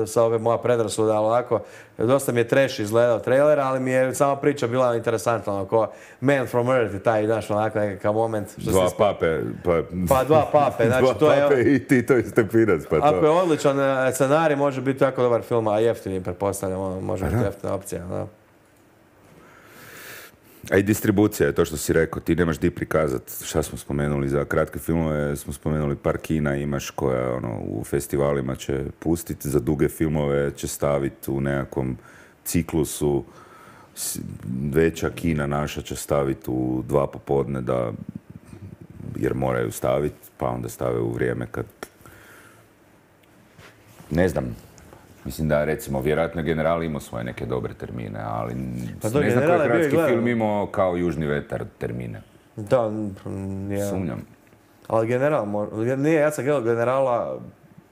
sa ove moja predrasuda, ali onako, dosta mi je trash izgledao trailer, ali mi je sama priča bila interesantna, ono, ko Man from Earth i taj, znaš, onako nekakav moment. Što Dva se sp- pape, pa... Pa dva pape, znači Dva to je... pape i Tito i Stepinac, pa Ako je to... odličan e, scenarij, može biti jako dobar film, a jeftini, pretpostavljam, ono, može biti jeftina opcija, da. A i distribucija je to što si rekao, ti nemaš di prikazati. Šta smo spomenuli za kratke filmove, smo spomenuli par kina imaš koja ono, u festivalima će pustiti, za duge filmove će staviti u nekakvom ciklusu, s- veća kina naša će staviti u dva popodne da, jer moraju staviti, pa onda stave u vrijeme kad... Ne znam, mislim da recimo vjerojatno General imao svoje neke dobre termine, ali Pa ne to znam General koji je bio i hrvatski gledao. film imao kao Južni vetar termine. Da, mm, je. Sumnjam. Ali general, mo- nije, ja sam gledao generala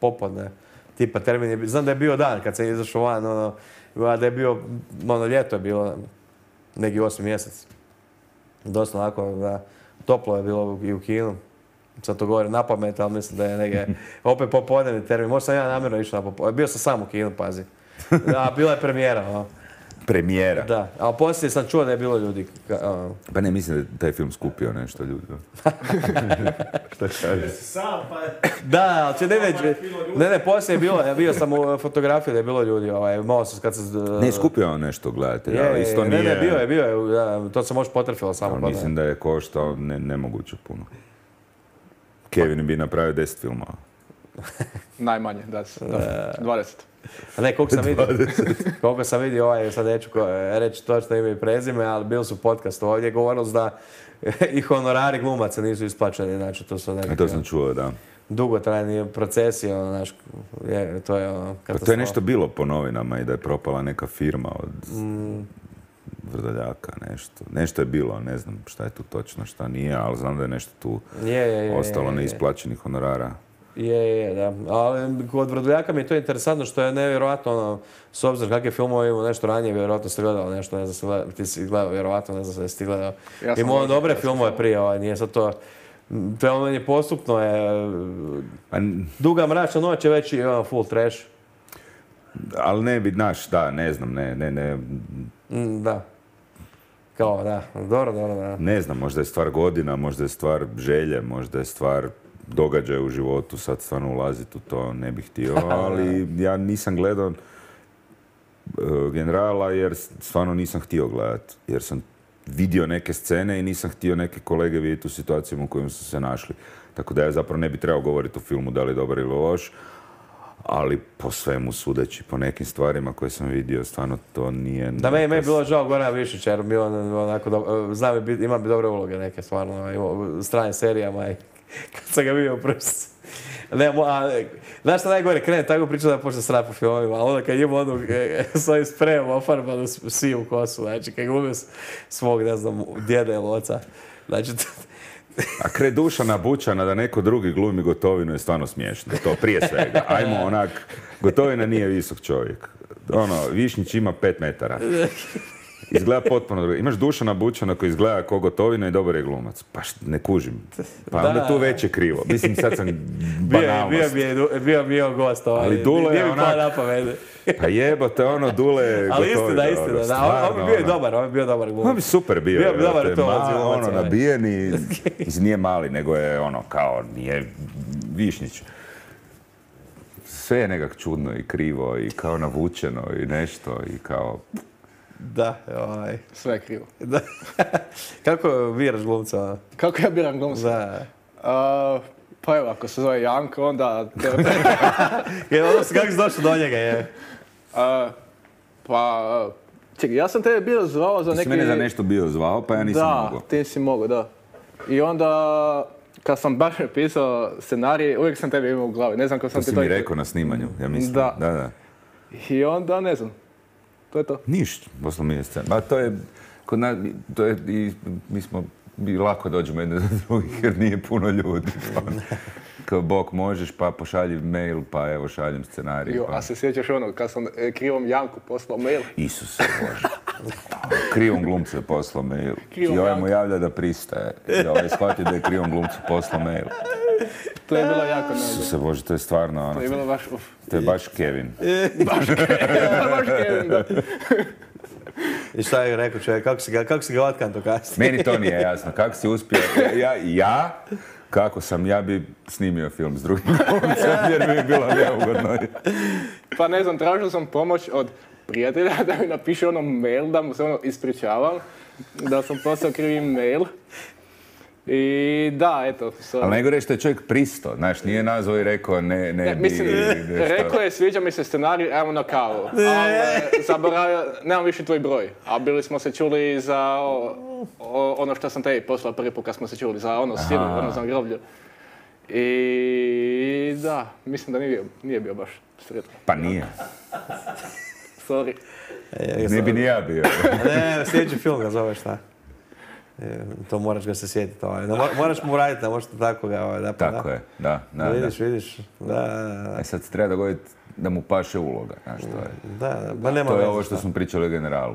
popodne, tipa termin je, bi- znam da je bio dan kad sam izašao van, ono, a da je bio, ono, ljeto je bilo, neki osmi mjesec. Dosta onako, da, toplo je bilo i u kinu. Sad to govorim na pamet, ali mislim da je negdje, opet popodnevni termin, možda sam ja namjerno išao na popodne, bio sam sam u kinu, pazi. Da, bila je premijera, ono. Premijera. Da, ali poslije sam čuo da je bilo ljudi, ka- ono, Pa ne, mislim da je taj film skupio nešto ljudi. Šta kažeš? Jesi sam, pa... Da, ali će ne već, Samo je bilo ljudi. ne, ne, poslije je bilo, ja bio sam u fotografiji da je bilo ljudi, ovaj, malo sam kad se... Ne, skupio on nešto gledatelja, Je, ali je, isto ne, nije... ne, bio je, bio je, da, to se može potrefilo samo. Ali kod mislim mene. da je koštao ne, nemoguće puno. Kevin bi napravio deset filmova. Najmanje, da. s- da. dvadeset. A ne, koliko sam vidio, koliko sam vidio, ovaj, sad neću ko- reći točno ime i prezime, ali bili su podcast ovdje, govorili su da i honorari glumaca nisu isplaćeni, znači to su A nekakve to sam čuo, da. dugotrajni procesi, ono, znaš, je, to je ono, Pa to katastrofa. je nešto bilo po novinama i da je propala neka firma od Mm, Vrdoljaka, nešto. Nešto je bilo, ne znam šta je tu točno, šta nije, ali znam da je nešto tu je, je, je, ostalo je, je. neisplaćenih honorara. Je, je, da. Ali kod Vrdoljaka mi je to interesantno što je nevjerojatno, ono, s obzirom kakve filmove imamo nešto ranije, vjerojatno ste gledali nešto, ne znam se gledao, ti si gledao, vjerojatno, ne znam se ti gledao. Ja sam Imao on gledao dobre hrvatske filmove filmove. prije, ovaj, nije sad to, to je ono meni postupno je, Pa, n- Duga mračna noć je već i ono, full trash. ali ne bi, znaš, da, ne znam, ne, ne, ne, Mm, da. Kao, da. Dobro, dobro, da. ne znam, možda je stvar godina, možda je stvar želje, možda je stvar događaja u životu, sad stvarno ulaziti u to ne bih htio, ali ja nisam gledao uh, Generala jer stvarno nisam htio gledati, jer sam vidio neke scene i nisam htio neke kolege vidjeti u situacijama u kojima su se našli. Tako da ja zapravo ne bi trebao govoriti o filmu da li je dobar ili loš, ali po svemu sudeći, po nekim stvarima koje sam vidio, stvarno to nije... Da, meni je bilo žao Gorana Višića, jer bio on onako, do, znam, ima bi dobre uloge neke, stvarno, ima u stranim serijama i kad sam ga vidio prst. Ne, a, znaš šta najgore, krene tako priča da počne srati po filmovima, ali onda kad ima onu e, s ovim sprejem ofarbanu siju kosu, znači kad glumio svog, ne znam, djeda ili oca, znači... A kraj Dušana Bućana da neko drugi glumi Gotovinu je stvarno smiješno, to prije svega. Ajmo onak, Gotovina nije visok čovjek. Ono, Višnjić ima pet metara. Izgleda potpuno drugo. Imaš Dušana Bućana koji izgleda kao Gotovina i dobar je glumac. Pa št, ne kužim. Pa onda Da. tu već je krivo. Mislim, sad sam banalnost. Bio, bio, bio, bio, bio gost ovaj. Ali Dule je Nije mi onak- palo na pamet. Pa jebote, ono, Dule Ali Gotovina, istina, istina, ono, da, on, on bi stvarno, bio i ono. dobar, on bi bio dobar glumac. On bi super bio. Bio bi dobar jebote, to, ma- glumac, ono, ovaj. nabijen i mislim, nije mali, nego je ono, kao, nije Višnjić. Sve je nekak čudno i krivo i kao navučeno i nešto i kao... Da, ovaj. Sve je krivo. Da. Kako biraš glumca? Kako ja biram glumca? Da. A, pa evo, ako se zove Janko, onda... Je, odnosno, kako si došao do njega, je? A, pa, čekaj, ja sam tebe bio zvao za Ti si neki... mene za nešto bio zvao, pa ja nisam da, mogao. ti si mogao, da. I onda, kad sam baš pisao scenarij, uvijek sam tebe imao u glavi. Ne znam kako sam To ti si to... mi rekao na snimanju, ja mislim. Da. Da, da. I onda, ne znam. To je to. Ništa, poslao mi je scena. Ma to je, kod nas, to je i, mi smo, mi lako dođemo jedne do drugih jer nije puno ljudi. Pa, kao bok možeš, pa pošalji mail, pa evo šaljem scenarij. Jo, Pa. a se sjećaš ono, kad sam e, krivom Janku poslao mail? Isuse Bože. Krivom glumcu je poslao mail. Krivom I ovaj mu Janku. javlja da pristaje. I ovaj shvati da je krivom glumcu poslao mail. To je bilo jako neugodno. Isuse Bože, to je stvarno ono, To je bilo baš, uf. to je baš Kevin. baš Kevin, da. I šta je rekao čovjek, kako si ga, kako si ga otkanto kasnije? Meni to nije jasno. Kako si uspio? Ja, ja kako sam, ja bi snimio film s drugim glumcem jer bi mi bilo neugodno. Pa ne znam, tražio sam pomoć od prijatelja da mi napiše ono mail, da mu se ono ispričavam, da sam poslao krivi mail. I da, eto, sorry. Ali najgore je što je čovjek pristo, znaš, nije nazvao i rekao ne, ne, Ne, bi... mislim, nešto. rekao je, sviđa mi se scenarij, evo na kavu. Ali zaboravio, nemam više tvoj broj. A bili smo se čuli za o, o, ono što sam tebi poslao prvi put kad smo se čuli, za ono silu, ono za groblje. I da, mislim da nije bio, nije bio baš sretan. Pa nije. Sorry. Ne bi ni ja bio. Ne, sljedeći film ga zove šta? E, to moraš ga se sjetiti. Ovaj. No, mo- moraš mu raditi, ne možeš tako ga ovaj, da pa Tako da. je, da, da, da. Vidiš, vidiš. Da, da, da. E sad se treba dogoditi da mu paše uloga, znaš, to je. Da, da, ma nema To je veze ovo šta. što smo pričali o Generalu.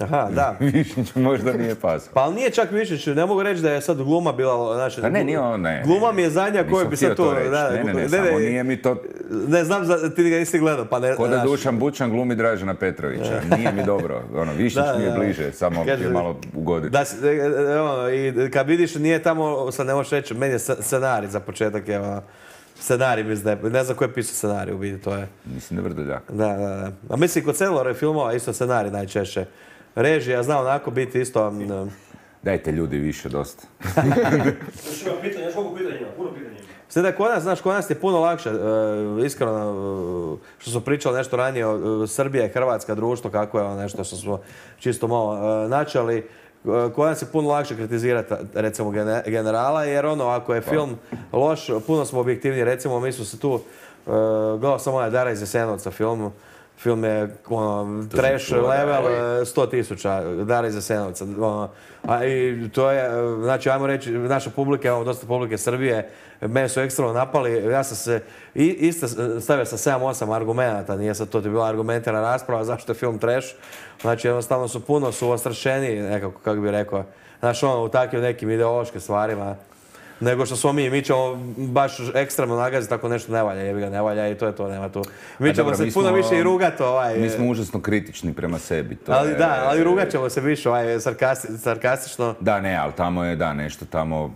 Aha, da. Višnjić možda nije pasao. Pa ali nije čak Višnjić, ne mogu reći da je sad gluma bila, znači... Pa ne, nije on, ne. Gluma mi je zadnja koja Nisam bi htio sad to... reći. da, Ne, ne, ne, samo nije mi to... Ne znam, za- ti ga nisi gledao, pa ne... Ko da znaš. Dušan Bućan glumi Dražena Petrovića. Nije mi dobro. Ono, Višnjić Da, mi je da. bliže, samo Kaže- je malo ugoditi. Da, s- e, e, ono, i kad vidiš, nije tamo, sad ne možeš reći, meni je sc- scenarij za početak, je ono, scenarij, mislim da je, ne znam ko je pisao scenarij u biti, to je. Mislim da je Vrdoljak. Da, da, da. A mislim, kod Celore filmova isto scenarij najčešće. Režija zna onako biti isto... m, Dajte ljudi više dosta. Još ima pitanja, još mogu pitanja ima, puno pitanja ima. Sve da kod nas, znaš, kod nas je puno lakše, e, iskreno, e, što smo pričali nešto ranije, o, e, Srbija i Hrvatska društvo, kako je ono nešto što smo čisto malo e, načeli, e, kod nas je puno lakše kritizirati, recimo, gene- Generala, jer ono, ako je film loš, puno smo objektivni, recimo, mi smo se tu, e, gledao sam onaj Dara iz Jasenovca film, film je ono, trash čuo, da. level, e, sto tisuća, Dara iz Jasenovca. Ono, a i to je, e, znači, ajmo reći, naša publika, imamo dosta publike Srbije, mene su ekstremno napali, ja sam se i, isto stavio sa sedam osam argumenata, nije sad to ti bila argumentirana rasprava zašto je film trash, znači jednostavno su puno, su ostrašeni nekako, kako bih rekao, znaš ono, u takvim nekim ideološkim stvarima. nego što smo mi. Mi ćemo baš ekstremno nagaziti, tako nešto ne valja, jebi ga, ne valja i to je to, nema tu. Mi ćemo dobro, se mi puno smo- više i rugati, ovaj. Mi smo užasno kritični prema sebi. To ali je- da, ali rugat ćemo se više, ovaj, sarkasti, sarkastično. Da, ne, ali tamo je, da, nešto tamo...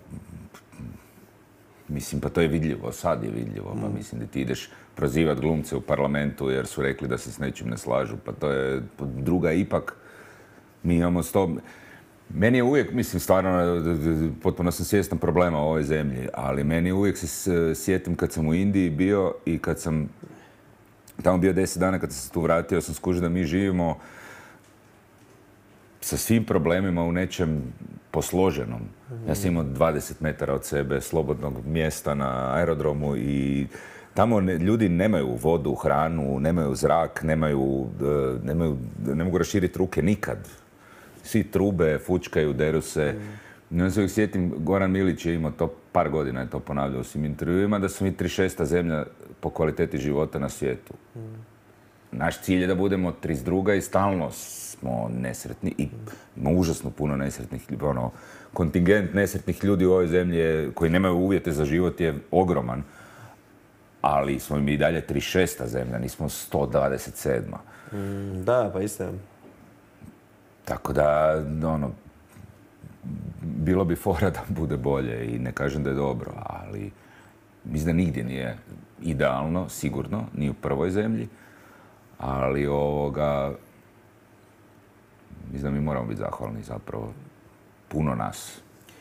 Mislim, pa to je vidljivo, sad je vidljivo. Pa mislim da ti ideš prozivat glumce u parlamentu jer su rekli da se s nečim ne slažu. Pa to je druga ipak. Mi imamo sto... Meni je uvijek, mislim, stvarno, potpuno sam svjestan problema u ovoj zemlji, ali meni uvijek se s- sjetim kad sam u Indiji bio i kad sam tamo bio deset dana, kad sam se tu vratio, sam skužio da mi živimo sa svim problemima u nečem posloženom. Ja sam imao dvadeset metara od sebe slobodnog mjesta na aerodromu i tamo ne- ljudi nemaju vodu, hranu, nemaju zrak, nemaju, e, nemaju, ne mogu raširiti ruke nikad. Svi trube, fučkaju, deru se. I onda se uvijek sjetim, Goran Milić je imao to, par godina je to ponavljao u svim intervjuima, da smo mi trideset šesta zemlja po kvaliteti života na svijetu. Naš cilj je da budemo trideset druga i stalno smo nesretni i ima užasno puno nesretnih ljudi. Ono, kontingent nesretnih ljudi u ovoj zemlji je, koji nemaju uvjete za život je ogroman. Ali smo mi i dalje trideset šesta zemlja, nismo sto dvadeset sedma. Mm, da, pa istina. Tako da, ono, bilo bi fora da bude bolje i ne kažem da je dobro, ali mislim da nigdje nije idealno, sigurno, ni u prvoj zemlji, ali ovoga, mislim da mi moramo biti zahvalni zapravo, puno nas,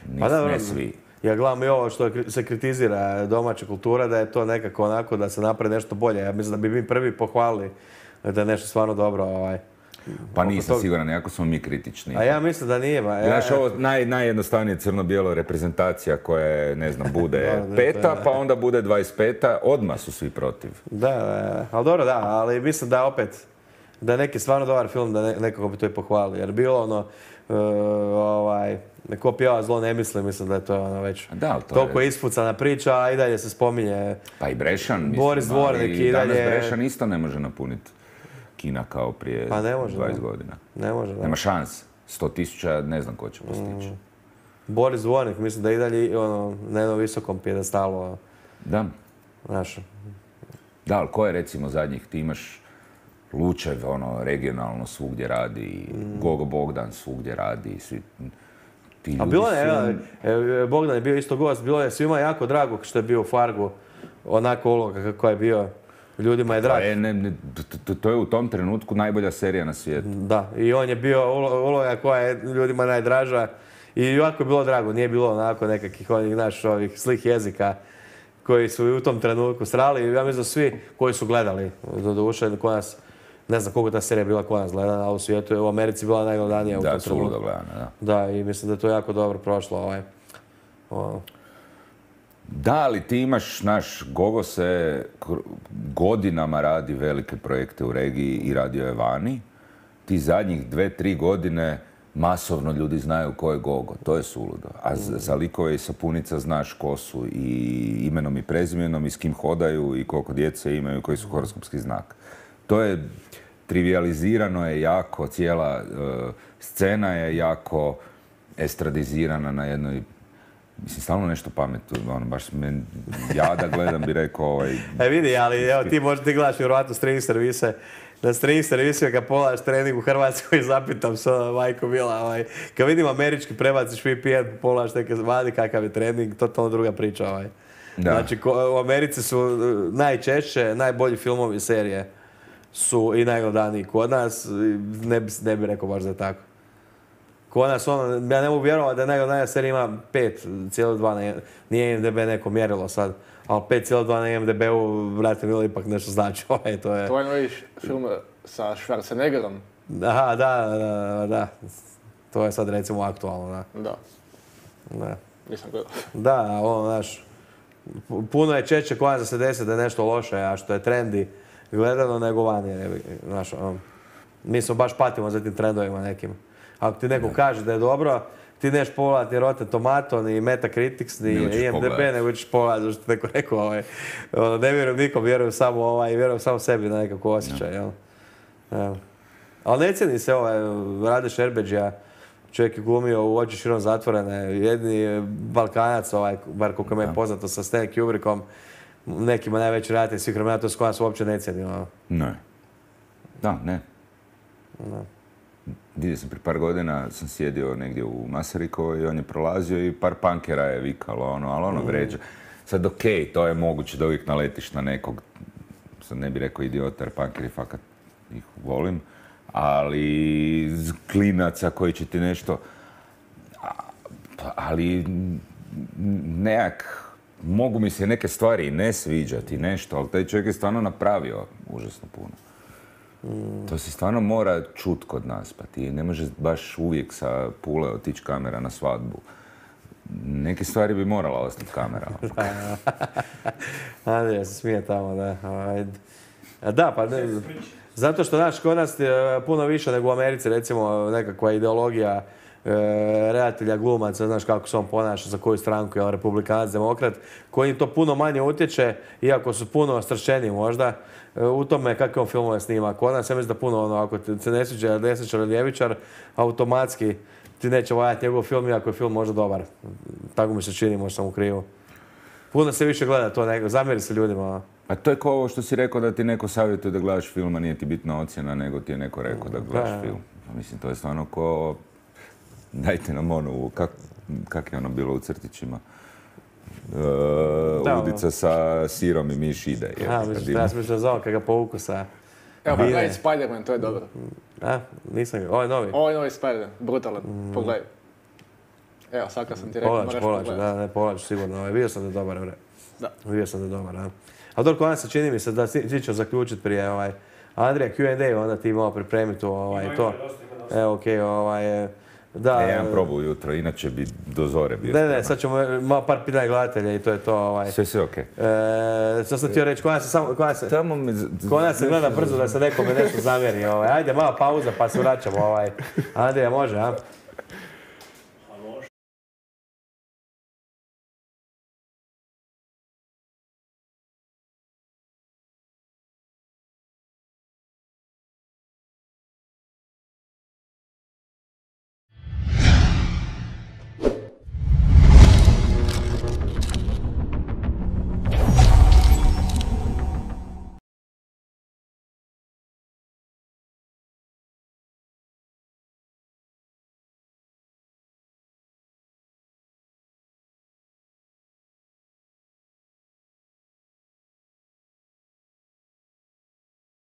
Nis, Pa da, ne svi. Ja gledam i ovo što je- se kritizira domaća kultura, da je to nekako onako da se napravi nešto bolje. Ja mislim da bi mi prvi pohvalili da je nešto stvarno dobro. Ovaj. Pa oko nisam toga. siguran, jako smo mi kritični. A ja mislim da nije. Ba. Ja, Znaš, ovo naj, najjednostavnije crno-bijelo reprezentacija koja je, ne znam, bude Da, da, to peta, je- pa onda bude dvadeset peta, odmah su svi protiv. Da, da, ali dobro, da, ali mislim da opet, da je neki stvarno dobar film, da ne, nekako bi to i pohvalili. Jer bilo ono, uh, ovaj, neko pjeva zlo ne misli, mislim da je to ono već Da, ali to toliko je- ispucana priča, a i dalje se spominje. Pa i Brešan, mislim, Boris Dvornik ali i danas dalje- Brešan isto ne može napuniti kina kao prije Pa ne može, dvadeset da. godina. Ne može, da. Nema šans. sto tisuća ne znam ko će postići. Mm. Boris Dvornik, mislim da je i dalje ono, na jednom visokom pjedestalu, Da. znaš. Da, ali ko je recimo zadnjih? Ti imaš Lučev, ono, regionalno svugdje radi, Gogo Bogdan svugdje radi, svi ti ljudi Mm. A bilo su- je, e, e, Bogdan je bio isto gost, bilo je svima jako drago što je bio u Fargu, onako uloga kako je bio, ljudima je Pa drag. je, ne, ne, to- to, to je u tom trenutku najbolja serija na svijetu. Da, i on je bio ulo- uloga koja je ljudima najdraža i jako je bilo drago, nije bilo onako nekakvih onih, znaš, ovih slih jezika koji su i u tom trenutku strali. Ja mislim da svi koji su gledali, do duše, kod nas, ne znam koliko ta serija bila kod nas gledana, ali u svijetu je u Americi bila najgledanija u tom Da, trenutku. suludo gledana, da. Da, i mislim da je to jako dobro prošlo. Ovaj. Ono. Da, ali ti imaš, naš, Gogo se kr- godinama radi velike projekte u regiji i radio je vani. Ti zadnjih dve, tri godine masovno ljudi znaju ko je Gogo, to je suludo. A za, za likove i sapunica znaš ko su i imenom i prezimenom i s kim hodaju i koliko djece imaju, koji su horoskopski znak. To je trivializirano je jako, cijela e, scena je jako estradizirana na jednoj. Mislim, stalno nešto pametno, ono, baš me, ja da gledam bi rekao, ovaj, E vidi, ali evo ti možda ti gledaš vjerovatno streaming servise. Na streaming servisima kad pogledaš trening u Hrvatskoj zapitam se, ono, majko Mila, ovaj, kad vidim američki prebaciš V P N, pogledaš neke vadi kakav je trening, totalno druga priča. Ovaj. Da. Znači, ko, u Americi su uh, najčešće, najbolji filmovi i serije su i najgledaniji kod nas, i ne bi, ne bi rekao baš da je tako. Kod nas, ono, ja ne mogu vjerovati da najgledanija serija ima pet zarez dva, na- nije I M D B neko mjerilo sad, ali pet zarez dva na I M D B-u, brate milo, ipak nešto znači. Ovaj, to je... To je novi š- film sa Schwarzeneggerom. Aha, da, da, da. To je sad recimo aktualno, da. Da, Da, nisam gledao. da ono, znaš, pu- puno je češće kod nas da se desi da je nešto loše, a što je trendi gledano nego vani. je, Znaš, ono, mi smo baš patimo za tim trendovima nekim. Ako ti neko kaže da je dobro, ti neš pogledati ni Rotten Tomato, ni Metacritics, ni Ili ćeš I M D B, pogledat. nego ćeš pogledati što neko rekao. Ovaj, ono, ne vjerujem nikom, vjerujem samo, ovaj, vjerujem samo sebi na nekako osjećaj. Jel? Evo. Ali ne cijeni se ovaj, Rade Šerbeđija, čovjek je glumio u Oči širom zatvorene, jedni Balkanac, ovaj, bar koliko me je poznato sa Stanley Kubrickom, nekima najveći redatelj svih vremena, to s koja se uopće ne cijeni. Ono. Ne. Da, ne. Vidio sam prije par godina, sam sjedio negdje u Masarikovoj i on je prolazio i par punkera je vikalo, ono, ali ono vređa. Sad okej, okay, to je moguće da uvijek naletiš na nekog, sad ne bih rekao idiota jer punkeri fakat ih volim, ali klinaca koji će ti nešto, ali nekak, mogu mi se neke stvari ne sviđati, nešto, ali taj čovjek je stvarno napravio užasno puno. Mm. To se stvarno mora čut kod nas, pa ti ne možeš baš uvijek sa Pule otići kamera na svadbu. Neke stvari bi morala ostati kamera. Andrija se smije tamo, da. Da, pa ne, zato što, znaš, kod nas je puno više nego u Americi, recimo, nekakva ideologija e, redatelja, glumaca, znaš kako se on ponaša, za koju stranku je republikanac, demokrat, koji to puno manje utječe, iako su puno stršćeniji možda, e, u tome kakve on filmove snima. Kod nas, ja mislim da puno, ono, ako se ne sviđa desničar ili ljevičar, automatski ti neće voljati njegov film, iako je film možda dobar. Tako mi se čini, možda sam u krivu. Puno se više gleda to, nego, zamjeri se ljudima. A to je kao ovo što si rekao da ti neko savjetuje da gledaš film, a nije ti bitna ocjena, nego ti je neko rekao da gledaš da. film. Mislim, to je stvarno ko... Dajte nam ono, kak, kak je ono bilo u crtićima? Uh, udica sa sirom i miš ide. Je, a, mislim, ja sam mislio za ovo, kada ga povuku sa... Evo, pa gledaj Spider-Man, to je dobro. A, nisam ga, ovo je novi. Ovo je novi Spider-Man, brutalan, mm. pogledaj. Evo, sad kad sam ti rekao, moraš pogledati. Da, ne, pogledaš sigurno, ovaj, vidio sam da je dobar, bre. Da. Vidio sam da je dobar, da. Ali dobro, kod nas se čini mi se da ti ćeš zaključiti prije, ovaj, Andrija Q and A, onda ti malo pripremiti ovaj, to. Evo, okej, okay, ovaj, da. E, ja imam probu ujutro, inače bi do zore bio. Ne, ne, sad ćemo malo par pitanja gledatelja i to je to. Ovaj. Sve, sve okej. Okay. E, sad sam htio reći, kod nas se, samo, kod nas se, Tamo me... kod nas se gleda brzo da se nekome nešto zamjeri. Ovaj. Ajde, malo pauza pa se vraćamo. Ovaj. Andrija, može, a?